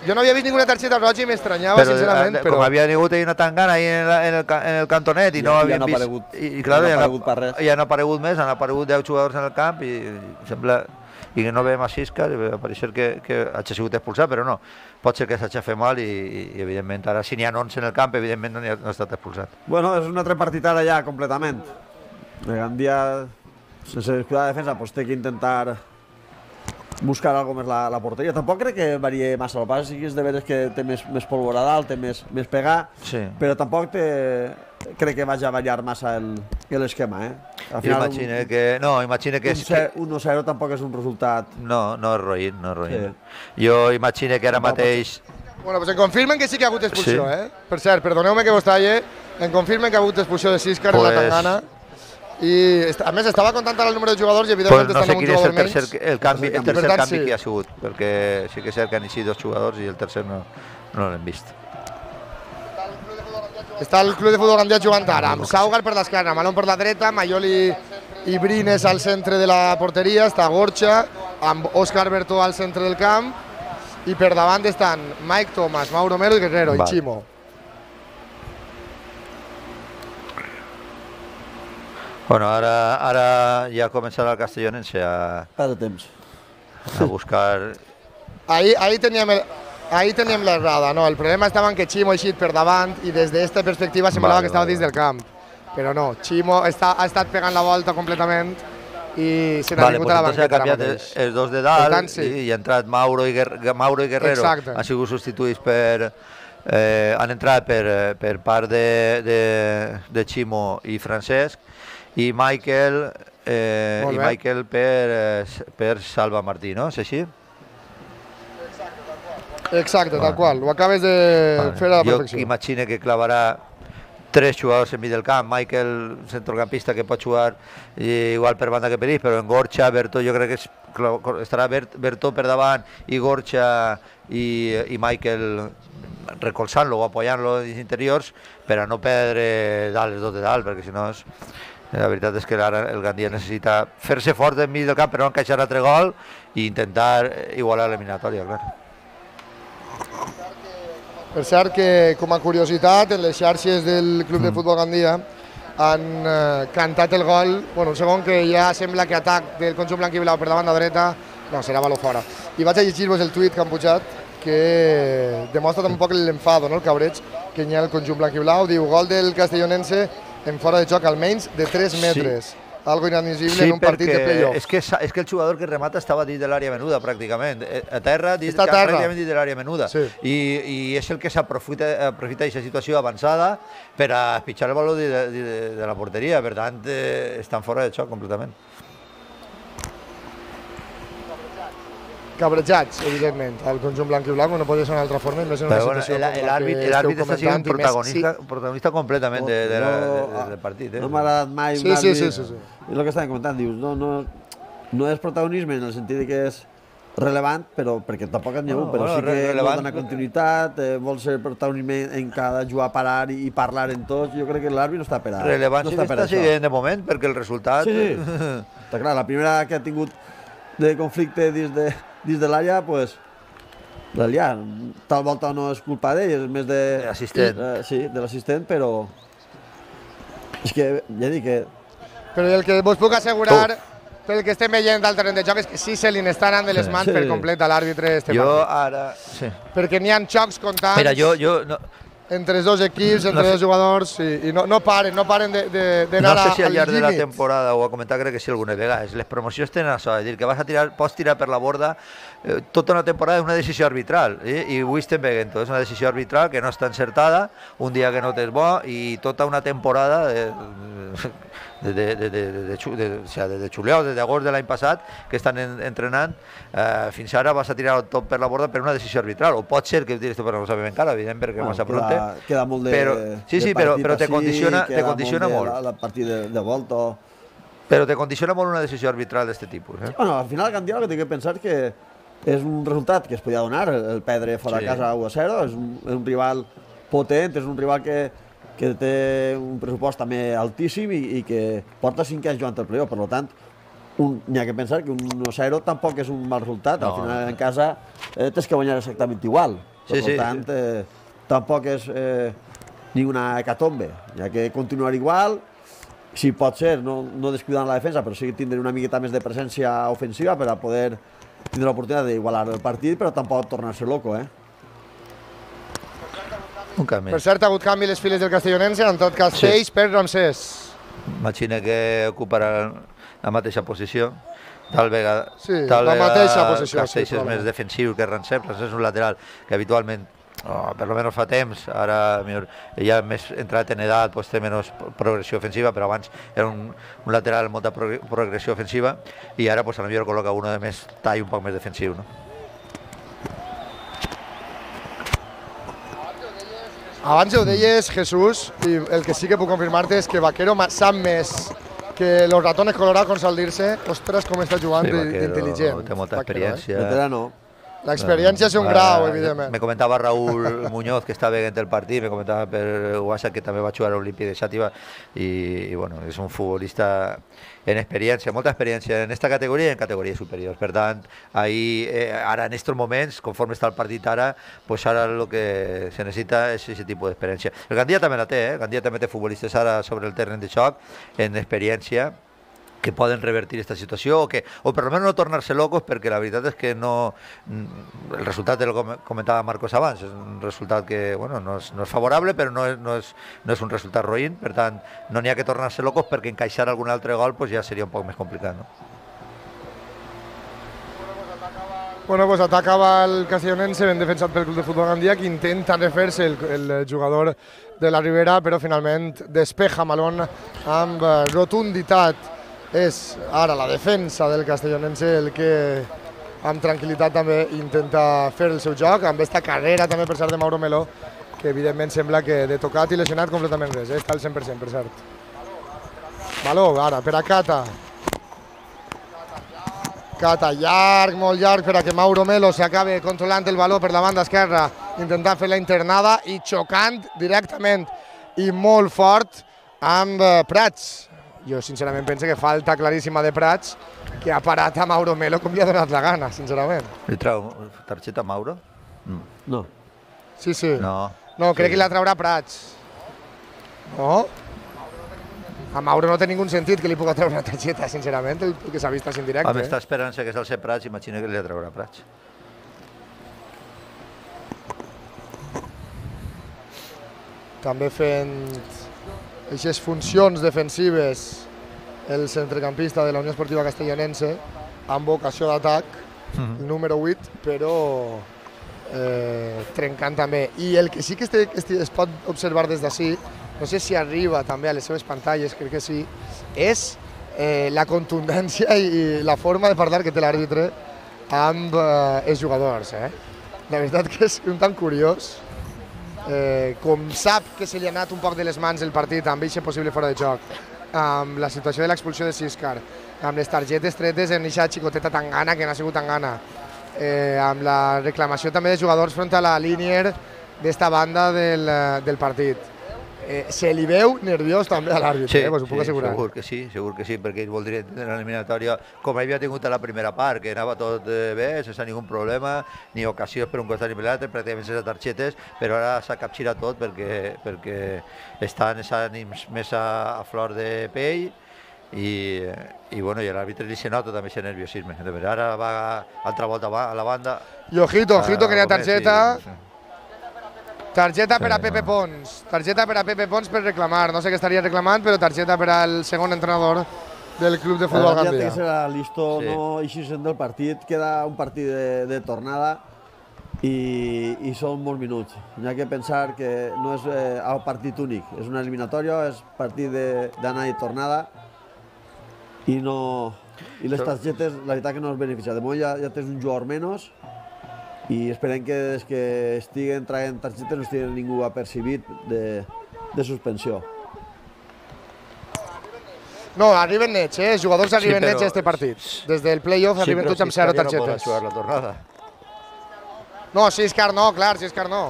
jo no havia vist ninguna targeta roja i m'estranyava, sincerament, però... Com havia vingut ahir una tangana ahí en, la, en, el, en el cantonet i, i no havien vist... Aparegut, I, i clar, ja no ha aparegut per res. Ja han aparegut més, han aparegut deu jugadors en el camp i, i sembla... I que no veiem a Siscar, pareix que, que hagi sigut expulsat, però no. Pot ser que s'hagi fet mal i, i evidentment, ara si n'hi ha onze en el camp, evidentment no, ha, no ha estat expulsat. Bueno, és un altre partit ara ja, completament. El Gandia, sense descuidar la defensa, pues, té que intentar buscar algo més la, la porteria. Tampoc crec que varie massa. El pas sí que és de veres que té més, més pólvora dalt, té més, més pegar, sí. Però tampoc té, crec que vagi a variar massa l'esquema. Eh? Imagina que... No, imagina que... un a zero tampoc és un resultat... No, no és roïn, no és roïn. Sí. Jo imagino que ara mateix... Bueno, pues em confirmen que sí que ha hagut expulsió, sí. eh? Per cert, perdoneu-me que vos talle, em confirmen que ha hagut expulsió de Siscar pues... en la tangana. I a més estava comptant el número de jugadors i evidentment pues no estan sé un jugador menys. No sé quin és el, canvi, el tercer tant, canvi sí. que hi ha sigut, perquè sí que és cert que han eixit dos jugadors i el tercer no, no l'hem vist. Està el Club de Futbol Gandia jugant ara, amb Saugar per l'esquerra, Malón per la dreta, Mayol i, i Brines al centre de la porteria, està Gorcha, amb Òscar Bertó al centre del camp, i per davant estan Mike Thomas, Mauro Melo i Guerrero, Val. i Chimo. Bueno, ara, ara ja ha començat el Castellonense a, a buscar... Ahí, ahí teníem el... Ahí teníem l'errada, no? El problema estava en que Chimo ha eixit per davant i des d'aquesta perspectiva semblava vale, que estava vale, dins vale. del camp. Però no, Chimo està, ha estat pegant la volta completament i se n'ha vale, vingut pues a la banqueta ara mateix. Els dos de dalt tant, sí. i ha entrat Mauro i, Guer Mauro i Guerrero. Exacte. Han sigut substituïts per... Eh, han entrat per, per part de, de, de Chimo i Francesc i Michael, eh, i Michael per, per Salva Martí, no? És així? Exacte, tal qual, ho acabes de vale. fer a la perfecció. Jo imagino que clavarà tres jugadors en mig del camp, Michael, centrocampista que pot jugar igual per banda que per ells, però en Gorcha, Bertó, jo crec que és, estarà Bertó per davant i Gorcha i, i Michael recolzant-lo o apoyant-lo dins interiors per a no perdre dalt els dos de dalt, perquè si no és... La veritat és que ara el Gandia necessita fer-se fort en mig del camp per no encaixar altre gol i intentar igualar l'eliminatòria, clar. Per cert que, com a curiositat, en les xarxes del Club de Futbol Gandia han eh, cantat el gol, bueno, un segon que ja sembla que atac del conjunt blanc i blau per davant la dreta, no, serà baló fora. I vaig a llegir-vos el tuit que han pujat, que demostra també un poc l'enfado, no? el cabreig que hi ha el conjunt blanc i blau. Diu, gol del Castellonense en fora de joc almenys de tres metres. Sí. Algo inadmissible sí, en un partit de play-off. És que, és que el jugador que remata estava dins de l'àrea menuda, pràcticament. A terra, dins, a terra. pràcticament dins de l'àrea menuda. Sí. I, I és el que s'aprofita d'aquesta situació avançada per a pitjar el valor de, de, de la porteria. Per tant, eh, estan fora de joc completament. Cabrejats, evidentment, el conjunt blanc i blanc no pot ser d'una altra forma, més en una bueno, situació el, l'àrbit està sent protagonista, sí. protagonista completament de, de, de, de, de, del partit. Eh? No m'ha agradat mai sí, sí, sí, sí, sí. I el que estàvem comentant, dius, no, no, no és protagonisme en el sentit que és relevant, però perquè tampoc n'hi ha hagut, però bueno, sí que relevant. Vol donar continuïtat, eh, vol ser protagonisme en cada jugar, parar i, i parlar en tots, jo crec que l'àrbit no està per a Relevant no sí que està siguent de moment, perquè el resultat... Sí, sí. Està clar, la primera que ha tingut de conflicte dins de dins de l'àrea, pues, ja, tal volta no és culpa d'ell, és més de... L'assistent. Eh, sí, de l'assistent, però... És que, ja dic que... Però el que vos puc assegurar, oh. pel que estem veient del terreny de joc, és que sí se li n'estan de les mans sí. per complet a l'àrbitre este jo partit. ara... Sí. Perquè n'hi ha xocs constants... Mira, jo... jo no... entre els dos equips, entre no sé. dos jugadors, i, i no, no paren, no paren d'anar no sé si al llarg de la temporada, ho ha comentat crec que sí alguna vegada, les promocions tenen això, és a dir, que vas a tirar, pots tirar per la borda eh, tota una temporada és una decisió arbitral, eh? i avui estem veient, és una decisió arbitral que no està encertada, un dia que no t'és bo, i tota una temporada de, de, de, de, de, de, de, de, o sea, de, de xuleos, des d'agost de l'any passat, que estan en, entrenant, eh, fins ara vas a tirar tot per la borda per una decisió arbitral, o pot ser que tires tot per no ho sabem encara, evident, perquè bueno, massa pronte. Queda molt de, però, sí, sí, de però, però te així, condiciona, te condiciona molt. La, la partit de, de volta. Però te condiciona molt una decisió arbitral d'aquest tipus. Eh? Bueno, al final, Gandia, el que té que pensar és que és un resultat que es podia donar, el perdre fora de casa u a zero, és un rival potent, és un rival que que té un pressupost també altíssim i que porta cinc anys jugant el playoff, per tant, n'hi ha que pensar que un u a zero tampoc és un mal resultat, al final en casa tens que guanyar exactament igual, per tant, tampoc és ni una hecatombe, hi ha que continuar igual, si pot ser, no descuidant la defensa, però sí tindre una miqueta més de presència ofensiva per a poder tindre l'oportunitat d'igualar el partit, però tampoc tornar-se loco, eh? Un canvi. Per cert, ha hagut canvi les files del castellonense, han entrat Castells per Ramsès. Imagina que ocuparà la mateixa posició. Tal vegada, sí, la mateixa posició. Castells és més defensiu que Ramsès. Ramsès és un lateral que habitualment, per almenys fa temps, ara ja més entrat en edat, té menys progressió ofensiva, però abans era un lateral amb molta progressió ofensiva i ara potser col·loca un de més tall, un poc més defensiu. Abans ho deies, Jesús, i el que sí que puc confirmar-te és que Vaquero sap més que los ratones colorados con salirse. Ostres, com està jugant d'intel·ligent. Té molta experiència. Veterano. La experiencia es un grau, evidentment. Me comentava Raúl Muñoz, que està veient el partit, me comentava per WhatsApp que també va jugar a l'Olímpic de Xàtiva i, bueno, és un futbolista en experiència, molta experiència en aquesta categoria i en categories superiors. Per tant, ara en aquests moments, conforme està el partit ara, pues ara el que se necessita és aquest tipus d'experiència. El Gandia també la té, eh? El Gandia també té futbolistes ara sobre el terreny de xoc en experiència que poden revertir aquesta situació o, que, o per almenys no tornar-se locos, perquè la veritat és que no, el resultat del que comentava Marcos abans és un resultat que bueno, no, és, no és favorable, però no és, no és, no és un resultat roïn, per tant no n'hi ha que tornar-se locos perquè encaixar algun altre gol pues, ja seria un poc més complicat. No? Bueno, pues atacava el castellonense, ben defensat pel Club de Futbol Gandia, que intenta refer-se el, el jugador de la Ribera, però finalment despeja Malón amb rotunditat. És ara la defensa del castellonense el que amb tranquil·litat també intenta fer el seu joc, amb aquesta carrera també per cert de Mauro Meló, que evidentment sembla que de tocat i lesionat completament res, està al cent per cent per cert. Baló ara per a Cata. Cata llarg, molt llarg per a que Mauro Meló s'acabi controlant el baló per la banda esquerra, intentant fer la internada i xocant directament i molt fort amb Prats. Jo sincerament penso que falta claríssima de Prats, que ha parat a Mauro Meló com li ha donat la gana, sincerament. Li trau targeta a Mauro? No. Sí, sí. No, no crec que la traurà Prats. No? A Mauro no té ningú sentit que li pugui treure una targeta, sincerament, el que s'ha vist així en directe. Home, està esperant-se que és el ser Prats, imagina que li traurà Prats. També fent aquestes funcions defensives el centrecampista de la Unió Esportiva Castellonense amb vocació d'atac, el número vuit, però eh, trencant també. I el que sí que este, este es pot observar des d'ací, no sé si arriba també a les seves pantalles, crec que sí, és eh, la contundència i la forma de parlar que té l'àrbitre amb eh, els jugadors. Eh? La veritat que és un tant curiós. Eh, com sap que se li ha anat un poc de les mans el partit amb eixe possible fora de joc, amb la situació de l'expulsió de Siscar, amb les targetes tretes en eixa xicoteta Tangana, que no ha sigut Tangana, eh, amb la reclamació també de jugadors front a la línia d'esta banda del, del partit. Eh, se li veu nerviós també a l'àrbitre, sí, eh, pues ho puc sí, assegurar. Segur que sí, segur que sí, perquè ell voldria tenir l'eliminatòria com havia tingut a la primera part, que anava tot bé, sense ningú problema, ni ocasions per un costat ni per l'altre, pràcticament sense targetes, però ara s'ha capgirat tot perquè, perquè estan els ànims més a, a flor de pell i, i, bueno, i l'àrbitre li se nota també aquest nerviosisme. Ara va altra volta a la banda. I ojito, ojito, que n'hi ha targeta. Targeta per a Pepe Pons, targeta per a Pepe Pons per reclamar, no sé què estaria reclamant, però targeta per al segon entrenador del Club de Futbol Gandia. Ja té que ser listo, no eixir-se'n del partit, queda un partit de, de tornada i, i són molts minuts. Hi ha que pensar que no és eh, el partit únic, és una eliminatòria, és partit d'anar i tornada i no... I les targetes, la veritat que no es beneficia. De moment ja, ja tens un jugador menys i esperem que des que estiguen traient targetes no estigui ningú apercibit de, de suspensió. No, arriben nets, eh? Els jugadors arriben nets a aquest partit. Des del play-off arriben tots amb zero targetes. Sí, però si la tornada. No, si és car no, clar, si és car no.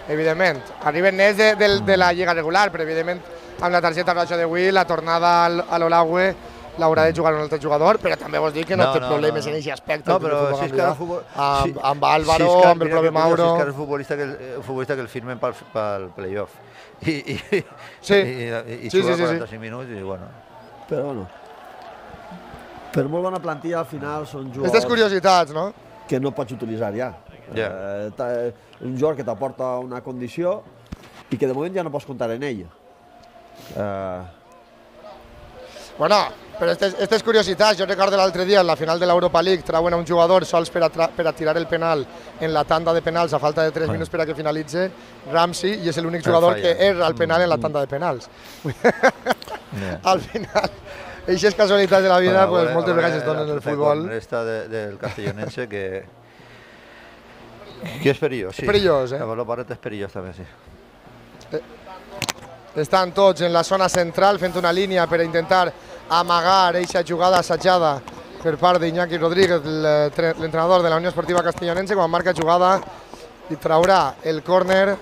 Evidentment. Arriben nets de, de, de la lliga regular, però evidentment amb la targeta roja d'avui, la tornada al, a l'Olagüe l'haurà de jugar un altre jugador, però també vols dir que no, no té no, problemes no, no. en aquest aspecte. No, però si és que el futbol... Amb, si, amb Álvaro, si que, amb el propi Mauro... Si és que el futbolista que el, el, futbolista que el firmen pel, pel play-off. I, i, sí. i, i, i sí, juga sí, sí, quaranta-cinc sí. minuts i bueno... Però bueno... Per molt bona plantilla, al final són jugadors... Aquestes curiositats, no? Que no pots utilitzar ja. Yeah. Eh, un jugador que t'aporta una condició i que de moment ja no pots comptar en ell. Eh... Bueno, però aquestes curiositats, jo recordo l'altre dia, en la final de l'Europa League, trauen a un jugador sols per a, per a tirar el penal en la tanda de penals a falta de tres minuts per a que finalitze, Ramsey, i és l'únic jugador que erra el penal en la tanda de penals. Yeah. Al final, aquestes casualitats de la vida, bueno, pues, moltes vegades es donen en el futbol. Esta de, del castellonense que... que és perillós, sí. És perillós, eh? El Barret és perillós també, sí. Eh, estan tots en la zona central fent una línia per intentar amagar aquesta jugada assajada per part d'Iñaki Rodríguez, l'entrenador de la Unió Esportiva Castellonense, quan marca jugada i traurà el córner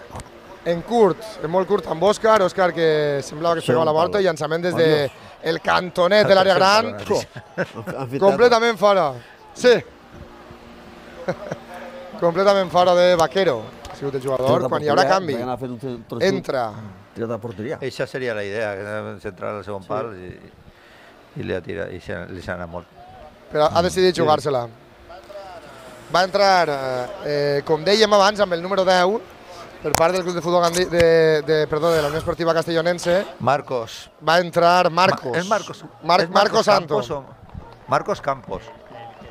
en curt, en molt curt amb Òscar, Òscar que semblava que es pegava la volta, i llançament des del cantonet de l'àrea gran, completament fora. Sí. Completament fora de Vaquero, ha sigut el jugador, quan hi haurà canvi. Entra. Tirat a porteria. Eixa seria la idea, centrar el segon pal i, i li ha tirat, i li s'ha anat molt. Però ha decidit jugar-se-la. Va entrar, eh, com dèiem abans, amb el número deu, per part del club de futbol de, de, de, perdó, de la Unió Esportiva Castellonense. Marcos. Va entrar Marcos. Ma, és Marcos. Mar, és Marcos, Marcos Santos. Campos, Marcos Campos.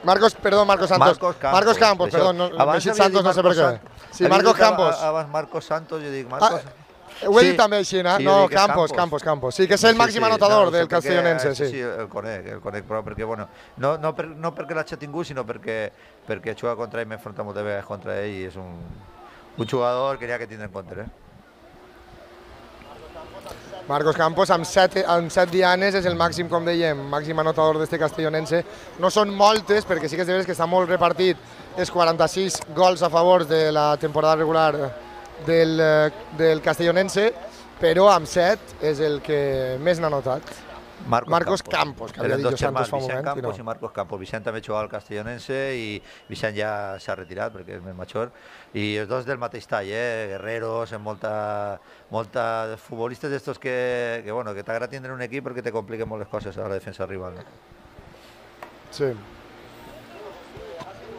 Marcos, perdó, Marcos Santos. Marcos Campos, Marcos Campos perdó, no, Santos no sé per què. Sí, Marcos Campos. Abans Marcos Santos, jo dic Marcos... Ah, ho he dit també així, no? No, Campos, Campos, Campos. Sí, que és el màxim anotador del Castellonense, sí. Sí, el conec, el conec, però perquè, bueno, no, no, per, no perquè l'hagi tingut, sinó perquè, perquè he jugat contra ell, m'he enfrontat moltes vegades contra ell i és un, un jugador que n'hi ha que tindre en compte, eh? Marcos Campos, amb set, amb set dianes, és el màxim, com dèiem, màxim anotador d'este castellonense. No són moltes, perquè sí que és de veres que està molt repartit els quaranta-sis gols a favor de la temporada regular del, del castellonense, però amb set és el que més n'ha notat. Marcos, Marcos Campos, Campos que havia dit jo Santos fa un moment. Vicent Campos i, no. i Marcos Campos. Vicent també jugava al castellonense i Vicent ja s'ha retirat perquè és més major. I els dos del mateix tall, eh? Guerreros, amb molta, molta futbolistes d'estos que, que, bueno, que t'agrada tindre un equip perquè te compliquen molt les coses a la defensa rival. No? Sí.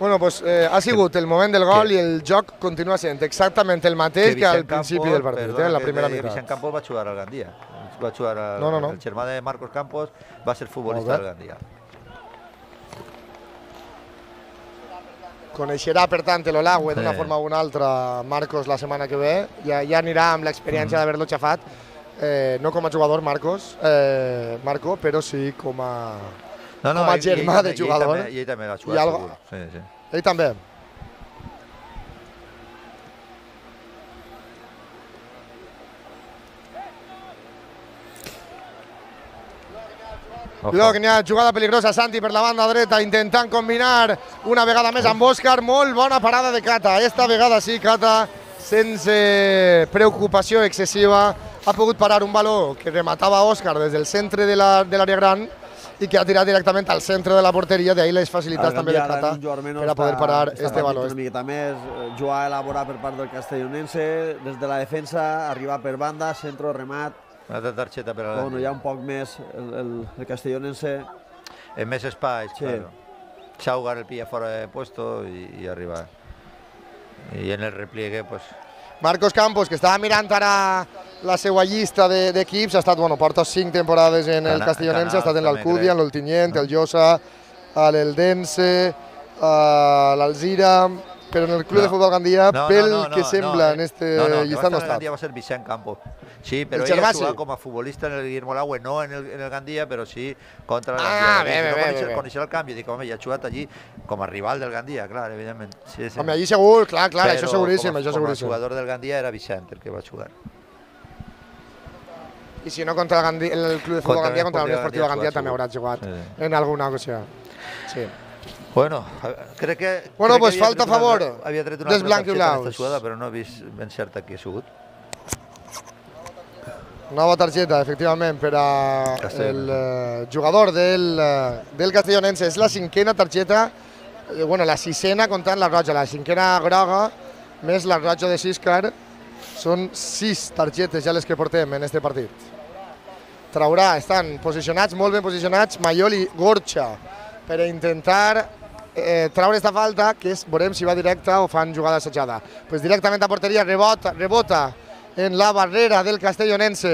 Bueno, pues eh, ha sigut el moment del gol i el joc continua sent exactament el mateix que, que al principi Campos, del partit, perdona, eh, en la primera meitat. Vicent Campos va jugar al Gandia. Va jugar al, no, no, no. el germà de Marcos Campos va ser futbolista del Gandia. Coneixerà, per tant, l'Olagüe d'una sí. forma o una altra Marcos la setmana que ve. Ja, ja anirà amb l'experiència mm. d'haver-lo xafat, eh, no com a jugador Marcos, eh, Marco, però sí com a, no, no, com a ell, germà ell, de jugador. I ell, ell també va jugar, algo... segur. Sí, sí. Ell també. Cuidado que n'hi ha jugada peligrosa, Santi per la banda dreta, intentant combinar una vegada més amb Òscar, molt bona parada de Cata, esta vegada sí, Cata, sense preocupació excessiva, ha pogut parar un baló que rematava Òscar des del centre de l'àrea gran i que ha tirat directament al centre de la porteria, d'ahir les facilitats també de Cata per a poder parar este baló. Una miqueta més, jugar a elaborar per part del castellonense, des de la defensa, arribar per banda, centre, remat. Una altra targeta per a la... Bueno, hi ha un poc més el, el, el castellonense. En més espais, sí. claro. Xaugar el pilla fora de puesto i, i arribar. I en el repliegue, pues... Marcos Campos, que estava mirant ara la seva llista d'equips, ha estat, bueno, porta cinc temporades en el castellonense, ha estat en l'Alcúdia, en l'Oltinyent, el Llosa, l'Eldense, l'Alzira... Però en el club no, de futbol Gandia, no, pel no, no, que no, sembla no, en este no, no, llistat no està. Gandia va ser Vicent Campos. Sí, però ell ha jugat com a futbolista en el Guillermo Olagüe, no en el, en el Gandia, però sí contra el Gandia. Ah, bé, bé, bé, bé. Coneixer el canvi, dic, home, ja ha jugat allí com a rival del Gandia, clar, evidentment. Sí, sí. Home, allí segur, clar, clar, però això seguríssim, com a, això seguríssim. Com a jugador del Gandia era Vicent el que va jugar. i si no contra el, Gandhi, el Club de Futbol Gandia, contra la Unió Esportiva Gandia també haurà jugat sí. en alguna ocasió. Sí. Bueno, crec que... Bueno, crec pues que falta a favor havia tret una dels blanquiolaus. Jugada, però no he vist ben cert qui ha sigut. Nova targeta, efectivament, per al uh, jugador del, uh, del Castellonense. És la cinquena targeta, eh, bueno, la sisena comptant la roja, la cinquena groga, més la roja de Siscar. Són sis targetes ja les que portem en este partit. Traurà, estan posicionats, molt ben posicionats, Mayol i Gorcha, per intentar eh, traure esta falta, que és, veurem si va directa o fan jugada assajada. Pues directament a porteria, rebota, rebota en la barrera del Castellonense.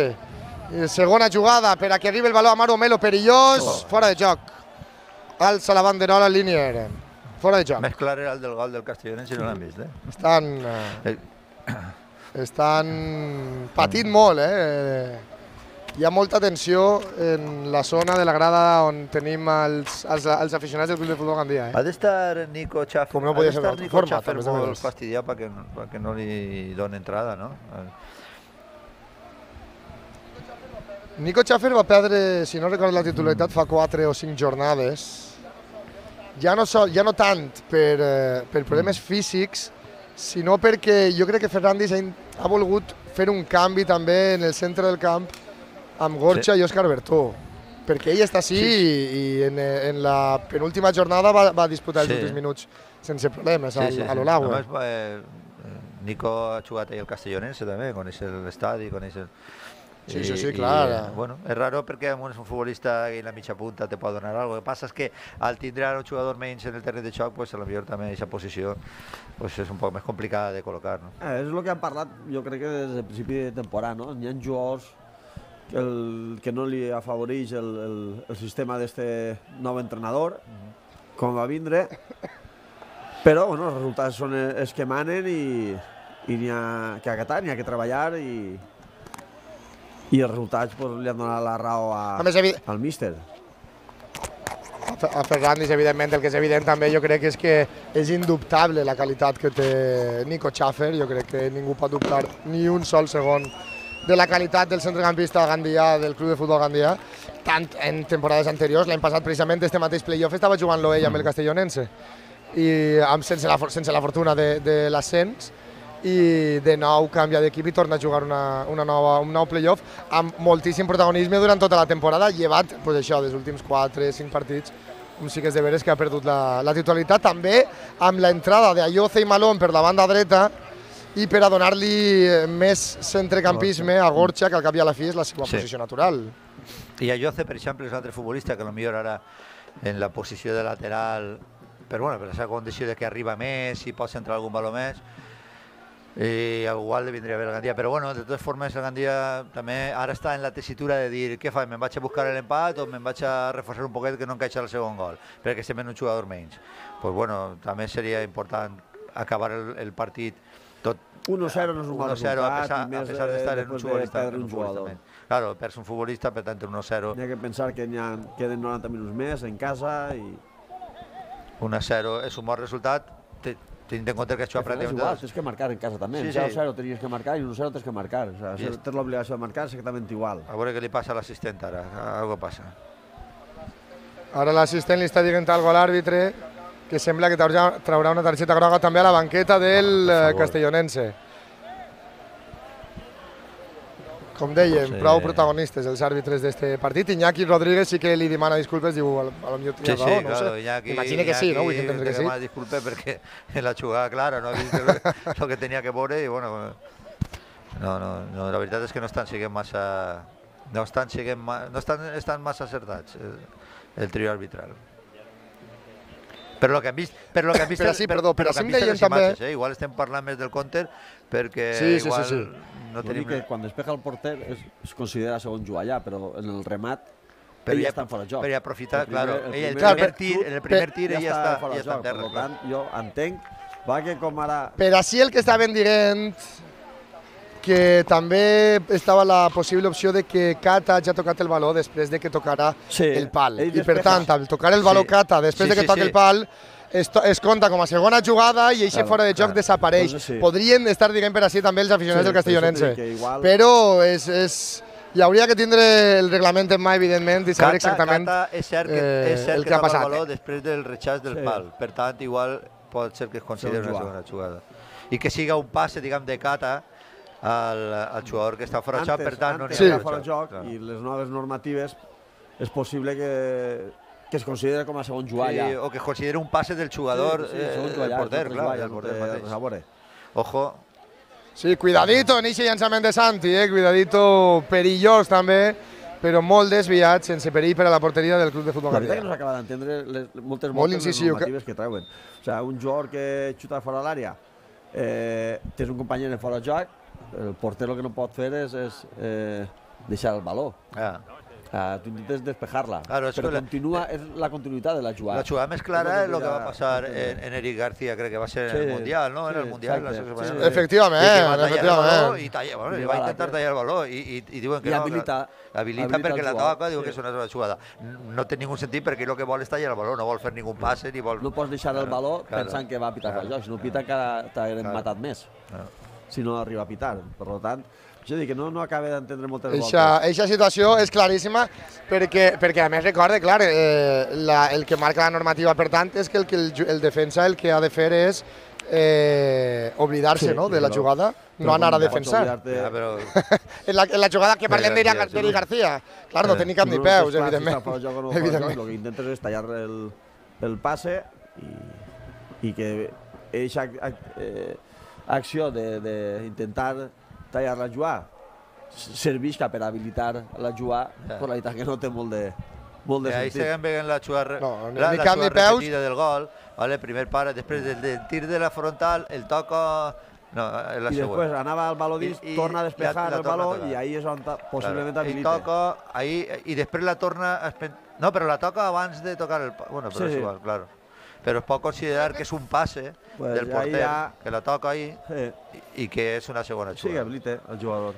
Segona jugada per a que arribi el baló a Mauro Melo, perillós, oh. fora de joc. Alça la banderola Linier. Fora de joc. Més clar era el del gol del Castellonense, no l'han vist, eh? Estan... Eh, estan patint molt, eh? Hi ha molta tensió en la zona de la grada on tenim els, els, els aficionats del Club de Futbol Gandia. Eh? Ha d'estar Nico Schaffer, Com no podia ser d'altra forma, Schaffer molt fastidiat perquè, perquè no li doni entrada, no? Nico Schaffer va perdre, si no recordo la titularitat, fa quatre o cinc jornades. Ja no, so, ja no tant per, eh, per problemes físics, sinó perquè jo crec que Ferrandis ha, ha volgut fer un canvi també en el centre del camp amb Gorcha sí. i Òscar Bertó, perquè ell està així sí. i, i en, en la penúltima jornada va, va disputar els sí. últims minuts sense problemes sí, al, sí, a l'Olagua. Sí. Eh, Nico ha jugat ahí al Castellonense també, coneix l'estadi, coneix el... Sí, sí, sí, clar. I, bueno, és raro perquè un és un futbolista i la mitja punta te pot donar alguna cosa. El que passa és que al tindre un jugador menys en el terreny de xoc, pues, a lo millor també aquesta posició pues, és un poc més complicada de col·locar. No? Eh, és el que han parlat, jo crec que des del principi de temporada, no? Hi ha jugadors que, el, que no li afavoreix el, el, el sistema d'este nou entrenador, uh-huh. com va vindre, però bueno, els resultats són els que manen i, i n'hi ha que acatar, n'hi ha que treballar i... i els resultats pues, li han donat la raó a, a al míster. A Ferrandis, evidentment, el que és evident també jo crec és que és indubtable la qualitat que té Nico Schaffer. Jo crec que ningú pot dubtar ni un sol segon de la qualitat del centrecampista Gandia, del Club de Futbol Gandia, tant en temporades anteriors. L'any passat, precisament, este mateix playoff estava jugant-lo ell amb el Castellonense, i amb, sense, la, sense la fortuna de, de l'ascens, i de nou canvia d'equip i torna a jugar una, una nova, un nou playoff amb moltíssim protagonisme durant tota la temporada, llevat pues això, dels últims quatre cinc partits, com sí que és de veres que ha perdut la, la titularitat, també amb l'entrada d'Ayoce i Malón per la banda dreta i per a donar-li més centrecampisme a Gorcha, que al cap i a la fi és la seva sí. posició natural. I Ayoce, per exemple, és un altre futbolista que potser ara en la posició de lateral, però bueno, per la condició de que arriba més i pot centrar algun valor més, i igual li vindria bé el Gandia, però bueno, de totes formes el Gandia també ara està en la tessitura de dir què faig, me'n vaig a buscar l'empat o me'n vaig a reforçar un poquet que no encaixa el segon gol, perquè estem en un jugador menys. Pues bueno, també seria important acabar el, el partit tot uno cero no és un mal resultat, a pesar, i més a pesar d'estar en un futbolista, de un jugador. Claro, perds un futbolista, per tant uno cero. N'hi ha que pensar que n'hi ha, queden noranta minuts més en casa i... uno cero és un bon resultat, tenint en compte que això ha pràcticament... És igual, tens que marcar en casa també. Sí, sí. zero cero tenies que marcar i uno cero tens que marcar. O sea, yes. Tens l'obligació de marcar exactament igual. A veure què li passa a l'assistent ara, algo passa. Ara l'assistent li està dient algo a l'àrbitre, que sembla que traurà una targeta groga també a la banqueta del ah, Castellonense. Com dèiem, sí. prou protagonistes els àrbitres d'aquest partit. Iñaki Rodríguez sí que li demana disculpes, diu, a lo millor tenia sí, raó, sí, no claro, sé. Iñaki, Imagina que sí, Iñaki, no? Vull entendre que sí. Demana disculpes perquè en la jugada clara no ha vist el que tenia que veure i bueno, no, no, no, la veritat és que no estan siguent massa, no estan siguent, no estan, estan massa acertats el, el trio arbitral. Per lo que hem vist, per lo que hem vist, però sí, perdó, però sí em deien també... Imatges, eh? Igual estem parlant més del counter perquè sí, sí, igual sí, sí. no tenim... que quan despeja el porter es, es considera segon jugar allà, però en el remat però ell ja està fora de joc. Per aprofitar, el primer, el claro, ell, el primer, primer tir, en el primer tir ja ell ja està, ja està en terra. Per tant, jo entenc, va que com ara... Per així el que estaven dient que també estava la possible opció de que Cata ja ha tocat el baló després de que tocarà sí, el pal. I per tant, al tocar el baló sí. Cata després sí, de que sí, toqui sí. el pal, es, es compta com a segona jugada i eixe claro, fora de joc claro. desapareix. Doncs sí. Podrien estar dient per així també els aficionats sí, del Castellonense. Igual... Però és, és, i hauria que tindre el reglament en mà, evidentment, i saber exactament Cata, és cert que, eh, és cert el que que ha tapa passat. el valor després del rechaç del Sí. pal. Per tant, igual pot ser que es consideri Sí, una segona jugada. I que siga un passe, diguem, de Cata al, al jugador que està fora de joc, per tant, no n'hi sí. ha fora de joc, clar. i les noves normatives és possible que, que es consideri com a segon jugar Sí, ja. o que es consideri un passe del jugador, Sí, sí, eh, segon del jugar ja, porter, és un clar, jugar ja, del no porter té mateix. res a veure. Ojo, Sí, cuidadito en eixe llançament de Santi, eh? Cuidadito perillós també, però molt desviat, sense perill per a la porteria del Club de Futbol La veritat que no Gandia. s'acaba d'entendre les, moltes, Molt moltes les incisiu, normatives que treuen. O sigui, un jugador que xuta fora de l'àrea, eh, tens un company en fora de joc, el porter el que no pot fer és, és eh, deixar el baló. ah. Uh, tu intentes despejar-la, Claro, és però que la- continua, és la continuïtat de la jugada. La jugada més clara És és el el que que va ja passar entendre. en, en Eric García, crec que va ser en Sí, el Mundial, no? En sí, el Mundial, la exacte, selecció sí, espanyola. sí. Efectivament, I que va tallar el efectivament. baló i, talla, bueno, i I va va intentar la- tallar el baló i, i, i diuen que I no. habilita- que- habilita habilita perquè el la jugador, toca, diu sí. que és una sola jugada. No té ningú sentit perquè el que vol és tallar el baló, no vol fer ningú passe ni vol... No pots deixar el baló Claro, pensant que va a pitar claro. el joc, si no pita encara t'haguem Claro. matat més, Claro. si no arriba a pitar. Per tant, jo dic que no, no acaba d'entendre moltes Eixa, voltes. eixa situació és claríssima perquè, perquè a més recorde, clar, eh, la, el que marca la normativa, per tant, és que el, que el, ju- el defensa el que ha de fer és eh, oblidar-se Sí, no, de la però- jugada, però no anar a com pots defensar. oblidar-te- Ja, però... En la, en la jugada que parlem García, d'Eric sí. García, García, clar, no Eh, tenia cap ni No, peus, és clar, si evidentment. està fora de joc o no fora de joc, evidentment. el que intentes és tallar el, el passe i, i que eixa eh, acció d'intentar tallar la jugada servisca per habilitar la jugada, Ja. però la veritat que no té molt de, molt de I ahí sentit. seguim veient la jugada, No, ni- la, ni la cap ni jugada peus. repetida del gol, vale? Primer pare, després del, del tir de la frontal, el toca... No, és la I després següent. anava al baló dins, I- i torna a la- despejar la el torna a baló tocar. i ahí és on ta- possiblement Claro. I habilita. toca, ahí, i després la torna... a espen- No, però la toca abans de tocar el... pa- Bueno, però Sí, és sí. igual, claro. Però es pot considerar que és un passe Pues del ahí porter, ja- que la toca ahí Sí, i, i que és una segona sí que jugada. habilita el jugador.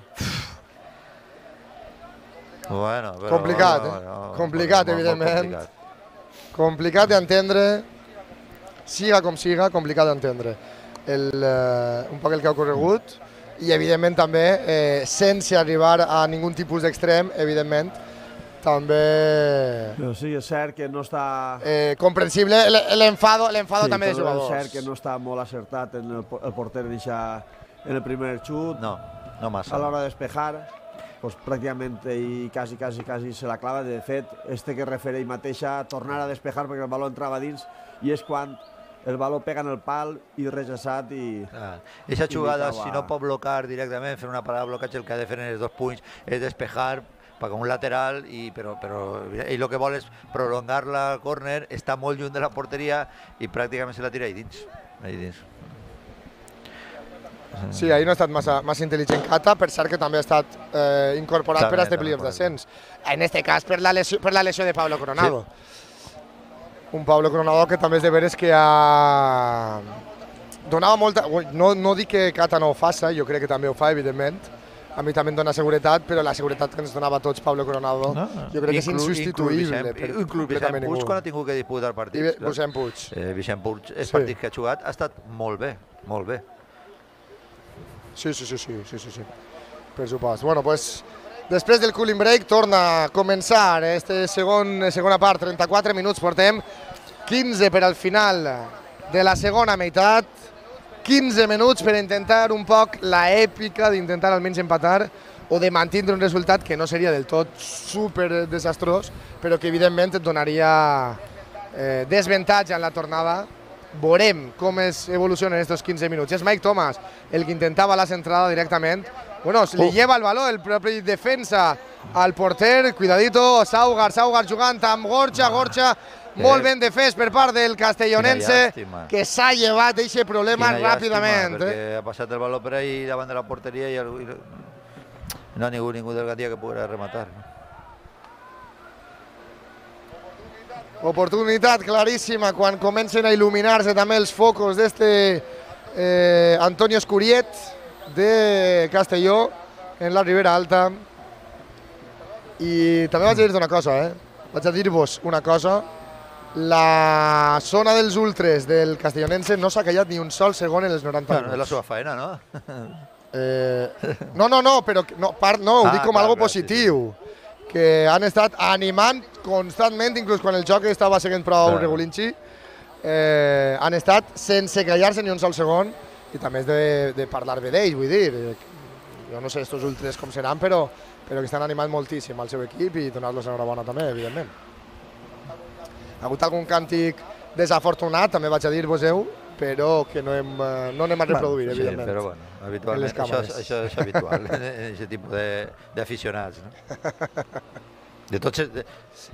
Bueno, però, Complicat, no, eh? no, Complicat, molt, molt evidentment. complicat. Complicat d'entendre, siga com siga, complicat d'entendre el, eh, un poc el que ha ocorregut i, evidentment, també, eh, sense arribar a ningun tipus d'extrem, evidentment, també Però sí, és cert que no està... eh, comprensible l- l'enfado l'enfado sí, també de però jugadors. És cert que no està molt acertat en el, po- el porter en, eixa- en el primer xut. No, no massa. A l'hora de despejar, pues, pràcticament i quasi, quasi, quasi se la clava. De fet, este que refereix mateixa, tornar a despejar perquè el baló entrava dins i és quan el baló pega en el pal i rejaçat i... Ah, Eixa jugada, Indicava- si no pot blocar directament, fer una parada de blocatge, el que ha de fer en els dos punys és despejar perquè un lateral, i, però, però ell el que vol és prolongar la córner, està molt lluny de la porteria i pràcticament se la tira ahí dins. Ahí dins. Sí, ahir no ha estat massa, massa intel·ligent Cata, per cert que també ha estat eh, incorporat També, per a este també, playoff per d'ascens. En este cas per la lesió, per la lesió de Pablo Coronado. Un Pablo Coronado que també és de veres que ha... donava molta... No, no dic que Cata no ho faça, jo crec que també ho fa, evidentment. A mi també em dona seguretat, però la seguretat que ens donava a tots Pablo Coronado, No? jo crec que és Inclús- insubstituïble. Inclús per Vicent, inclús completament Vicent Puig, ningú. quan ha tingut que disputar I partits. bé, clar. Vicent Puig. Eh, Vicent Puig, els Sí. partits que ha jugat, ha estat molt bé, molt bé. Sí, sí, sí, sí, sí, sí, sí. Per supost. Bueno, pues, després del cooling break torna a començar este segon, segona part, trenta-quatre minuts, portem quinze per al final de la segona meitat, quinze minuts per intentar un poc la èpica d'intentar almenys empatar o de mantindre un resultat que no seria del tot super desastrós, però que evidentment et donaria eh, desavantatge en la tornada. Veurem com es evolucionen estos quinze minuts. És Mike Thomas el que intentava la centrada directament. Bueno, se li Oh. lleva el baló el propi defensa al porter. Cuidadito, Saugar, Saugar jugant amb Gorcha, Gorcha molt ben defès per part del castellonense, Quina llàstima. que s'ha llevat aquest problema Quina ràpidament. llàstima, Eh? perquè ha passat el baló per ahí davant de la porteria i, el, i no hi ha ningú, ningú del Gandia que pugui rematar. Oportunitat claríssima quan comencen a il·luminar-se també els focos d'este eh, Antonio Escuriet de Castelló en la Ribera Alta. I també vaig a dir-te una cosa, eh? Vaig a dir-vos una cosa. La zona dels ultres del castellonense no s'ha callat ni un sol segon en els noranta Bueno, és la minuts. seva feina, no? Eh, no, no, no, però no, part, no ho Ah, dic com clar, algo clar, positiu. Sí, sí. Que han estat animant constantment, inclús quan el joc estava seguint prou Clar. regulinxi, eh, han estat sense callar-se ni un sol segon, i també és de, de parlar bé d'ells, vull dir. Eh, jo no sé estos ultres com seran, però, però que estan animant moltíssim al seu equip i donar-los enhorabona també, evidentment. Ha hagut algun càntic desafortunat, també vaig a dir-vos-heu, però que no, hem, no anem a reproduir, sí, evidentment. Però bueno, habitualment, això, això és habitual en aquest tipus d'aficionats. No? De tots, de,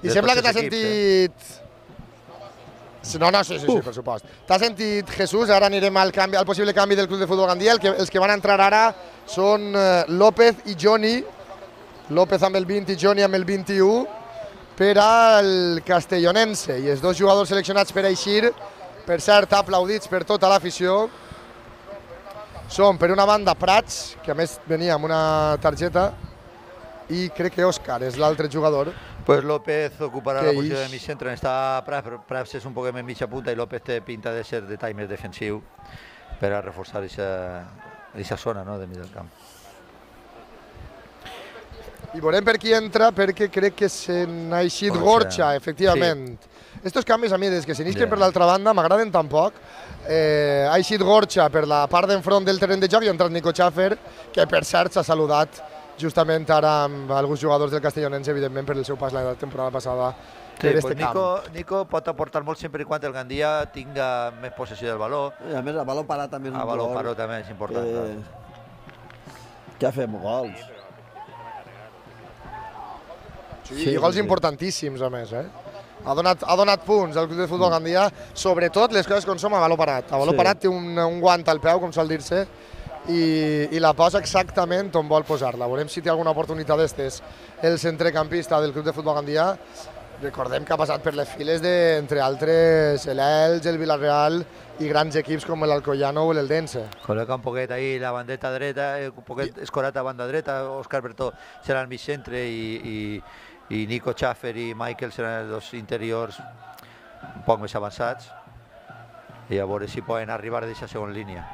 I de sembla tots que t'has els equips, sentit... Eh? No, no, sí, sí, sí, per supost. T'has sentit, Jesús, ara anirem al, canvi, al possible canvi del Club de Futbol Gandia. El que, els que van entrar ara són uh, López i Johnny. López amb el vint i Johnny amb el vint-i-u per al castellonense. I els dos jugadors seleccionats per eixir, per cert, aplaudits per tota l'afició, són, per una banda, Prats, que a més venia amb una targeta, i crec que Òscar és l'altre jugador. Pues López ocuparà que la posició ix... de mig centre, on està Prats, però Prats és un poc més mitja punta i López té pinta de ser de tall més defensiu per a reforçar aquesta zona, no, de mig del camp. I veurem per qui entra, perquè crec que se n'ha eixit Gorcha, efectivament. Sí. Estos canvis a mi, des que s'inixen yeah. per l'altra banda, m'agraden tan poc. Eh, ha eixit Gorcha per la part d'enfront del terreny de joc i ha entrat Nico Schaffer, que per cert s'ha saludat justament ara amb alguns jugadors del castellonense, evidentment, per el seu pas la temporada passada sí, per pues este Nico, camp. Nico pot aportar molt sempre i quan el Gandia tinga més possessió del valor. I a més, el valor parat també és un El valor gol parat també és important. que, que ha fet gols. Sí, sí, i gols sí. importantíssims, a més, eh? Ha donat, ha donat punts al Club de Futbol Gandia, sobretot les coses com som a valor parat. A valor sí. parat té un, un guant al peu, com sol dir-se, i, i la posa exactament on vol posar-la. Veurem si té alguna oportunitat d'estes el centrecampista del Club de Futbol Gandia. Recordem que ha passat per les files de, entre altres, l'Elx, el Villarreal i grans equips com l'Alcoyano o l'Eldense. Col·loca un poquet ahí la bandeta dreta, un poquet I... escorat a banda dreta, Òscar Bertó serà al mig centre i, i, i Nico Schaffer i Michael seran els dos interiors un poc més avançats i a veure si poden arribar a aquesta segona línia.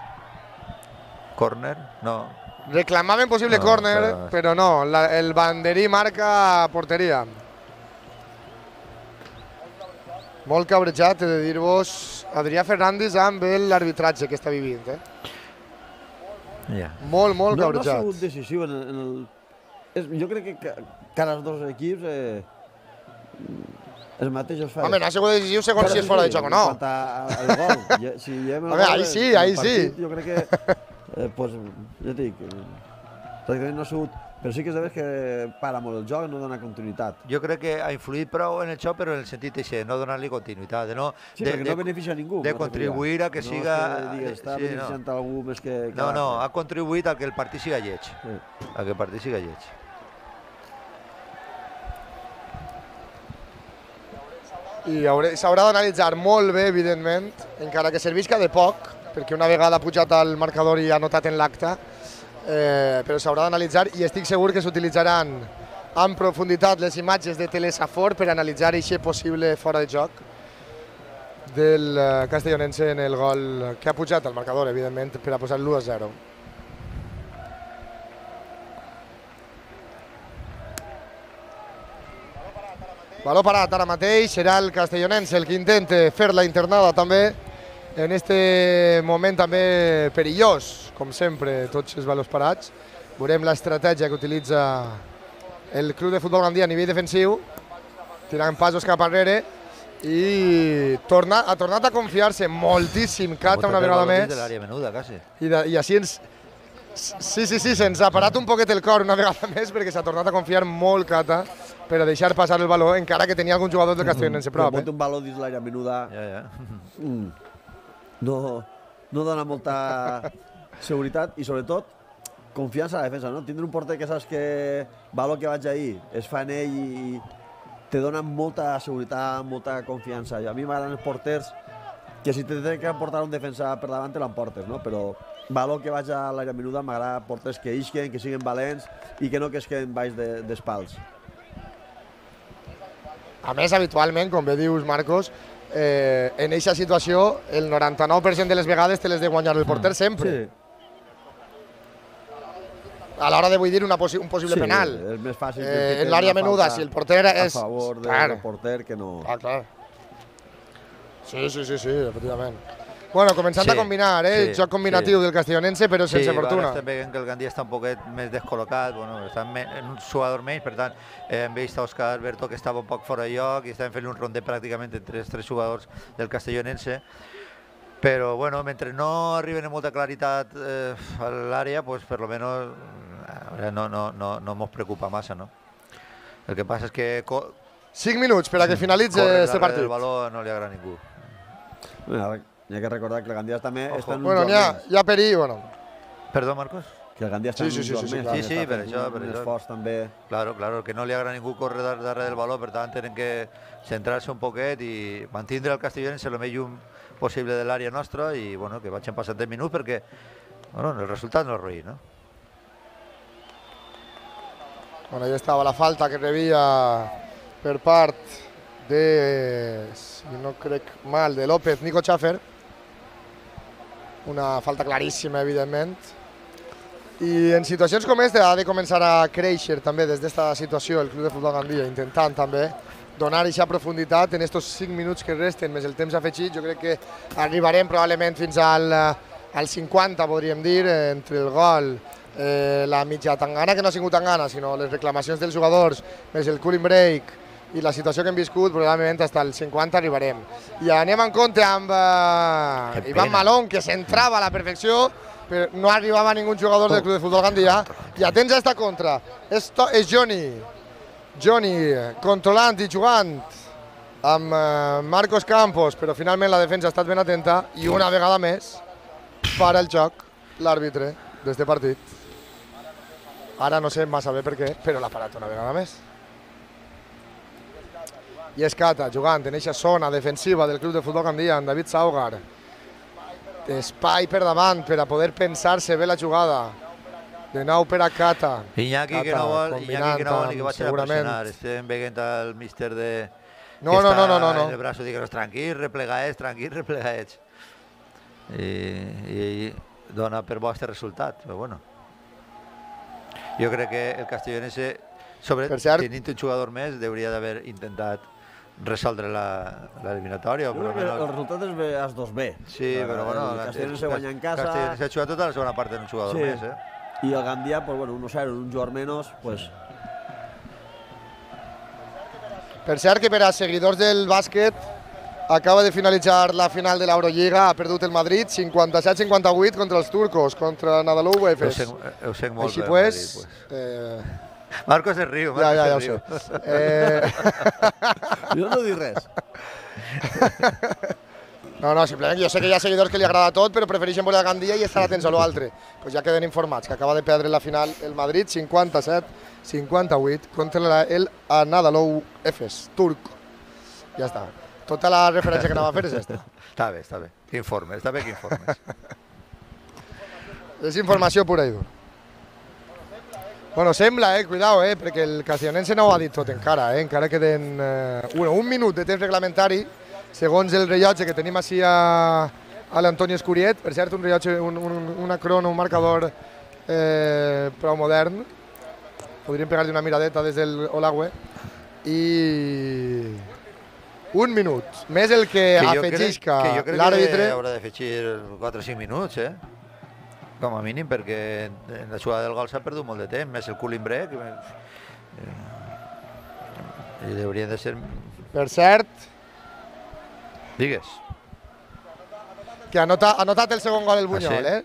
Córner? No. Reclamaven possible no, córner, però, però no, la, el banderí marca porteria. Molt cabrejat, he de dir-vos, Adrià Fernández amb l'arbitratge que està vivint. Eh? Yeah. Molt, molt no, cabrejat. No ha sigut decisiu en el... En el... És, jo crec que cada dos equips eh, els mateixos fa. Home, no ha sigut decisiu segons si és fora de joc o no. En quant al gol. Ja, si Home, gol, ahí sí, ahí partit, sí. Jo crec que, eh, pues, ja et dic, pràcticament no ha sigut... Però sí que és de veres que para molt el joc, no dona continuïtat. Jo crec que ha influït prou en el joc, però en el sentit de no donar-li continuïtat. De no, sí, de, perquè de, no beneficia a ningú. De contribuir a que no siga... No que està sí, beneficiant no. a algú més que... que no, no, ha contribuït a que el partit siga lleig. Sí. A que el partit siga lleig. I s'haurà d'analitzar molt bé, evidentment, encara que servisca de poc, perquè una vegada ha pujat al marcador i ha notat en l'acte, eh, però s'haurà d'analitzar i estic segur que s'utilitzaran en profunditat les imatges de Telesafor per analitzar aquest possible fora de joc del castellonense en el gol que ha pujat al marcador, evidentment, per a posar l'u a zero. Valor parat ara mateix, serà el castellonense el que intenta fer la internada també en este moment també perillós, com sempre, tots els valors parats. Veurem l'estratègia que utilitza el Club de Futbol Gandia a nivell defensiu, tirant passos cap enrere i torna, ha tornat a confiar-se moltíssim Cata una vegada més. De l'àrea menuda, quasi. I, de, i així ens... Sí, sí, sí, se'ns ha parat un poquet el cor una vegada més perquè s'ha tornat a confiar molt Cata per a deixar passar el valor, encara que tenia algun jugador del castellonense prop. Però pot un valor dins l'àrea menuda... Ja, ja. Mm. No, no dona molta seguretat i, sobretot, confiança a la defensa, no? Tindre un porter que saps que valor que vaig ahir es fa en ell i te dona molta seguretat, molta confiança. I a mi m'agraden els porters que si te tenen que portar un defensa per davant te l'emportes, no? Però valor que vaig a l'àrea menuda m'agrada porters que isquen, que siguin valents i que no que es queden baix de, d'espals. A més, habitualment, com bé dius, Marcos, eh, en aquesta situació el noranta-nou per cent de les vegades te les de guanyar el porter sempre. Sí. a l'hora de, vull dir, una possi un possible sí, penal. És més fàcil eh, que en l'àrea menuda, si el porter és... a favor del claro. porter que no... Ah, clar. Sí, sí, sí, sí, efectivament. Bueno, començant sí, a combinar, eh? Sí, joc combinatiu sí. del castellonense, però sense sí, fortuna. Sí, estem veient que el Gandia està un poquet més descol·locat, bueno, està en un jugador menys, per tant, eh, hem vist a Òscar Alberto que estava un poc fora de lloc i estàvem fent un rondet pràcticament entre els tres jugadors del castellonense. Però, bueno, mentre no arriben amb molta claritat eh, a l'àrea, pues, per lo menos eh, no, no, no, no mos preocupa massa, no? El que passa és que... cinc minuts per a que finalitzi este partit. El valor no li agrada a ningú. Bueno, hi ha que recordar que el Gandia també Ojo. està en un bueno, joc ja, més. ja per ahir, bueno. Perdó, Marcos? Que el Gandia està Sí, sí, en un sí, joc sí, sí, més. clar. Sí, sí, està per fent això, un per això. esforç també. Claro, claro, que no li agrada a ningú córrer dar- darrere del valor, per tant tenen que centrar-se un poquet i mantindre el castellonense el més llum possible de l'àrea nostra i bueno, que vagin passant deu minuts perquè bueno, el resultat no és roí, no? Bueno, ahí estava la falta que rebia per part de, si no crec mal, de López, Nico Schaffer. Una falta claríssima, evidentment. I en situacions com aquesta ha de començar a créixer també des d'esta situació el Club de Futbol Gandia, intentant també donar aquesta profunditat en aquests cinc minuts que resten, més el temps afegit. Jo crec que arribarem probablement fins al, al cinquanta, podríem dir, entre el gol, eh, la mitja tangana, que no ha sigut tangana, sinó les reclamacions dels jugadors, més el cooling break i la situació que hem viscut, probablement fins al cinquanta arribarem. I anem en compte amb eh, Ivan Malón, que s'entrava a la perfecció, però no arribava ningú jugador del Club de Futbol Gandia. I atents a esta contra, esto és Johnny. Johnny controlant i jugant amb eh, Marcos Campos, però finalment la defensa ha estat ben atenta i una vegada més para el joc l'àrbitre d'este partit. Ara no sé massa bé per què, però l'ha parat una vegada més. I Escata jugant en aquesta zona defensiva del Club de Futbol Gandia amb David Saugar. Espai per davant per a poder pensar-se bé la jugada. De nou per a Cata. Iñaki que no vol, Iñaki que no vol ni que vagi a pressionar. Estem veient el míster de... No, no, no, no, no. En el braço digues, tranquil, replegaets, tranquil, replegaets. I, i dona per bo este resultat, però bueno. Jo crec que el castellonense, sobre tenint un jugador més, hauria d'haver intentat resoldre l'eliminatòria. Jo crec que el resultat és els dos B. Sí, però bueno... El castellonense guanya en casa... El castellonense ha jugat tota la segona part en un jugador més, eh? I el Gandia, pues bueno, uno cero, un jugador menos, pues... Per cert que per a seguidors del bàsquet acaba de finalitzar la final de l'Eurolliga, ha perdut el Madrid cinquanta-set cinquanta-vuit contra els turcos, contra Nadalou Efes. Ho sé molt Així bé, pues, Madrid, pues. Eh... Marcos es riu, Marcos ja, ja, ja es riu. ho sé. Eh... Jo no dic res. No, no, simplement jo sé que hi ha seguidors que li agrada tot, però prefereixen veure el Gandia i estar atents a l'altre. Pues ja queden informats que acaba de perdre la final el Madrid cinquanta-set cinquanta-vuit contra el Anadolu Efes, turc. Ja està. Tota la referència que anava a fer és aquesta. Està bé, està bé. Informes, està bé que informes. És informació pura i dura. Bueno, sembla, eh, cuidao, eh, perquè el castellonense no ho ha dit tot encara, eh, encara queden eh, un, un minut de temps reglamentari, segons el rellotge que tenim així a, a l'Antoni Escuriet, per cert, un rellotge, un, un, una crono, un marcador eh, prou modern, podríem pegar-li una miradeta des del Olagüe, i un minut, més el que, que afegisca l'àrbitre. Que jo crec que haurà d'afegir quatre o cinc minuts, eh? Com a mínim, perquè en la jugada del gol s'ha perdut molt de temps, més el cooling break. I hauria de ser... Per cert... Digues. Que ha notat el segon gol el Buñol, eh?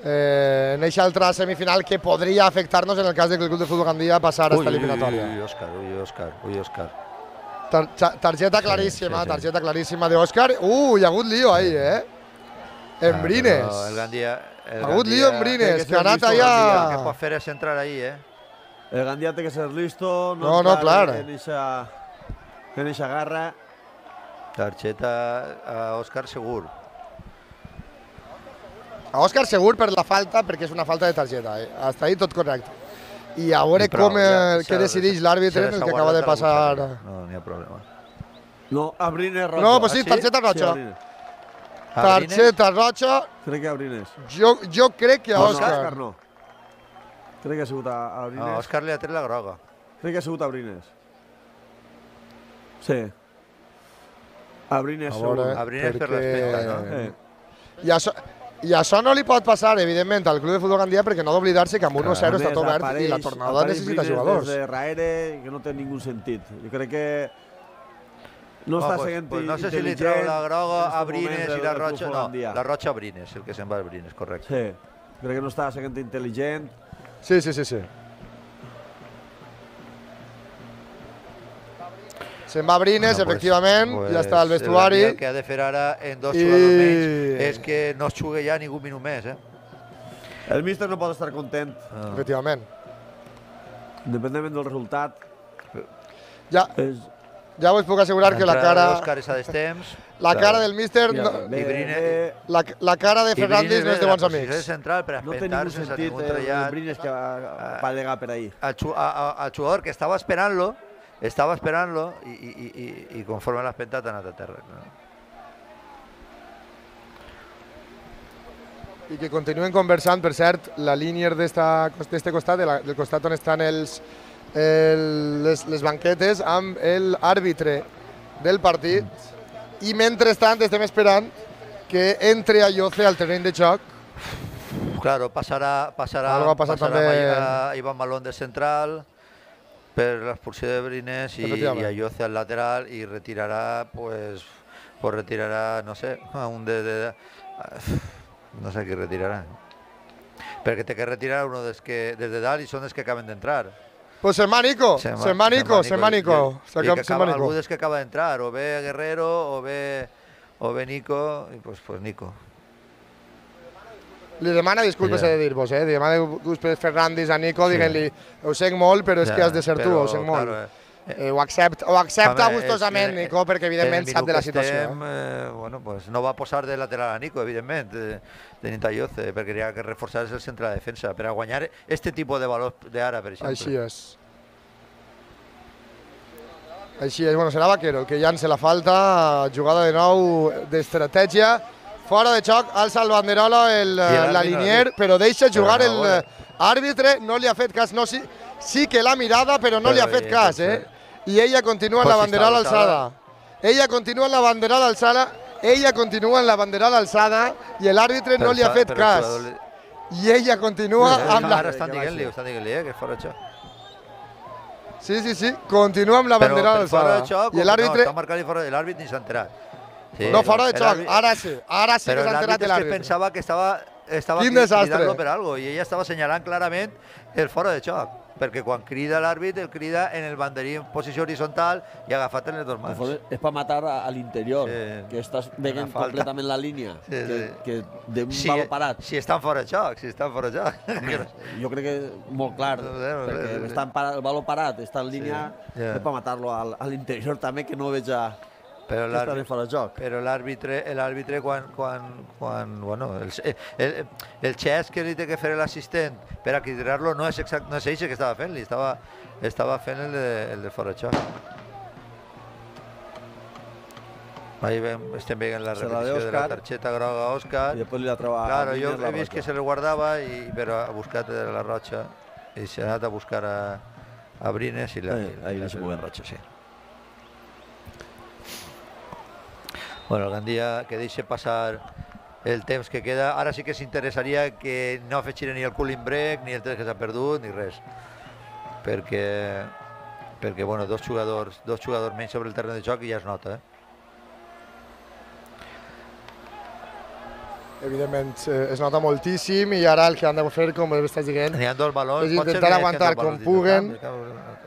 Eh, en aquesta altra semifinal que podria afectar-nos en el cas de que el Club de Futbol Gandia passar a esta eliminatòria. Ui, Òscar, ui, Òscar, ui, Òscar. Tar targeta claríssima, targeta claríssima de Òscar. Uh, hi ha hagut lío ahí, eh? En Brines. El Gandia... Ha hagut lío en Brines, que ha anat allà... El que pot fer és entrar ahí, eh? El Gandia té que ser listo, no, no, clar. En eixa garra. Targeta a Òscar segur. A Òscar segur per la falta, perquè és una falta de targeta, eh? Hasta ahí tot correcte. I a veure com què decideix l'àrbitre en el que acaba de passar... No, n'hi ha problema. No, a Brines roja. No, pues sí, targeta roja. Targeta roja. Crec que a Brines. Jo, jo crec que a Òscar. No. Crec que ha sigut a, a Brines. No, Òscar li ha tret la groga. Crec que ha sigut a Brines. Sí. A Brines, segur. A Brines per l'espenta, no? Eh. I això, I això no li pot passar, evidentment, al Club de Futbol Gandia, perquè no d'oblidar-se que amb un u zero està tot obert i la tornada necessita jugadors. Des de darrere, que no té ningú sentit. Jo crec que no està pues, sent pues no sé si li treu la groga a Brines i la Rocha. No, la Rocha a Brines, el que se'n va a Brines, correcte. Sí, crec que no està sent intel·ligent. Sí, sí, sí, sí. Se'n va a Brines, bueno, efectivament, pues, ja està al vestuari. El que ha de fer ara en dos I... jugadors menys és que no es jugui ja ningú minut més. Eh? El míster no pot estar content. Ah. Efectivament. Independentment del resultat. Ja, és... ja us puc assegurar que la cara... Òscar és a destemps. La cara del míster... Ja, no... bé, Brines... la, la cara de Fernández no és de bons amics. És central per no té ningú sentit el Brines que va, va llegar per ahí. Al jugador que estava esperant-lo, estava esperant-lo i, i, i, i conforme l'ha espentat ha anat a terra. No? I que continuen conversant, per cert, la línia d'este costat, del costat on estan els, el, les, les banquetes, amb l'àrbitre del partit. Mm. I mentrestant estem esperant que entre Ayoce al terreny de joc. Claro, passarà, passarà, passarà també... a Iván Malón de central, per l'expulsió de Brines i, i Ayoce al lateral i retirarà, pues, pues retirarà, no sé, un de, de, de no sé qui retirarà. Perquè té que retirar uno des, que, des de dalt i són els que acaben d'entrar. Pues se'n va Nico, se'n va Nico, se'n va Nico. I que acaba, algú des que acaba d'entrar, o bé Guerrero, o bé, o bé Nico, i pues, pues Nico. Li demana disculpes, he de dir-vos, eh? Li demana disculpes Fernández a Nico, sí. Diguent-li, ho sent molt, però és ja, que has de ser però, tu, ho sent molt. Claro, eh, eh, ho, accept, ho accepta home, gustosament, eh, Nico, perquè evidentment sap de la situació. Estem, eh, bueno, pues no va posar de lateral a Nico, evidentment, de, de Ayoce, perquè hi ha que reforçar el centre de defensa, per a guanyar este tipus de valor d'ara, per exemple. Així és. Així és, bueno, serà Vaquero, el que llança la falta, jugada de nou d'estratègia. Fora de xoc, alça el banderola el, la linier, però deixa jugar l'àrbitre, no li ha fet cas, no, sí, sí que l'ha mirada, però no li ha fet cas, eh? I ella continua amb la banderola alçada. Ella continua amb la banderola alçada, ella continua amb la banderola alçada i l'àrbitre no li ha fet cas. I ella continua amb la... Ara estan dient-li, estan dient-li, eh, que és fora de xoc. Sí, sí, sí, continua amb la banderola alçada. I l'àrbitre... Està marcat i fora de l'àrbitre ni s'ha enterat. Sí, no, fora de xoc, ara sí, ara sí que s'ha enterat l'àrbitre. Però l'àrbitre pensava que estava, estava cridant-lo per algo i ella estava assenyalant clarament el fora de xoc, perquè quan crida l'àrbitre, el crida en el banderí en posició horitzontal i agafat en les dues mans. És per matar a l'interior, sí. Que estàs veient completament la línia, sí, sí. Que, que d'un si, valor parat. Si estan fora de xoc, si estan fora de xoc. Jo crec que és molt clar, no sé, no sé, perquè sí. Està parat, el valor parat, està en línia, sí. Yeah. És per matar-lo a l'interior també, que no veig a... Però l'àrbitre, l'àrbitre quan, quan, quan, bueno, el, el, el xest que li té que fer l'assistent per a cridar-lo no és exact, no és ell que estava fent-li, estava, estava fent el de, el de fora de xoc. Ahí ven, estem veient la repetició de, de la targeta groga a Òscar. I després li la troba claro, a jo he vist que se li guardava, i, però ha buscat la Rocha i s'ha anat a buscar a, a Brines i la, eh, ahí la, la, la Rocha, sí. Bueno, el Gandia que deixa passar el temps que queda. Ara sí que s'interessaria que no afegiren ni el cooling break, ni el tres que s'ha perdut, ni res. Perquè, perquè bueno, dos jugadors, dos jugadors menys sobre el terreny de joc i ja es nota, eh? Evidentment, es nota moltíssim i ara el que han de fer, com estàs dient, n'hi ha dos balons, és intentar aguantar com puguen.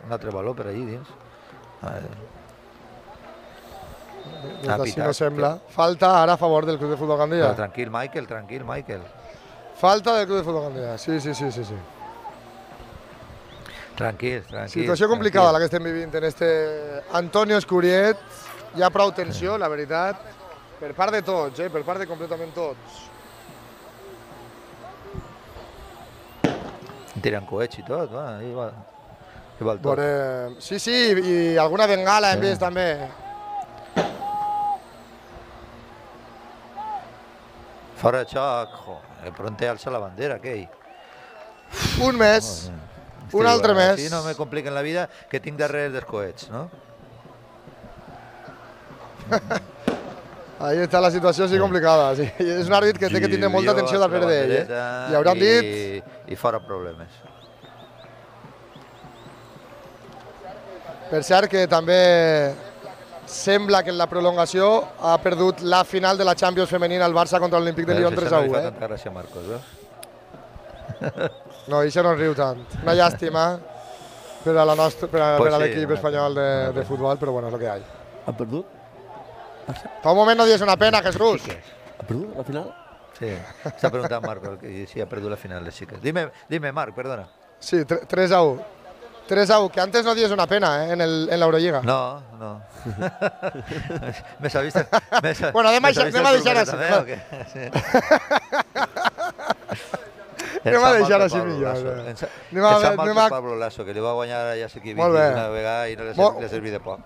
Un altre baló per allí dins. A veure. Ah, així no sembla. Falta ara a favor del Club de Futbol Gandia. Però tranquil, Michael, tranquil, Michael. Falta del Club de Futbol Gandia, sí, sí, sí, sí. sí. Tranquil, tranquil. Situació complicada tranquil. La que estem vivint en este Antonio Escuriet. Hi ha prou tensió, la veritat, per part de tots, eh? Per part de completament tots. Tiren coets i tot, va, i va, i va el tot. Veurem... Sí, sí, i alguna bengala hem vist també. Fora de xoc, joder, pronte alça la bandera, aquell. Un mes, un altre mes. Així no me compliquen la vida, que tinc darrere dels coets, no? Ahí està la situació així complicada. Sí. És un àrbit que té que tindre molta atenció darrere d'ell. Eh? I hauran dit... I fora problemes. Per cert que també sembla que en la prolongació ha perdut la final de la Champions femenina al Barça contra l'Olímpic de Lyon tres a u. Eh? Tanta gràcia, Marcos, eh? No, això no en riu tant. Una llàstima per a l'equip espanyol de, de futbol, però bueno, és el que hi ha. Ha perdut? Fa un moment no dius una pena, Jesús. Ha perdut la final? Sí, s'ha preguntat Marc si ha perdut la final, les xiques. Dime, dime Marc, perdona. Sí, tres a u. tres a u, que antes no dies una pena eh, en l'Eurolliga. No, no. Me sabiste... Bueno, anem a deixar així. Anem a deixar així millor. Em sap mal per Pablo Lasso, que li va guanyar ja sé qui una vegada i no li serví de poc.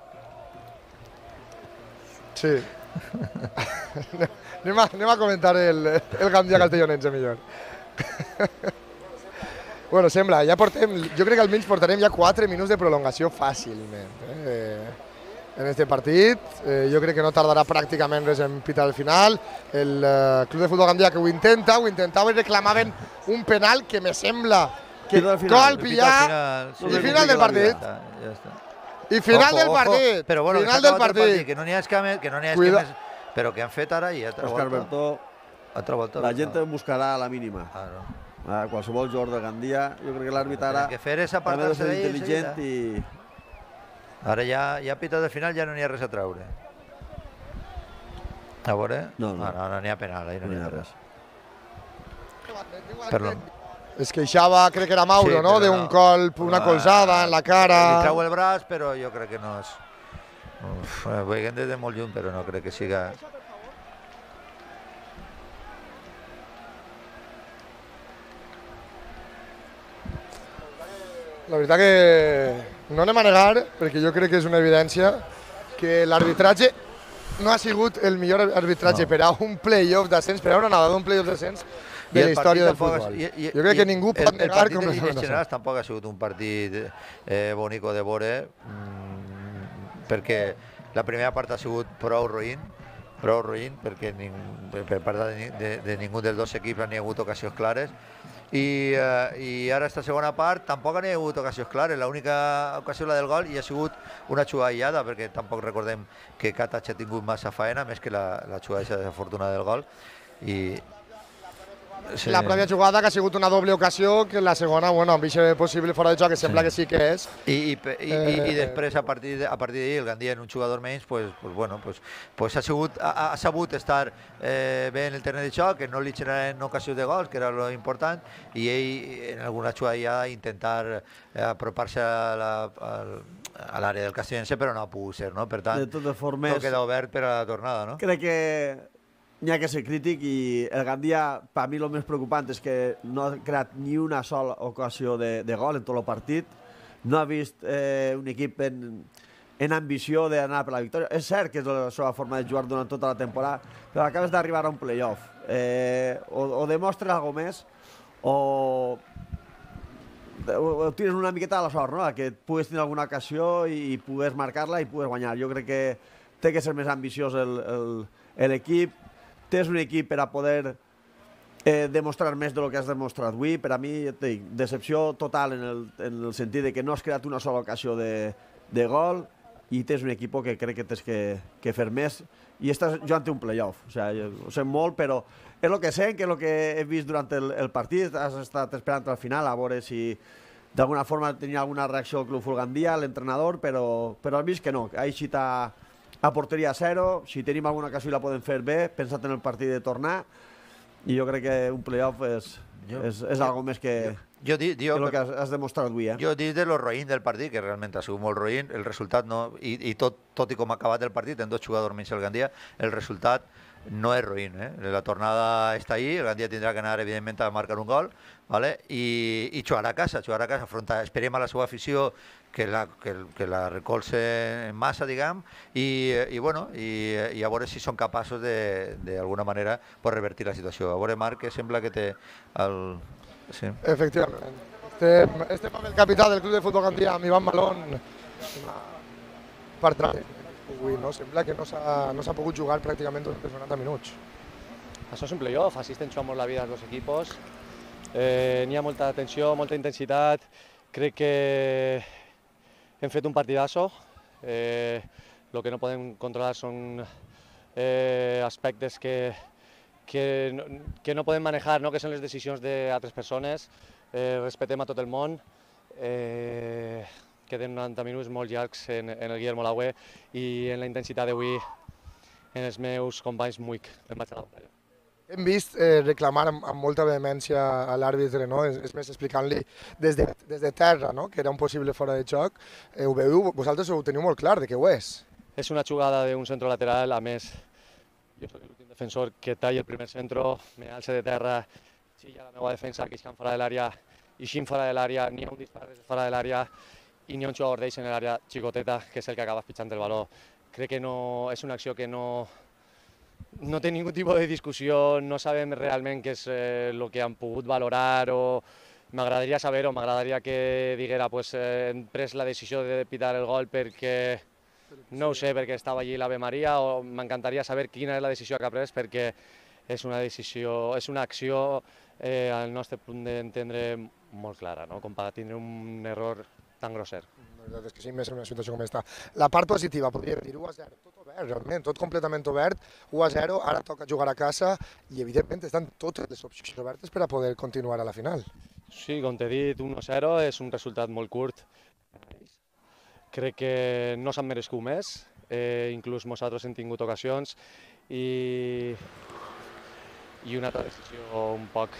Sí. anem, a, anem a comentar el, el Gandia Castellonense millor. Bueno, sembla, ja portem, jo crec que almenys portarem ja quatre minuts de prolongació fàcilment eh, en este partit. Eh, jo crec que no tardarà pràcticament res en pitar al final. El eh, Club de Futbol Gandia que ho intenta, ho intentava i reclamaven un penal que me sembla que cal pillar i final del partit. Ja està. I final ojo, del partit, però bueno, final del partit. partit. Que no n'hi ha escames, que no n'hi ha escames, però que han fet ara i altra Òscar volta. Bertó, altra volta. La gent em buscarà a la mínima. Ah, no. A qualsevol jugador de Gandia, jo crec que l'àrbitre ara que fer és apartar-se ser d'ell intel·ligent i... Ara ja, ja pitat de final, ja no n'hi ha res a treure. A veure? No, no, no, no n'hi ha penal, ahí no n'hi ha res. Perdó. Es queixava, crec que era Mauro, sí, no? D'un no. colp, una colzada en la cara... Li trau el braç, però jo crec que no és... Uf, ho veiem des de molt lluny, però no crec que siga... La veritat que no anem a negar, perquè jo crec que és una evidència, que l'arbitratge no ha sigut el millor arbitratge no. per a un play-off d'ascens, per a una nada d'un play-off d'ascens de la història del futbol. I, i, jo crec que ningú pot el, negar... El partit en general tampoc ha sigut un partit eh, bonico de veure, mmm, perquè la primera part ha sigut prou roïn, prou roïn, perquè ning, per part de, de, de ningú dels dos equips no hi ha hagut ocasions clares, i, eh, i ara esta segona part tampoc n'hi ha hagut ocasions clares. L'única ocasió la del gol i ha sigut una jugada aïllada, perquè tampoc recordem que Katach ha tingut massa faena, més que la, la jugada desafortunada del gol. I sí. La pròpia jugada que ha sigut una doble ocasió, que la segona, bueno, amb aquest possible fora de joc, que sembla sí. que sí que és. I, i, i, eh, i després, a partir de, a partir d'ahir, el Gandia en un jugador menys, pues, pues, bueno, pues, pues ha, sigut, ha, ha sabut estar eh, bé en el terreny de joc, que no li generen ocasions de gols, que era lo important, i ell, en alguna jugada ja, intentar eh, apropar-se a la, a l'àrea del Castellonense, però no ha pogut ser, no? Per tant, de totes formes, tot queda obert per a la tornada, no? Crec que n'hi ha que ser crític i el Gandia, per mi el més preocupant és que no ha creat ni una sola ocasió de, de gol en tot el partit. No ha vist eh, un equip en, en ambició d'anar per la victòria. És cert que és la seva forma de jugar durant tota la temporada, però acabes d'arribar a un play-off. Eh, o, o demostres alguna més o, o, o tires una miqueta a la sort, no? Que pugues tenir alguna ocasió i, i pugues marcar-la i pugues guanyar. Jo crec que té que ser més ambiciós l'equip. Tens un equip per a poder eh, demostrar més del que has demostrat avui. Per a mi, dic, decepció total en el, en el sentit de que no has creat una sola ocasió de, de gol i tens un equip que crec que tens que, que fer més i estàs jugant un play-off. O sigui, ho sé molt, però és el que sé, que és el que he vist durant el, el partit. Has estat esperant al final a veure si d'alguna forma tenia alguna reacció al Club Fulgandia, l'entrenador, però, però has vist que no. Ha eixit a a porteria a zero, si tenim alguna ocasió la podem fer bé, pensat en el partit de tornar, i jo crec que un play-off és, jo, és, és jo, algo més que, jo, jo, jo, que el que has, has demostrat avui. Eh? Jo dic de lo roïn del partit, que realment ha sigut molt roïn, el resultat no, i, i tot, tot i com ha acabat el partit, en dos jugadors menys el Gandia, el resultat no és roïn. Eh? La tornada està ahí, el Gandia tindrà que anar, evidentment, a marcar un gol, ¿vale? I, i jugar a casa, jugar a casa, afrontar, esperem a la seva afició que la, que, que la recolze en massa, diguem, i, i, bueno, i, i a veure si són capaços d'alguna manera pues, revertir la situació. A veure, Marc, que sembla que té el... Sí. Efectivament. Estem, estem amb el capità del Club de Futbol Gandia, amb Ivan Malón, per tràmit. Avui no? Sembla que no s'ha no s'ha pogut jugar pràcticament durant els noranta minuts. Això és un playoff, així tensió molt la vida dels dos equipos. Eh, N'hi ha molta tensió, molta intensitat. Crec que hem fet un partidazo. Eh, lo que no podem controlar són eh, aspectes que, que, no, que no podem manejar, no? Que són les decisions d'altres persones. Eh, respetem a tot el món. Eh, queden noranta minuts molt llargs en, en el Guillermo Laue i en la intensitat d'avui en els meus companys Muic. Em vaig a la pantalla. Hem vist eh, reclamar amb, amb molta vehemència a l'àrbitre, no? És, és més explicant-li des, de, des de terra, no? Que era un possible fora de joc. Eh, ho veieu, vosaltres ho teniu molt clar de què ho és. És una jugada d'un centro lateral, a més, jo soc l'últim defensor que talla el primer centro, me alça de terra, xilla la meva defensa, que iscan fora de l'àrea, ixin fora de l'àrea, n'hi ha un dispar des de fora de l'àrea i n'hi ha un jugador d'ells en l'àrea xicoteta, que és el que acaba pitjant el baló. Crec que no, és una acció que no, no té ningú tipus de discussió, no sabem realment què és el eh, que han pogut valorar o m'agradaria saber-ho, m'agradaria que diguera pues, eh, hem pres la decisió de pitar el gol perquè no ho sé, perquè estava allí l'Ave Maria o m'encantaria saber quina és la decisió que ha pres perquè és una decisió, és una acció eh, al nostre punt d'entendre molt clara, no? Com per tindre un error tan grosser. La veritat és que sí, més en una situació com aquesta. La part positiva, podria dir u a zero, tot obert, realment, tot completament obert, u a zero, ara toca jugar a casa i evidentment estan totes les opcions obertes per a poder continuar a la final. Sí, com t'he dit, u a zero és un resultat molt curt. Crec que no s'han merescut més, eh, inclús nosaltres hem tingut ocasions i, i una altra decisió un poc,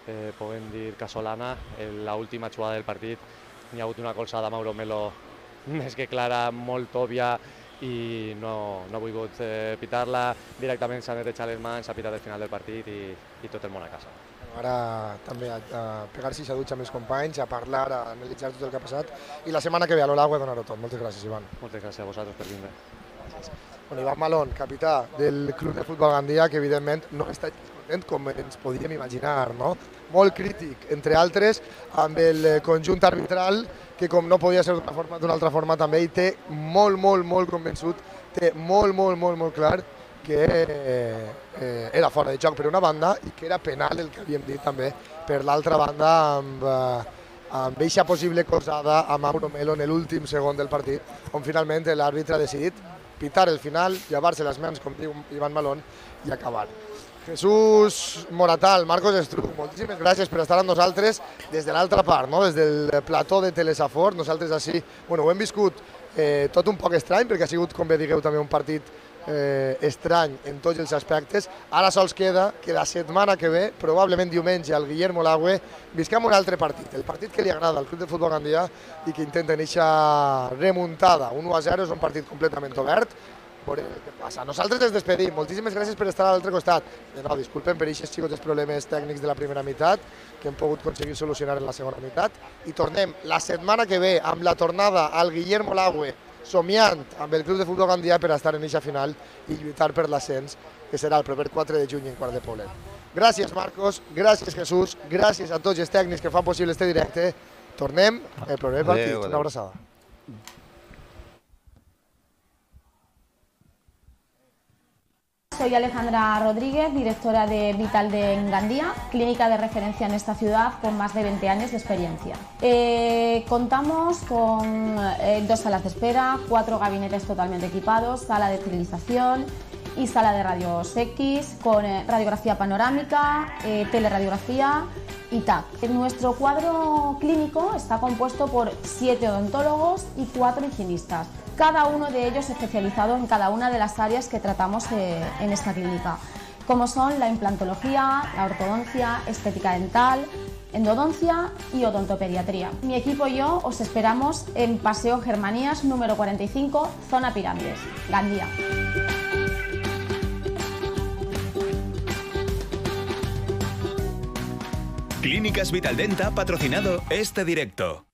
eh, podem dir, casolana, l'última jugada del partit. N'hi ha hagut una colzada a Mauro Melo més que clara, molt òbvia i no, no he volgut eh, pitar-la. Directament s'han netejat les mans, s'ha pitat el final del partit i, i tot el món a casa. Ara també a, a pegar-se a dutxa amb els companys, a parlar, a analitzar tot el que ha passat i la setmana que ve a l'Olague a donar-ho tot. Moltes gràcies, Ivan. Moltes gràcies a vosaltres per vindre. Bueno, Ivan Malón, capità del Club de Futbol Gandia, que evidentment no està content com ens podíem imaginar, no? Molt crític, entre altres, amb el conjunt arbitral, que com no podia ser d'una forma, d'una altra forma també hi té molt, molt, molt convençut, té molt, molt, molt, molt clar que eh, era fora de joc per una banda i que era penal el que havíem dit també per l'altra banda amb, eh, amb eixa possible colzada a Mauro Melo en l'últim segon del partit, on finalment l'àrbitre ha decidit pitar el final, llevar-se les mans, com diu Ivan Malón, i acabar. Jesús Moratal, Marcos Estruc, moltíssimes gràcies per estar amb nosaltres des de l'altra part, no? Des del plató de Telesafor. Nosaltres així, bueno, ho hem viscut eh, tot un poc estrany, perquè ha sigut, com bé digueu, també un partit eh, estrany en tots els aspectes. Ara sols queda que la setmana que ve, probablement diumenge, al Guillermo Laue, visquem un altre partit, el partit que li agrada al Club de Futbol Gandia i que intenten eixa remuntada. un u a zero és un partit completament obert. Veurem què passa. Nosaltres ens despedim. Moltíssimes gràcies per estar a l'altre costat. De nou, disculpen per aquests xicots problemes tècnics de la primera meitat que hem pogut aconseguir solucionar en la segona meitat. I tornem la setmana que ve amb la tornada al Guillermo Laue, somiant amb el Club de Futbol Gandia per estar en eixa final i lluitar per l'ascens, que serà el proper quatre de juny en Quart de Poblet. Gràcies, Marcos. Gràcies, Jesús. Gràcies a tots els tècnics que fan possible este directe. Tornem el proper partit. Una abraçada. Soy Alejandra Rodríguez, directora de Vital de Engandía, clínica de referencia en esta ciudad con más de veinte años de experiencia. Eh, contamos con eh, dos salas de espera, cuatro gabinetes totalmente equipados, sala de esterilización y sala de rayos X, con eh, radiografía panorámica, eh, teleradiografía y T A C. Nuestro cuadro clínico está compuesto por siete odontólogos y cuatro higienistas, cada uno de ellos especializado en cada una de las áreas que tratamos eh, en esta clínica, como son la implantología, la ortodoncia, estética dental, endodoncia y odontopediatría. Mi equipo y yo os esperamos en Paseo Germanías número cuarenta y cinco, zona Pirámides, Gandía. Clínicas Vitaldent ha patrocinado este directo.